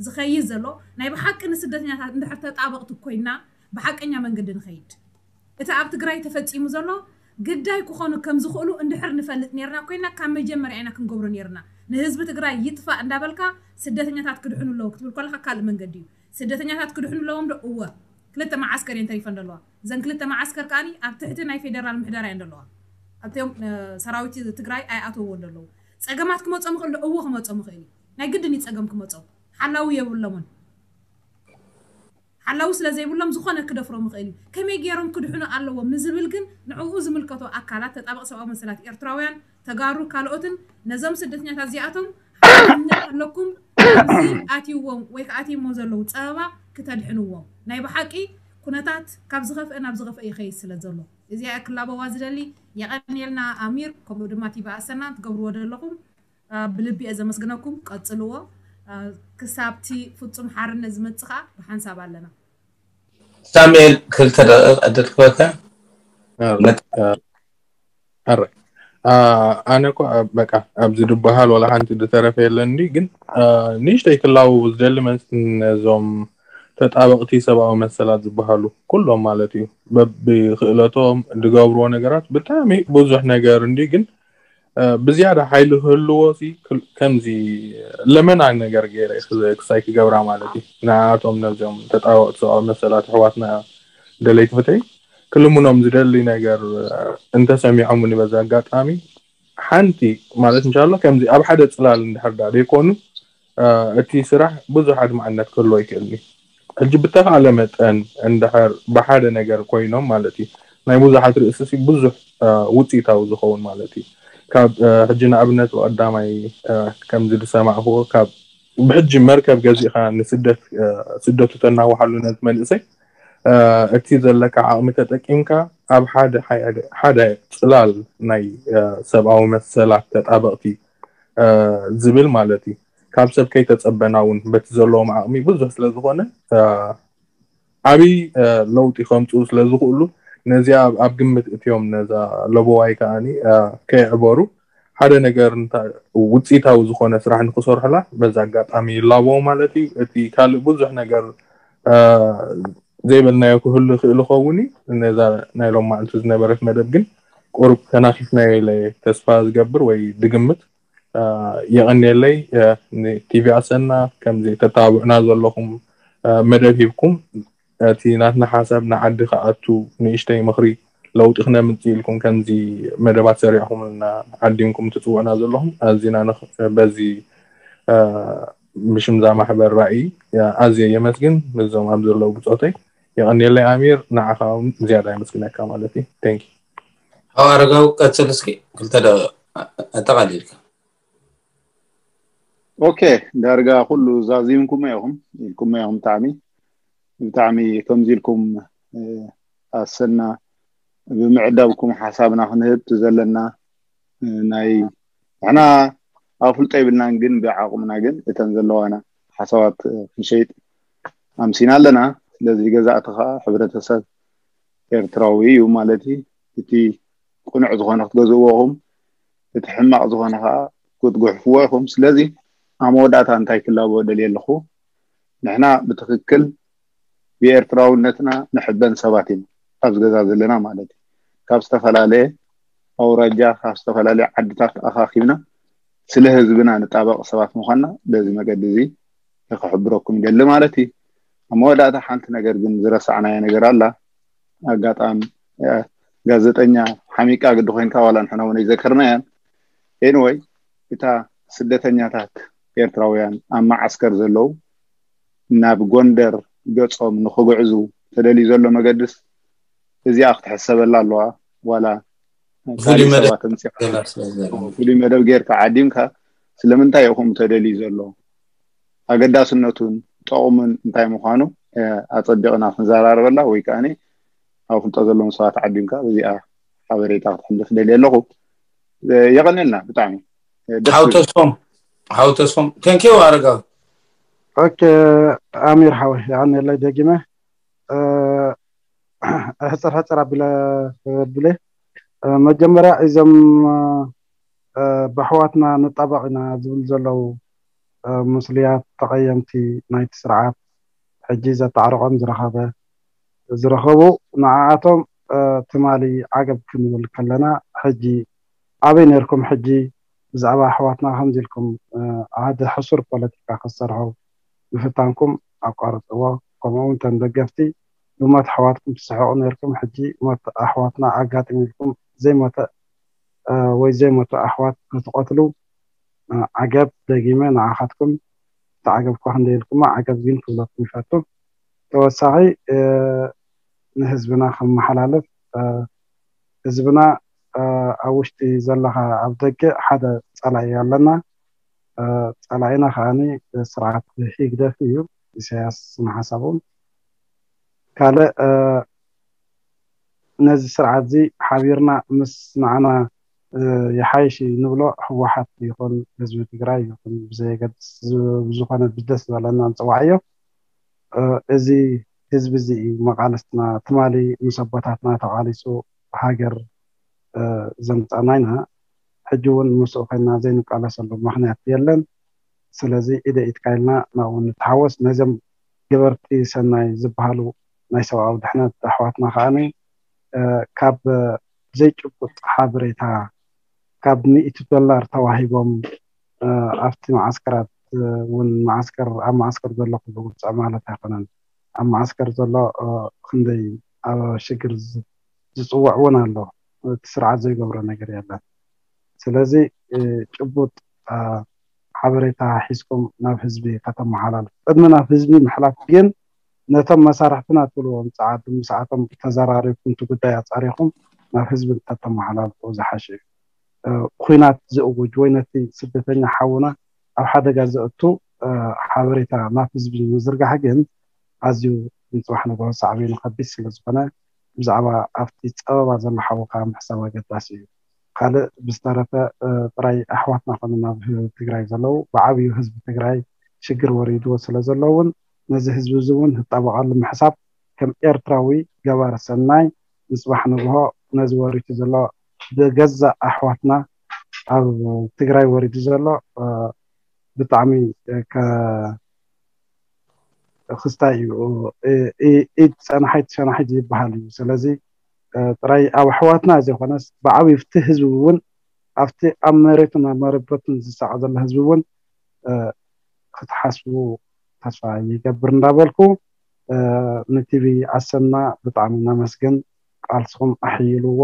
ዝኸይድ ዘሎ ናይ ብሓቂ ንስደተኛታት እንድሕር ተጣበቕቲ ኮይና ብሓቀኛ መንገዲ ንኸይድ። እቲ ኣብ ትግራይ ተፈፂሙ ዘሎ ግዳይ ክኾኑ ከም ዝኽእሉ እንድሕር ንፈልጥ ነርና ኮይና ካብ መጀመርያ ኢና ክንገብሮ ነርና። ንህዝቢ ትግራይ ይጥፋእ እንዳበልካ ስደተኛታት ክድሕኑ ኣለዉ ክትብል ከለካ ካልእ መንገዲ እዩ። ስደተኛታት ክድሕኑ ኣለዎም ዶ? እወ። ክልተ መዓስከር እየን ተሪፈን ዘለዋ። እዘን ክልተ መዓስከር ከዓኒ ኣብ ትሕቲ ናይ ፌደራል ምሕደራ እየን ዘለዋ። ኣብቲኦም ሰራዊት ትግራይ ኣይኣተውዎ ዘለዉ። ፀገማት ክመፆም ይኽእል ዶ? እወ ክመፆም ይኽእል እዩ። ናይ ግድን እዩ ፀገም ክመፆም። ሓላዊ የብሎምን። ሓላዊ ስለ ዘይብሎም ዝኾነ ክደፍሮም ይኽእል እዩ። ከመይ ገይሮም ክድሕኑ ኣለዎም ንዝብል ግን ንዕኡ ዝምልከቶ ኣካላት፣ ተጣበቕ ሰብኣዊ መሰላት ኤርትራውያን፣ ተጋሩ፣ ካልኦትን ነዞም ስደተኛታት እዚኣቶም ሓላፍነት ኣለኩም። ኣብዚ ኣትይዎም ወይ ከዓ ኣትይሞ ዘለዉ ፀበባ ክተድሕንዎም። ናይ ብሓቂ ኩነታት ካብ ዝኸፍአ ናብ ዝኸፍአ ይኸይድ ስለ ዘሎ እዚኣ ክላበዋ ዝደሊ። የቐንየልና ኣሚር፣ ከምኡ ድማ ቲቪ ኣሰና ትገብርዎ ዘለኹም ብልቢ እየ ዘመስግነኩም። ቀፅልዎ። ክሳብቲ ፍፁም ሓርነት ዝመፅእ ከዓ ብሓንሳብ ኣለና። ሳሙኤል ክልተ ደቂቕ ዕድል ክበካ። ኣረ ኣነ እኮ በቃ ኣብዚ ዝበሃል ዋላ ሓንቲ ዝተረፈ የለን። እንዲ ግን ንእሽተይ ክላው ዝደሊ መስ ነዞም ተጣበቕቲ ሰብኣዊ መሰላት ዝበሃሉ ኩሎም ማለት እዩ፣ በብክእለቶም ዝገብርዎ ነገራት ብጣዕሚ ብዙሕ ነገር እንዲ ግን ብዝያዳ ሓይሊ ክህልዎ ከምዚ ለመና ነገር ገይረ ክሳይ ክገብራ ማለት እዩ። ንኣቶም ነዚኦም ተጣበቕቲ ሰብኣዊ መሰላት ኣሕዋትና ደለይቲ ፍትሒ ክልምኖም ዝደሊ ነገር እንተሰሚዖምኒ በዚ ኣጋጣሚ ሓንቲ ማለት እንሻላ ከምዚ ኣብ ሓደ ፅላል እንድሕር ዳ ዘይኮኑ እቲ ስራሕ ብዙሕ ኣድማዕነት ክህልዎ ይክእል እዩ። ሕጂ ብተኻእለ መጠን እንድሕር ብሓደ ነገር ኮይኖም ማለት እዩ ናይ ብዙሓት ርእሲ ብዙሕ ውፅኢታዊ ዝኸውን ማለት እዩ። ካብ ሕጂ ንኣብነት ብቀዳማይ ከምዚ ዝሰማዕክዎ ካብ ብሕጂ መርከብ ገዚእካ ንስደት ስደቱ ተናውሓሉ ነዚ መንእሰይ እቲ ዘለካ ዓቕሚ ተጠቂምካ ኣብ ሓደ ሓደ ፅላል ናይ ሰብኣዊ መሰላት ተጣበቕቲ ዝብል ማለት እዩ ካብ ሰብ ከይተፀበና እውን በቲ ዘለዎም ዓቕሚ ብዙሕ ስለዝኾነ ዓብይ ለውጢ ከምፅኡ ስለዝኽእሉ ነዚኣ ኣብ ግምት እትዮም ነዛ ለቦዋይ ከዓኒ ከየዕበሩ ሓደ ነገር ውፅኢታዊ ዝኾነ ስራሕ ንክሰርሑላ በዛ ኣጋጣሚ ይላቦ ማለት እዩ። እቲ ካልእ ብዙሕ ነገር ዘይበልናዮ ክህሉ ይኽእል ይኸውን እዩ። ነዛ ናይ ሎማዕንቲ ዝነበረት መደብ ግን ቁሩብ ተናኺፍናዮ ኢለ ተስፋ ዝገብር ወይ ድግምት። የቐንየለይ ንቲቪ ኣሰና ከምዚ ተተባብዑና ዘለኹም መደብ ሂብኩም እቲ ናትና ሓሳብ ንዓዲ ክኣቱ ንእሽተይ ምኽሪ ለውጢ ክነምፅእ ኢልኩም ከምዚ መደባት ሰሪዕኹምልና ዓዲምኩም ትፅውዑና ዘለኹም ኣዚና በዚ ብሽምዛ ማሕበር ራእይ ኣዝየ የመስግን። ነዞም ኣብ ዘለዉ ብፆተይ የቐንየለይ ኣሚር ንዓኻ እውን ዝያዳ የመስግነካ ማለት እዩ። Thank you። ሓው ኣረጋዊ ቀፅል እስኪ ክልተ ደቂቕ ኣጠቓሊልካ። ኦኬ ዳርጋ ኩሉ ዛዚምኩሞ ኢኹም ኢልኩሞ ኢኹም ብጣዕሚ ብጣዕሚ ከምዚ ኢልኩም ኣሰና ብምዕዳብኩም ሓሳብና ክንህብ ዘለና ናይ ንሕና ኣፍልጦ የብልናን ግን ብዓቕምና ግን እተን ዘለዋና ሓሳባት ክንሸይጥ ኣምሲና ኣለና። ስለዚ ገዛእቲ ከዓ ሕብረተሰብ ኤርትራዊ እዩ ማለት እዩ። እቲ ቅኑዕ ዝኾነ ክትገዝእዎ ኢኹም፣ እቲ ሕማቕ ዝኾነ ከዓ ክትጉሕፍዎ ኢኹም። ስለዚ ኣብ መወዳእታ እንታይ ክላቦ ደልየ ኣለኹ፣ ንሕና ብትኽክል ብኤርትራውነትና ንሕበን ሰባት ኢና ኣብዚ ገዛ ዘለና ማለት እዩ። ካብ ዝተፈላለየ ኣውራጃ ካብ ዝተፈላለየ ዓድታት ኣኻኺብና ስለ ህዝብና ንጣበቕ ሰባት ምዃንና በዚ መገዲ እዚ ክሕብረኩም ይደሊ ማለት እዩ። ኣብ መወዳእታ ሓንቲ ነገር ግን ዝረሳዕናዮ ነገር ኣላ። ኣጋጣሚ ጋዜጠኛ ሓሚቃ ግዲ ኮይንካ ዋላ ንሕና እውን ኣይዘከርናያን። ኤንወይ እታ ስደተኛታት ኤርትራውያን ኣብ መዓስከር ዘለዉ ናብ ጎንደር ገጾም ንኽግዕዙ ተደልዩ ዘሎ መገድስ እዚኣ ክትሕሰበላ ኣለዋ። ዋላ ፍሉይ መደብ ሰባት ኣምፂኻ ፍሉይ መደብ ጌርካ ዓዲምካ ስለምንታይ ኢኹም ተደልዩ ዘሎ ኣገዳስነቱን ጠቕሙን እንታይ ምዃኑ ኣፀቢቕና ክንዘራረበላ ወይ ከዓ ኣፍልጦ ዘለዎም ሰባት ዓዲምካ በዚኣ ሓበሬታ ክትሕልፍ ደልየ ኣለኹ። የቐንየልና ብጣዕሚ። ሓው ተስፎም ሓው ተስፎም ቴንኪው ኣረጋዊ። ኦኬ ኣሚር ሓወይ የቐንየለይ ደጊመ ሕፅር ሕፅር ኣቢለ ብለ መጀመርያ እዞም ብኣሕዋትና ንጣበቕ ኢና ዝብል ዘለዉ ምስሉያት ተቐየምቲ ናይቲ ስርዓት ሕጂ ዘጣዕርቖም ዝረኸበ ዝረኸቡ ንዓኣቶም ትማሊ ዓገብ ክንብል ከለና ሕጂ ኣበይ ነርኩም ሕጂ ብዛዕባ ኣሕዋትና ከምዚ ኢልኩም ሓደ ሕሱር ፖለቲካ ክትሰርሑ ምፍታንኩም ኣቋርፅዎ። ከምኡ እውን ተን ደገፍቲ ብሞት ኣሕዋትኩም ትስሕቑ ነርኩም ሕጂ ሞት ኣሕዋትና ኣጋጢሙ ኢልኩም ዘይሞተ ወይ ዘይሞተ ኣሕዋት ክትቐትሉ ዓገብ ደጊመ ንዓኻትኩም ተዓገብኳ ክንደይ ኢልኩማ ዓገብ ግን ክብለኩም ይፈቱ። ተወሳኺ ንህዝብና ከመሓላልፍ ህዝብና ኣብ ውሽጢ ዘለኻ ኣብ ደገ ሓደ ፀላኢ ኣለና። ፀላኢና ከዓኒ ስርዓት ህግደፍ እዩ። ኢሳያስ ንሓሳቦም ካልእ ነዚ ስርዓት እዚ ሓቢርና ምስ ንዓና ይሓይሽ ንብሎ ህወሓት ይኹን ህዝቢ ትግራይ ይኹን ብዘየገድስ ብዝኾነ ብደስ ዝበለና ንፅዋዕዮ። እዚ ህዝቢ እዚ እዩ መቃልስትና። ትማሊ ምስ ኣቦታትና ተቃሊሱ ሃገር ዘምፃና ኢና። ሕጂ እውን ምስኡ ኮይና ዘይንቃለሰሉ ምክንያት የለን። ስለዚ ኢደ ኢድካ ኢልና ናብኡ ንተሓወስ። ነዞም ገበርቲ ሰናይ ዝበሃሉ ናይ ሰብኣዊ ድሕነት ኣሕዋትና ከዓኒ ካብ ዘይጭቡጥ ሓበሬታ ካብ ሚእቲ ዶላር ተዋሂቦም ኣብቲ መዓስከራት እውን መዓስከር ኣብ መዓስከር ዘሎ ኩሉ ውፅዕ ማለት ኣይኮነን። ኣብ መዓስከር ዘሎ ክንደይ ኣብ ሽግር ዝፅውዕ እውን ኣሎ። እቲ ስርዓት ዘይገብሮ ነገር የለን። ስለዚ ጭቡጥ ሓበሬታ ሒዝኩም ናብ ህዝቢ ከተመሓላልፉ ቅድሚ ናብ ህዝቢ ምሕላፍ ግን ነቶም መሳርሕትና ትብልዎም ፀዓዱ ምስኣቶም ተዘራሪብኩም እቲ ጉዳይ ኣፃሪኹም ናብ ህዝቢ እንተተመሓላልፉ ዝሓሸ እዩ። ኩናት ዝእውጅ ወይ ነቲ ስደተኛ ሓውና ኣብ ሓደጋ ዘእቱ ሓበሬታ ናብ ህዝቢ ምዝርጋሕ ግን ኣዝዩ ንፅባሕ ንግሆ ሳዕቤኑ ከቢድ ስለዝኾነ ብዛዕባ ኣብቲ ፀበባ ዘሎ ሓውካ ምሕሳብ ኣገዳሲ እዩ። ካልእ ብዝተረፈ ጥራይ ኣሕዋትና ኮኑ ናብ ትግራይ ዘለዉ ብዓብዩ ህዝቢ ትግራይ ሽግር ወሪድዎ ስለዘሎ እውን ነዚ ህዝቢ እዚ እውን ህጣበቐሉ ምሕሳብ ከም ኤርትራዊ ገባሪ ሰናይ ንፅባሕ ንግሆ ነዚ ወሪቱ ዘሎ ብገዛእ ኣሕዋትና ኣብ ትግራይ ወሪዱ ዘሎ ብጣዕሚ ክስታይ እዩ። ኢድ ፀናሒት ሸናሒት ይበሃል እዩ። ስለዚ ጥራይ ኣብ ኣሕዋትና ዘይኮነስ ብዓብዩ ኣብቲ ህዝቢ እውን ኣብቲ ኣብ መሬቱን ኣብ መረበቱን ዝሳቐ ዘሎ ህዝቢ እውን ክትሓስቡ ተስፋ ይገብር እንዳበልኩ ንቲቪ ኣሰና ብጣዕሚ ነመስግን። ቃልስኹም ኣሕይልዎ።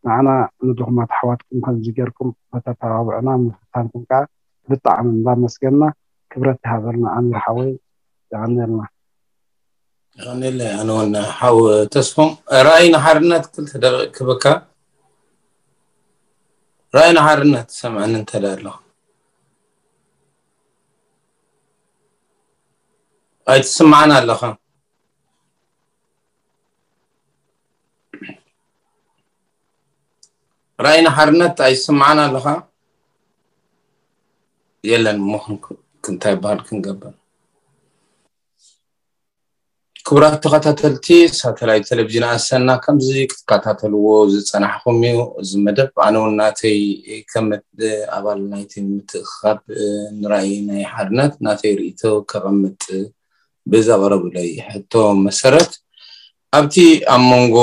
ንዓና ንድኹማት ኣሕዋትኩም ከምዚ ጌርኩም ከተተባብዑና ምፍታንኩም ከዓ ብጣዕሚ እንዳመስገና ክብረት ይሃበልና ኣሚር ሓወይ። የቐንየልና። ይቐንየለይ ኣነ እውን ሓው ተስፎም። ራእይ ንሓርነት ክልተ ደቂቕ ክበካ። ራእይ ንሓርነት ትሰምዐኒ እንተ ደኣ ኣለኻ ኣይትስምዓን ኣለኻ። ራእይ ንሓርነት ኣይስምዓን ኣለኻ። የለን እሞ እንታይ ይበሃል ክንገብር። ክቡራት ተኸታተልቲ ሳተላይት ቴሌቪዥን ኣሰና ከምዚ ክትከታተልዎ ዝፀናሕኹም እዩ። እዚ መደብ ኣነ እውን ናተይ ከም ኣባል ናይቲ ምትእኽኻብ ንራእይ ናይ ሓርነት ናተይ ርእይቶ ከቐምጥ ብዘቕረቡለይ ሕቶ መሰረት ኣብቲ ኣብ መንጎ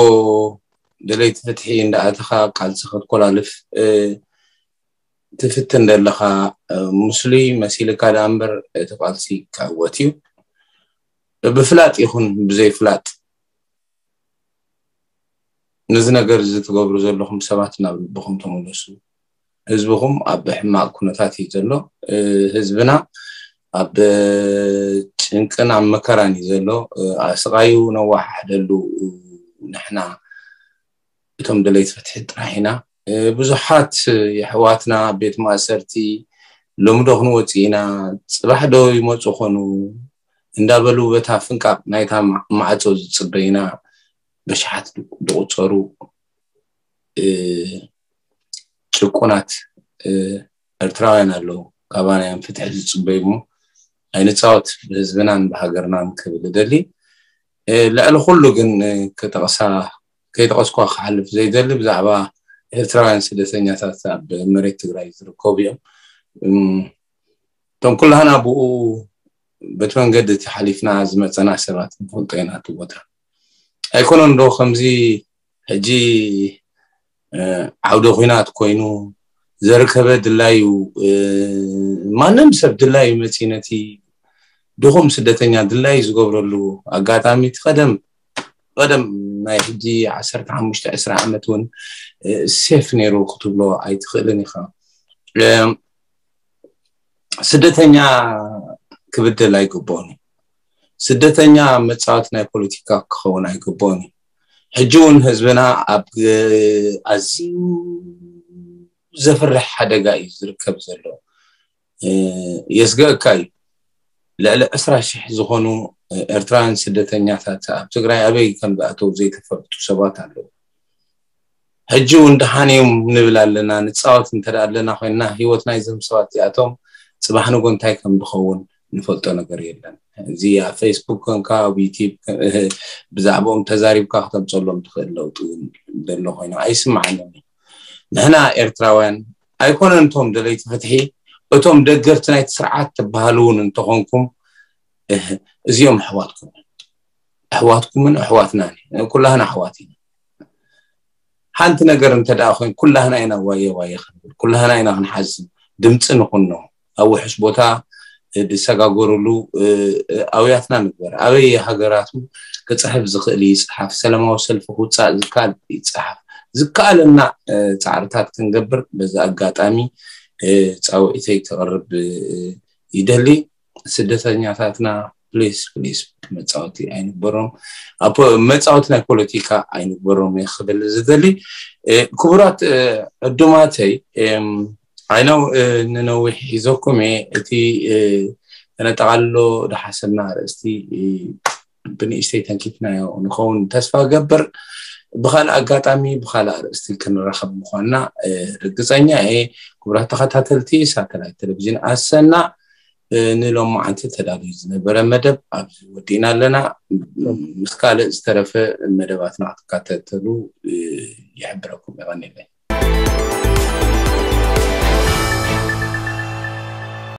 ደለይቲ ፍትሒ እንዳኣተኻ ቃልሲ ክትኮላልፍ ትፍትን ዘለኻ ምስሉይ መሲልካ ደኣ እምበር እቲ ቃልሲ ክዕወት እዩ። ብፍላጥ ይኹን ብዘይፍላጥ ነዚ ነገር እዚ ትገብሩ ዘለኹም ሰባት ናብ ልብኹም ተመለሱ። ህዝብኹም ኣብ ሕማቕ ኩነታት እዩ ዘሎ። ህዝብና ኣብ ጭንቅን ኣብ መከራን እዩ ዘሎ። ስቓዩ ነዋሓሕደሉ። ንሕና እቶም ደለይቲ ፍትሒ ጥራሕ ኢና። ብዙሓት የሕዋትና ቤት ማእሰርቲ ሎሚ ዶ ክንወፅእ ኢና፣ ፅባሕ ዶ ይመፁ ኾኑ እንዳበሉ በታ ፍንቃቕ ናይታ ማዕፆ ዝፅበዩና በሽሓት ዝቑፀሩ ጭቁናት ኤርትራውያን ኣለዉ። ካባና እዮም ፍትሒ ዝፅበዩ እሞ ኣይንፃወት ብህዝብናን ብሃገርናን ክብል እደሊ። ልዕሊ ኩሉ ግን ክጠቕሳ ከይጠቐስኳ ክሓልፍ ዘይደሊ ብዛዕባ ኤርትራውያን ስደተኛታት ኣብ መሬት ትግራይ ዝርከቡ እዮም። እቶም ኩላህና ብኡ በቲ መንገዲ እቲ ሓሊፍና ዝመፀና ሰባት ንፈልጦ ኢና። እቲ ቦታ ኣይኮነን ዶ ከምዚ ሕጂ ዓውደ ኲናት ኮይኑ ዘርከበ ድላዩ፣ ማንም ሰብ ድላዩ መፂ ነቲ ድኹም ስደተኛ ድላዩ ዝገብረሉ ኣጋጣሚ እቲ ቀደም ቀደም ናይ ሕጂ ዓሰርተ ሓሙሽተ ዕስራ ዓመት እውን ሴፍ ነይሩ ክትብሎ ኣይትኽእልን ኢኻ። ስደተኛ ክብደል ኣይግብኦን እዩ። ስደተኛ መፃወቲ ናይ ፖለቲካ ክኸውን ኣይግብኦን እዩ። ሕጂ እውን ህዝብና ኣብ ኣዝዩ ዘፍርሕ ሓደጋ እዩ ዝርከብ ዘሎ። የስገእካ እዩ። ልዕሊ ዕስራ ሽሕ ዝኾኑ ኤርትራውያን ስደተኛታት ኣብ ትግራይ ኣበይ ከም ዝኣተው ዘይተፈልጡ ሰባት ኣለዉ። ሕጂ እውን ደሓን እዮም ንብል ኣለና። ንፃወት እንተ ኣለና ኮይንና ህይወት ናይዞም ሰባት እዚኣቶም ፅባሕ ንጎ እንታይ ከም ዝኸውን ንፈልጦ ነገር የለን። እዚ ኣብ ፌስቡክ ኮንካ ኣብ ዩቲብ ብዛዕባኦም ተዛሪብካ ክተምፀሎም ትኽእል ለውጢ እውን ዘሎ ኮይኑ ኣይስማዓንን። ንሕና ኤርትራውያን ኣይኮነን እቶም ደለይቲ ፍትሒ፣ እቶም ደገፍቲ ናይቲ ስርዓት ትበሃሉ እውን እንተኾንኩም እዚኦም ኣሕዋትኩም ኣሕዋትኩምን ኣሕዋትናን ኩላህና ኣሕዋት ኢና። ሓንቲ ነገር እንተ ደኣ ኮይኑ ኩላህና ኢና ዋየ ዋየ ክንብል፣ ኩላህና ኢና ክንሓዝን፣ ድምፂ ንኹኖ። ኣብ ውሑስ ቦታ ዝሰጋገሩሉ ኣውያትና ንግበር። ኣበይ ሃገራቱ ክፅሕፍ ዝኽእል ይፅሓፍ፣ ሰላማዊ ሰልፊ ክውፃእ ዝከኣል ይፅሓፍ። ዝከኣለና ፃዕርታት ክንገብር በዚ ኣጋጣሚ ፃውዒተይ ክቕርብ ይደሊ። ስደተኛታትና ፕሊስ ፕሊስ መፃወቲ ኣይንግበሮም፣ መፃወቲ ናይ ፖለቲካ ኣይንግበሮም እየ ክብል ዝደሊ። ክቡራት ዕዱማተይ፣ ዓይነው ንነዊሕ ሒዘኩም እየ። እቲ ተነጠቓልሎ ዝሓሰብና ኣርእስቲ ብንእሽተይ ተንኪፍናዮ ንኸውን ተስፋ ገብር። ብካልእ ኣጋጣሚ ብካልእ ኣርእስቲ ክንራኸብ ምኳንና ርግፀኛ እየ። ክቡራት ተኸታተልቲ ሳተላይት ቴሌቪዥን ኣሰና፣ ንሎማዓንቲ ተዳልዩ ዝነበረ መደብ ኣብዚ ወዲእና ኣለና። ምስ ካልእ ዝተረፈ መደባትና ክትከታተሉ ይሕብረኩም። የቐንየለይ።